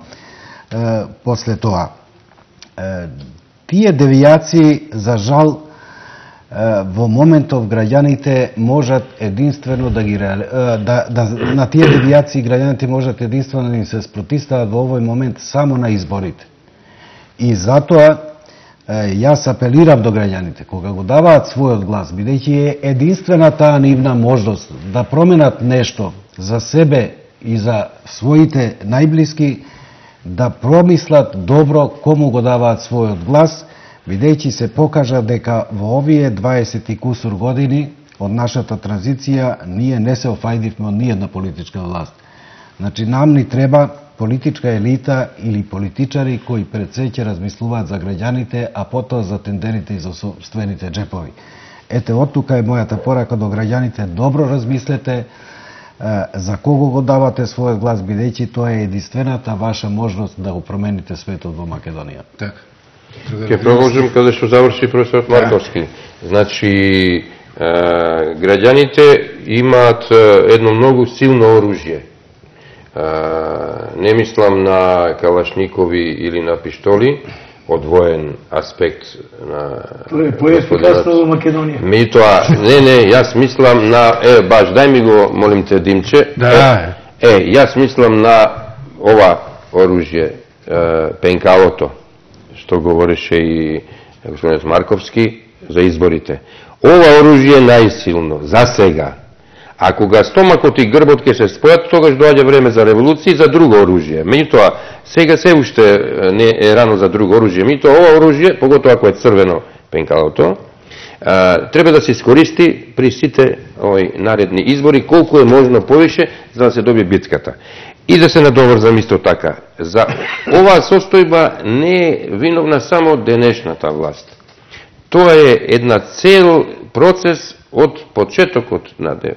после тоа. Тие девијации, за жал, во моментов граѓаните можат единствено на тие девијации граѓаните можат единствено да им се спротивстават во овој момент само на изборите. И затоа јас апелирам до граѓаните, кога го даваат својот глас, бидејќи е единствена таа нивна можност да променат нешто за себе и за своите најблиски, да промислат добро кому го даваат својот глас, бидејќи се покажа дека во овие 20 и кусур години од нашата транзиција ние не се офајдивме од ниједна политичка власт. Значи, нам ни треба политичка елита или политичари кои пред се ќе размислуваат за граѓаните, а потоа за тендерите и за собствените джепови. Ете, од тука е мојата порака до граѓаните, добро размислете за кого го давате својот глас, бидејќи тоа е единствената ваша можност да го промените светот во Македонија. Така. Ке продолжим каде што заврши професор Марковски. Значи, граѓаните имаат едно многу силно оружје. Не мислам на калашникови или на пиштоли, од воен аспект на поефикасно во Македонија. Меѓутоа, не, јас мислам на баш дај ми го, молим те, димче. Да. Јас мислам на ова оружје, пенкалото, што говореше и господин Марковски за изборите. Ова оружје е најсилно за сега. А кога стомакот и грбот ќе се спојат, тогаш доаѓа време за револуција и за друго оружје. Меѓутоа, сега се уште не е рано за друго оружје. Меѓутоа, ова оружје, поготоа ако е црвено пенкалото, треба да се искористи при сите наредни избори, колку е можно повише, за да се добие битката. И да се надоврзам исто така. За оваа состојба не е виновна само денешната власт. Тоа е една цел процес од почетокот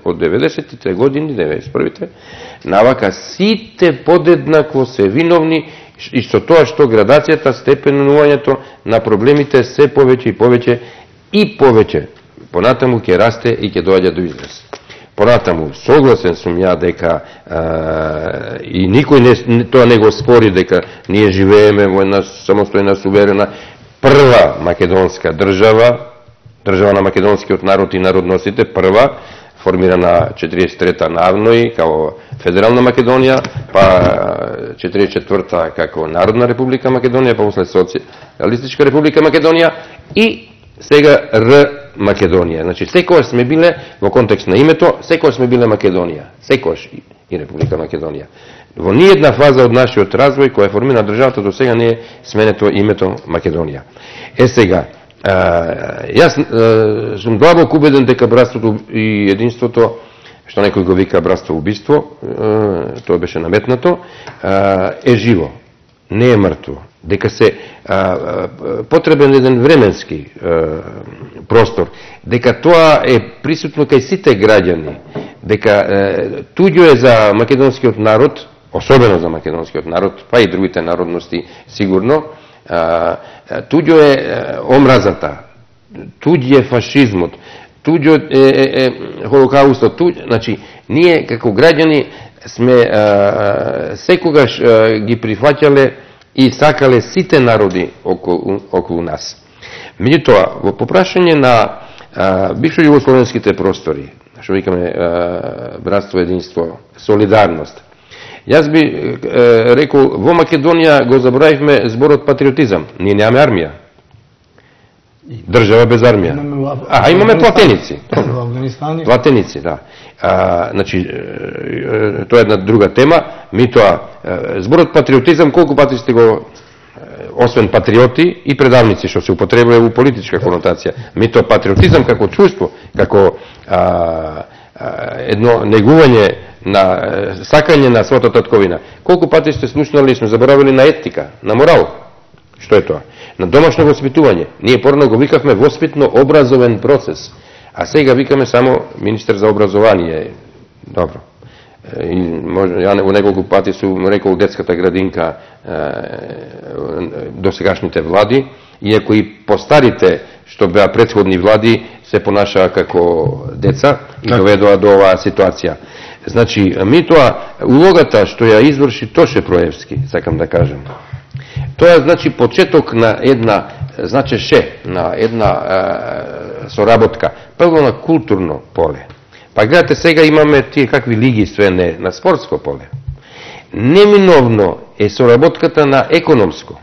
од 90-тите години, 91-те, навака сите подеднакво се виновни и со тоа што градацијата, степенувањето на проблемите се повеќе и повеќе и повеќе понатаму ќе расте и ќе доаѓа до израз. Понатаму, согласен сум ја дека и никој тоа не го спори дека ние живееме во една самостојна, суверена, прва македонска држава, држава на македонскиот народ и народносите, прва, формирана 43-та навној како Федерална Македонија, па 44-та како Народна република Македонија, па после Социјалистичка република Македонија и сега Р Македонија. Значи, секојаш сме биле, во контекст на името, секојаш сме биле Македонија. Секојаш и Република Македонија. Во ниједна фаза од нашиот развој, која е формирана државата, до сега не е сменето името Македонија. Сега, јас сум длабоко убеден дека братството и единството, што некој го вика братство убиство, тоа беше наметнато, е живо, не е мртво. Дека се потребен еден временски простор, дека тоа е присутно кај сите граѓани, дека туѓо е за македонскиот народ, особено за македонскиот народ, па и другите народности сигурно, туѓо е омразата, туѓо е фашизмот, туѓо е холокаустот, значи ние како граѓани сме секогаш ги прифаќале и сакале сите народи околу нас. Меѓутоа, во попрашање на бившо југословенските простори, што викаме братство, единство, солидарност, јас би рекол, во Македонија го заборавивме зборот патриотизам. Ние немаме армија. Држава без армија. Имаме платеници. Платеници, да. Значи, тоа е една друга тема. Митоа, зборот патриотизам, колку пати сте го, освен патриоти и предавници, што се употребува во политичка конотација. Митоа, патриотизам како чувство, како едно негување на сакање на својата татковина. Колку пати сте слушнали и сме заборавили на етика, на морал? Што е тоа? На домашно воспитување. Ние порано го викавме воспитно-образовен процес, а сега викаме само министер за образование. Добро. Ја во неколку пати сум рекол детската градинка до сегашните влади, иако и постарите што беа претходни влади се понашаа како деца и доведоа до оваа ситуација. Значи, митоа, улогата што ја изврши Тоше Проевски, сакам да кажем, тоа значи почеток на една, на една соработка, прво на културно поле. Па гледате, сега имаме тие какви лиги све не на спортско поле. Неминовно е соработката на економско.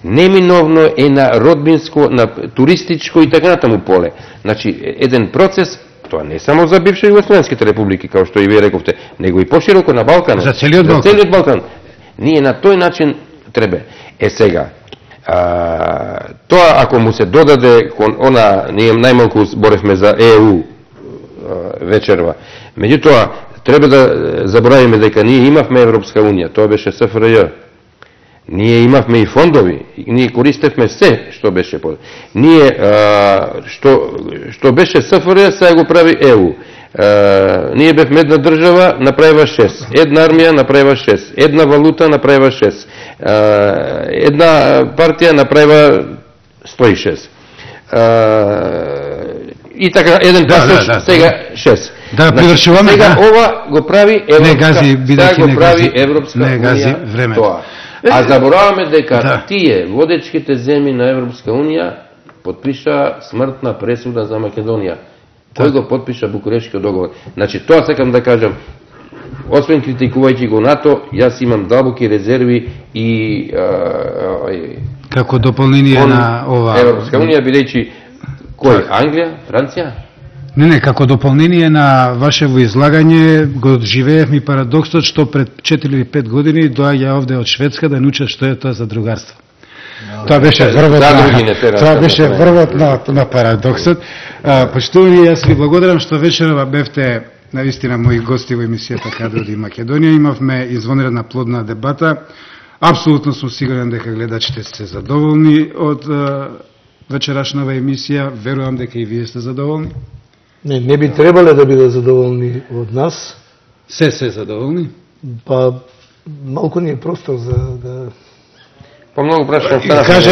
Неминовно е на родбинско, на туристичко и така натаму поле. Значи, еден процес, тоа не само за бивши југословенските републики, као што и вие рековте, него и пошироко на Балканот. За целиот Балкан. Ние на тој начин треба. Сега, тоа ако му се додаде, ние најмалку зборевме за ЕУ вечерва. Меѓутоа, треба да заборавиме дека ние имавме Европска Унија, тоа беше СФРЈ. Ние имавме и фондови, ние користевме се што беше под. Ние што беше СФРЈ, сега го прави ЕУ. Ние бевме една држава, направива 6. Една армија направива 6. Една валута направива 6. Една партија направива 106. И така, еден пасош, сега 6. Да, привршуваме. Сега ова го прави Европска Унија тоа. А забораваме дека тие водечките земји на Европска Унија подпиша смртна пресуда за Македонија. Кој го подпиша Букурешкиот договор? Значи, тоа сакам да кажам, освен критикувајќи го НАТО, јас имам длабоки резерви и како дополнение на ова Европска Унија, бидејќи кој? Англија? Франција? Не, како дополнение на вашево излагање го живеевме парадоксот што пред 4 или 5 години доаѓа овде од Шведска да научат што е тоа задругарство. Тоа беше врвот на парадоксот. Почитувани, јас ви благодарам што вечерова бевте навистина мои гости во емисијата Каде оди Македонија. Имавме извонредна плодна дебата. Апсолутно сум сигурен дека гледачите сте задоволни од вечерашнава емисија. Верувам дека и вие сте задоволни. Не би требале да бидат задоволни од нас. Се задоволни? Па малку ни е простор за да... Помногу прашам. Каже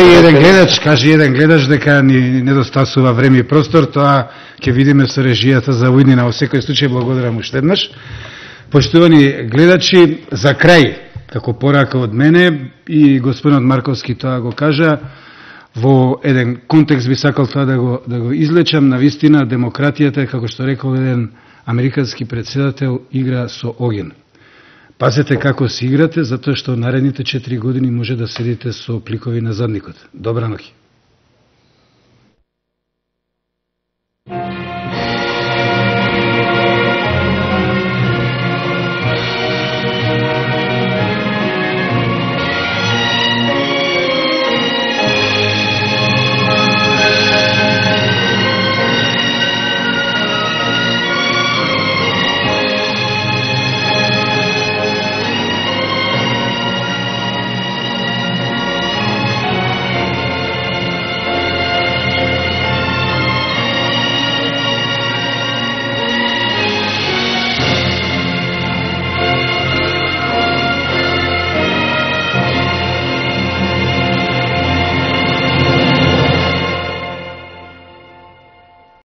еден гледач дека ни недостасува време и простор, тоа ќе видиме со режијата за уиднина. Во секој случај благодарам уште еднаш. Почитувани гледачи, за крај, како порака од мене и господинот Марковски тоа го кажа, во еден контекст би сакал тоа да го излечам. Навистина демократијата, како што рекол еден американски председател, игра со оген. Пазете како се играте, затоа што наредните 4 години може да седите со пликови на задникот. Добра ноќ.